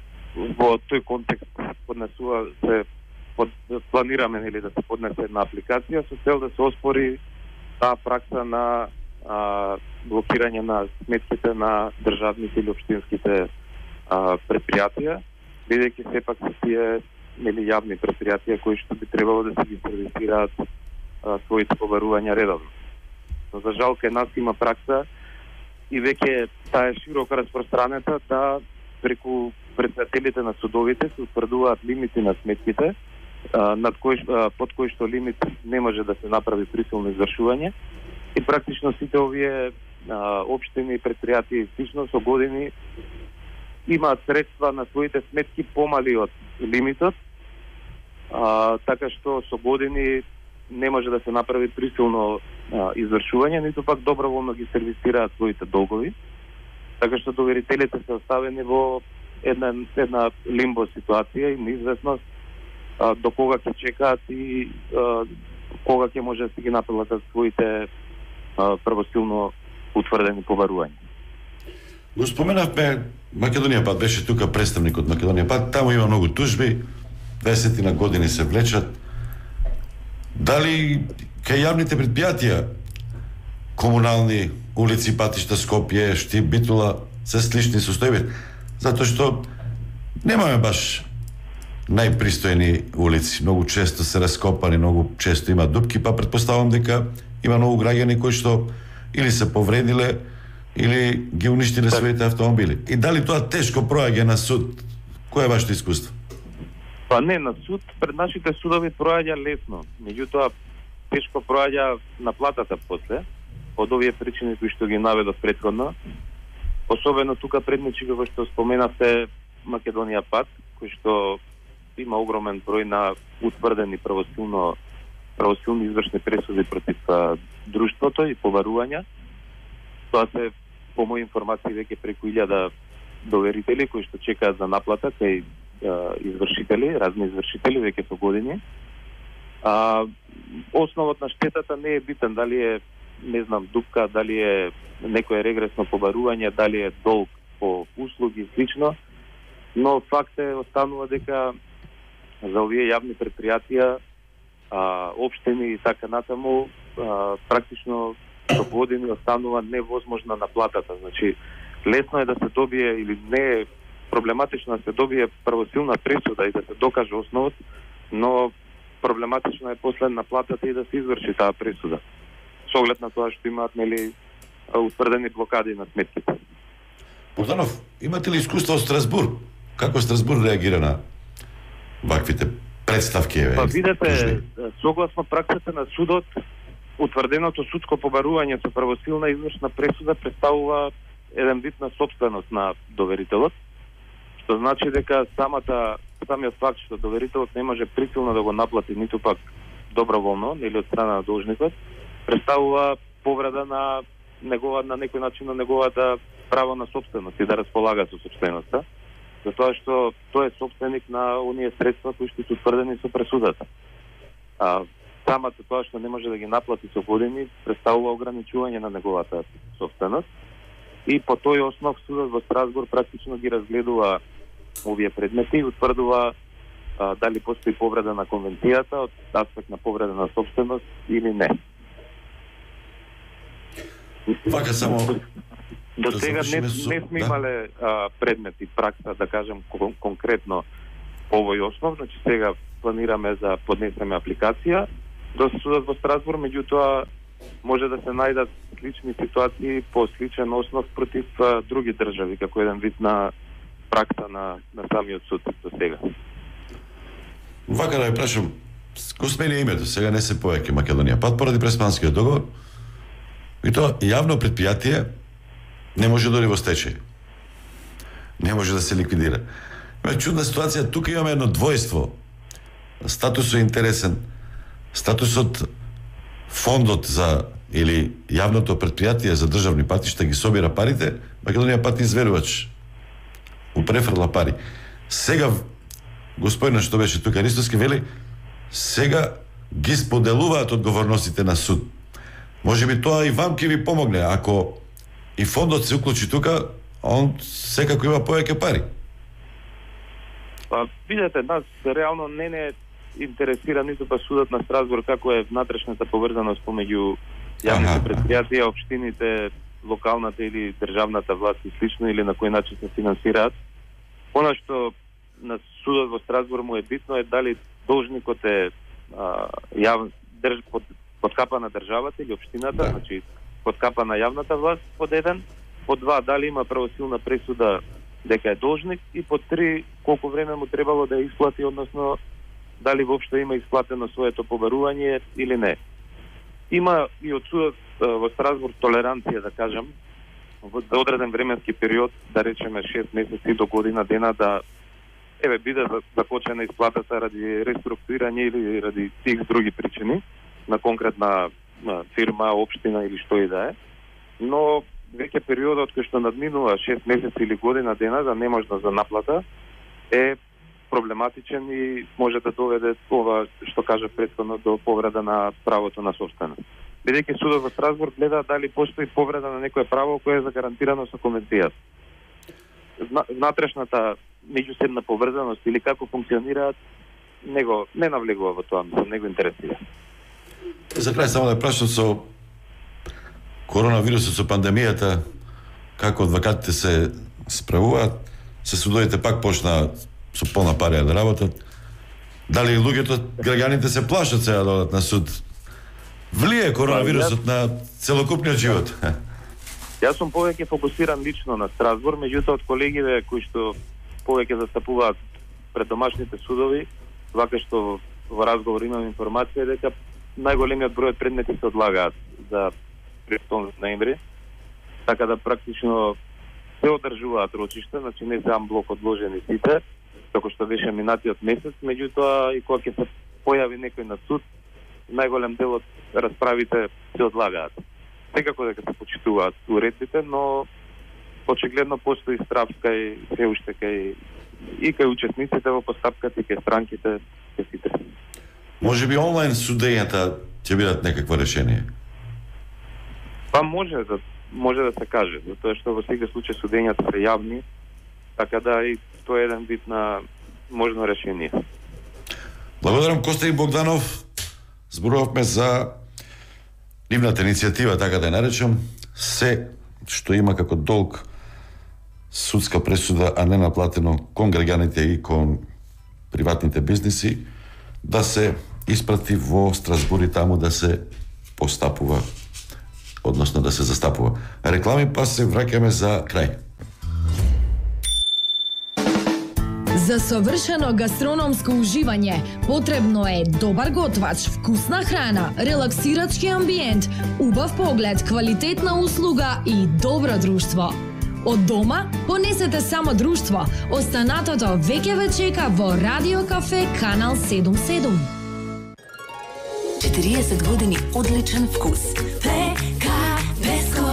во тој контекст поднесува се под, планираме нели да се поднесе една апликација со цел да се оспори таа пракса на а, блокирање на сметките на државните или општинските а, предпријатија, бидејќи сепак се тие нели јавни предпријатија кои што би требало да се ги сервисираат а, своите поверувања редовно. Но за жал кај нас има пракса и веќе таа е широко распространета да преку председателите на судовите се утврдуваат лимити на сметките, а, над кој, а, под кој што лимит не може да се направи присилно извршување и практично сите овие а, општини и предпријатија и слично со години имаат средства на своите сметки помали од лимитот, а, така што со години не може да се направи присилно а, извршување, ниту пак доброволно ги сервисираат своите долгови, така што доверителите се оставени во една, една лимбо ситуација и неизвестност а, до кога ќе чекаат и а, кога ќе може да се ги наплатат своите а, правосилно утврдени поверувања. Го споменавме, Македонија пат беше тука представник од Македонија пат, таму има многу тужби, дваесет на години се влечат. Дали кај јавните предпријатија, комунални, улици, патишта, Скопје, Штип, Битула, се слични состојби? Затоа што немаме баш најпристојни улици, многу често се раскопани, многу често има дупки, па предпоставам дека има многу граѓани кои што или се повредиле, или ги уништиле своите автомобили. И дали тоа тешко проаѓа на суд? Кој е вашето искуство? Па не, на суд, пред нашите судови проаѓа лесно. Меѓутоа, тешко проаѓа наплатата после, од овие причини кои што ги наведов претходно. Особено тука предничи како што споменавте Македонија пат, кој што има огромен број на утврдени правосилно правосилни извршни пресуди против а, друштвото и поверувања. Тоа се, по мои информации, веќе преку илјада доверители кои што чекаат за наплата кај извршители, разни извршители веќе со години. А, основот на штетата не е битен, дали е, не знам, дупка, дали е некое регресно побарување, дали е долг по услуги и слично, но факт е останува дека за овие јавни предпријатија, а, општини и така натаму, а, практично со години останува невозможна наплатата. Значи, лесно е да се добие или не е проблематично да се добие правосилна пресуда и да се докаже основот, но проблематично е после наплатата и да се изврши таа пресуда. Со оглед на тоа што имаат нели утврдени блокади на сметките. Богданов, имате ли искуство од Страсбург? Како Страсбург реагира на ваквите представки? Па видете, согласно праксата на судот, утврденото судско побарување со правосилна извршна пресуда представува еден вид на собственост на доверителот, што значи дека самата самиот факт што доверителот не може присилно да го наплати ниту пак доброволно или од страна на должникот, представува повреда на негова на некој начин на неговата право на собственост и да располага со собственоста, затоа што тој е собственик на оние средства кои што се утврдени со пресудата. А самата тоа што не може да ги наплати со години представува ограничување на неговата собственост и по тој основ судот во Страсбург практично ги разгледува овие предмети и утврдува а, дали постои повреда на конвенцијата од аспект на повреда на собственост или не. Вака само до да сега не, со... не сме да? имале а, предмети пракса, да кажем кон, конкретно по овој основ, значи сега планираме за поднесеме апликација до судот во Страсбург, меѓутоа може да се најдат слични ситуации по сличен основ против а, други држави, како еден вид на пракса на, на самиот суд до сега. Вака да ја прашам, го смени името, сега не се повеќе Македонија пат поради преспанскиот договор, и тоа јавно предпријатие не може да оди во стечај. Не може да се ликвидира. Има чудна ситуација, тука имаме едно двојство. Статусот е интересен. Статусот фондот за или јавното предпријатие за државни патишта ги собира парите, Македонија пат изверувач му префрла пари. Сега господинот што беше тука Ристовски вели, сега ги споделуваат одговорностите на суд. Може би тоа и вам ќе ви помогне, ако и фондот се уклучи тука, он секако има повеќе пари. Па, видете, нас реално не не интересира ниту па судот на Страсбург како е внатрешната поврзаност помеѓу јавните предпријатија, општините, локалната или државната власт и слично, или на кој начин се финансираат. Она што на судот во Страсбург му е битно е дали должникот е а, јав, држ, под, под капа на државата или општината, да. Значи под капа на јавната власт, под еден, под два, дали има правосилна пресуда дека е должник, и под три, колку време му требало да ја исплати, односно дали воопшто има исплатено своето побарување или не. Има и од судот во Страсбург толеранција, да кажем, во одреден временски период, да речеме шест месеци до година дена, да еве биде закочена исплатата ради реструктурирање или ради тих други причини на конкретна на фирма, општина или што и да е. Но веќе периодот кој што надминува шест месеци или година дена за неможност за наплата е проблематичен и може да доведе ова што кажа претходно до повреда на правото на собственост. Бидејќи судот во Страсбург гледа дали постои повреда на некое право кое е загарантирано со конвенцијата. Внатрешната меѓусебна поврзаност или како функционираат, него не навлегува во тоа, не го интересира. За крај само да прашам со коронавирусот, со пандемијата, како адвокатите се справуваат, се судовите пак почнаа со полна пари да работат. Дали луѓето, граѓаните се плашат сега да одат на суд? Влие коронавирусот на целокупниот живот? Јас сум повеќе фокусиран лично на Страсбург, меѓутоа од колегиве кои што повеќе застапуваат пред домашните судови, вака што во разговор имам информација дека најголемиот број предмети се одлагаат за третоштом ноември, така да практично се одржуваат рочишта, значи не се амблок одложени сите, како што беше минатиот месец, меѓутоа и кога ќе се појави некој на суд, најголем дел од расправите се одлагаат. Секако дека се почитуваат уредбите, но очигледно постои страв кај се уште кај и кај учесниците во постапката и кај странките, кај сите. Може би онлайн судењата ќе бидат некакво решение? Па може да може да се каже, затоа што во секој случај судењата се јавни, така да и тоа е еден вид на можно решение. Благодарам Коста и Богданов. Зборувавме за нивната иницијатива, така да ја наречам, се што има како долг судска пресуда, а не наплатено кон граѓаните и кон приватните бизниси, да се испрати во Страсбург и таму да се постапува, односно да се застапува. Реклами, па се враќаме за крај. За совршено гастрономско уживање потребно е добар готвач, вкусна храна, релаксирачки амбиент, убав поглед, квалитетна услуга и добро друштво. Од дома понесете само друштво. Останатото веќе ве чека во Радио Кафе Канал седум седум. четириесет години одличен вкус. Пека Беско,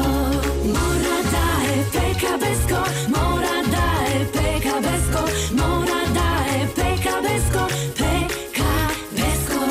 мора да е Пека Беско, мора да е Пека Беско, мора да е Пека Беско, Пека Беско.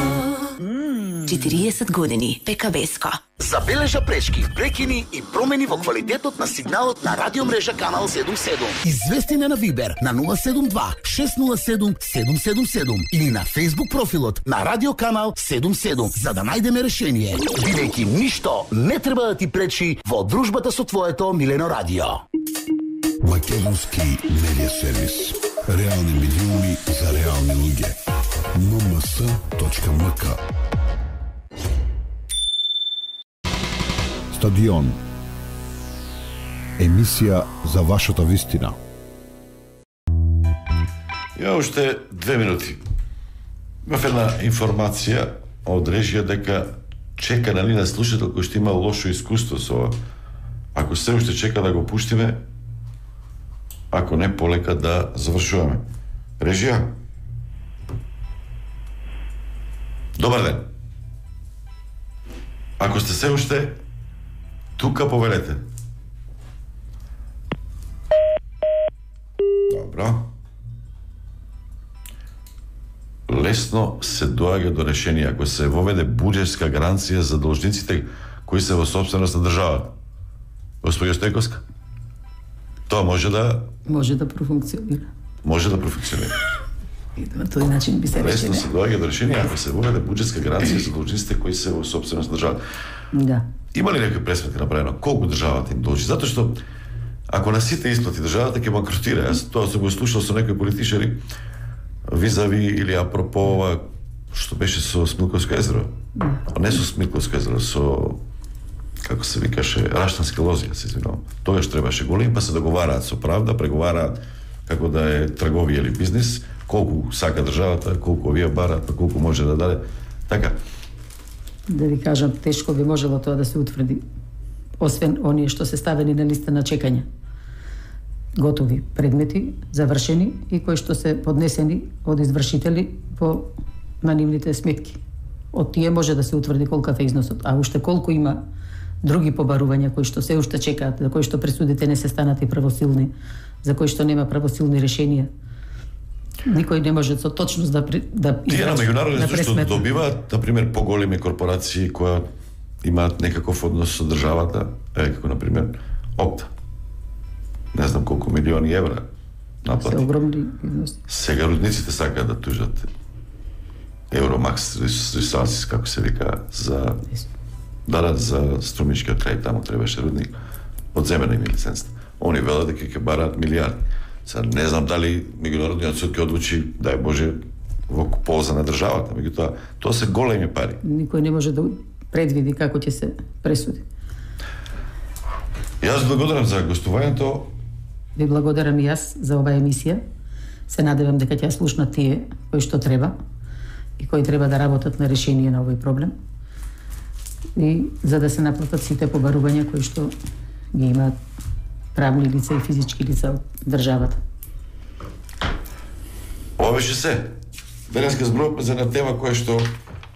четириесет години Пека Беско. Забележа пречки, прекини и промени во квалитетот на сигналот на радиомрежа Канал седум седум. Извести на Вибер на нула седум два шест нула седум седум седум седум или на Facebook профилот на Радио Канал седум седум за да најдеме решение. Бидејќи ништо не треба да ти пречи во дружбата со твоето милено радио. Македонски медиа сервис. Реални медиуми за реални луѓе. ен ем ес точка ем ка. Стадион. Емисија за вашата вистина. Ја уште две минути. Имав една информација од режија дека чека на нина слушател кој што има лошо искуство со ова. Ако се уште чека да го пуштиме, ако не полека да завршуваме. Режија? Добар ден. Ако сте се уште тука, повелете. Браво. Лесно се доаѓа до решение ако се воведе буџетска гаранција за должниците кои се во собственост на државата. Господја Стојковска, тоа може да Може да профункционира. може да профункционира. И на тој начин би се решиле. Лесно се доаѓа до решение ако се воведе буџетска гаранција за должниците кои се во собственост на државата. Да. Има ли некои пресметки направено колку државата им должи? Затоа што ако на сите исплати државата ќе банкротира. Јас тоа се го слушал со некои политичари визави или апропо ова што беше со Смилковско езеро. Не со Смилковско езеро, со како се викаше Раштански лози, се извинувам. Тогаш требаше голем, па се договараат со правда, преговараат како да е трговија или бизнис, колку сака државата, колку овие бараат, па колку може да даде. Така. Да ви кажам, тешко би можело тоа да се утврди, освен оние што се ставени на листа на чекање. Готови предмети, завршени и кои што се поднесени од извршители по на нивните сметки. Од тие може да се утврди колкав е износот, а уште колку има други побарувања кои што се уште чекаат, за кои што пресудите не се станати правосилни, за кои што нема правосилни решенија. Никој не може со точност да да Тие на меѓународен суд што пресметне. добиваат, на пример, поголеми корпорации кои имаат некаков однос со државата, е како на пример Опта. Не знам колку милиони евра наплати. Се огромни износи. Сега рудниците сакаат да тужат Евромакс Ресурсис, како се вика, за да да за струмичкиот крај, таму требаше рудник. Одземена им лицензата. Они велат дека ќе бараат милиарди. Сега не знам дали меѓународниот суд ќе одлучи, дај Боже, во полза на државата, меѓутоа тоа се големи пари. Никој не може да предвиди како ќе се пресуди. Јас благодарам за гостувањето. Ви благодарам и јас за оваа емисија. Се надевам дека ќе ја слушнат тие кои што треба и кои треба да работат на решение на овој проблем. И за да се наплатат сите побарувања кои што ги имаат правни лица и физички лица од државата. Ова беше се. Денеска зборувавме за една тема која што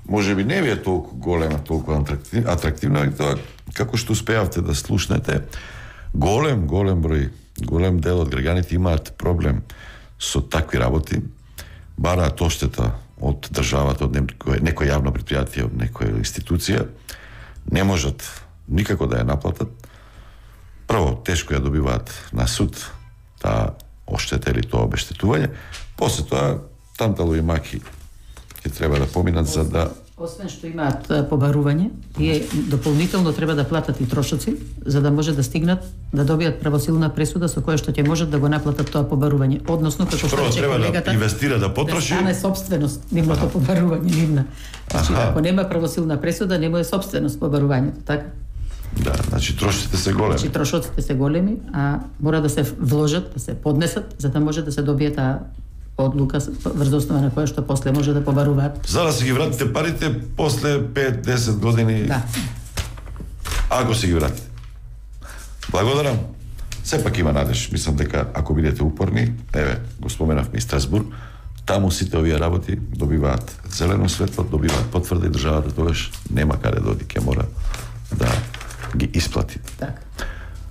може би не ви е толку голема, толку атрактивна, и тоа како што успеавте да слушнете, голем, голем број, голем дел од граѓаните имаат проблем со такви работи, бараат оштета од државата, од некој, некој јавно предпријатие, од некоја институција, не можат никако да ја наплатат. Прво, тешко ја добиваат на суд таа оштета или тоа обештетување, после тоа тантало и маки ќе треба да поминат за да Освен што имаат побарување, тие дополнително треба да платат и трошоци, за да може да стигнат да добијат правосилна пресуда со која што ќе можат да го наплатат тоа побарување. Односно, како што рече колегата, да инвестира, да потроши, да стане собственост нивното побарување, нивна. Значи, ако нема правосилна пресуда, нема е собственост побарувањето, така? Да, значи трошоците се големи. Значи трошоците се големи, а мора да се вложат, да се поднесат, за да може да се добие таа одлука врз основа на која што после може да побаруваат. За да си ги вратите парите после пет до десет години. Да. Ако си ги вратите. Благодарам. Сепак има надеж. Мислам дека ако бидете упорни, еве, го споменавме и Страсбург, таму сите овие работи добиваат зелено светло, добиваат потврда и државата тогаш нема каде да оди, ќе мора да ги исплати. Така.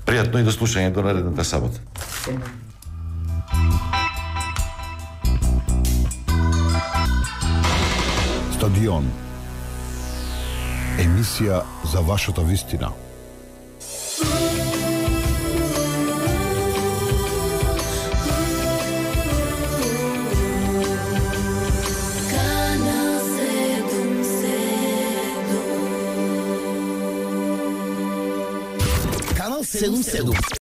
Пријатно и до слушање до наредната сабота. Стадион. Емисија за вашата вистина. Канал седум седум.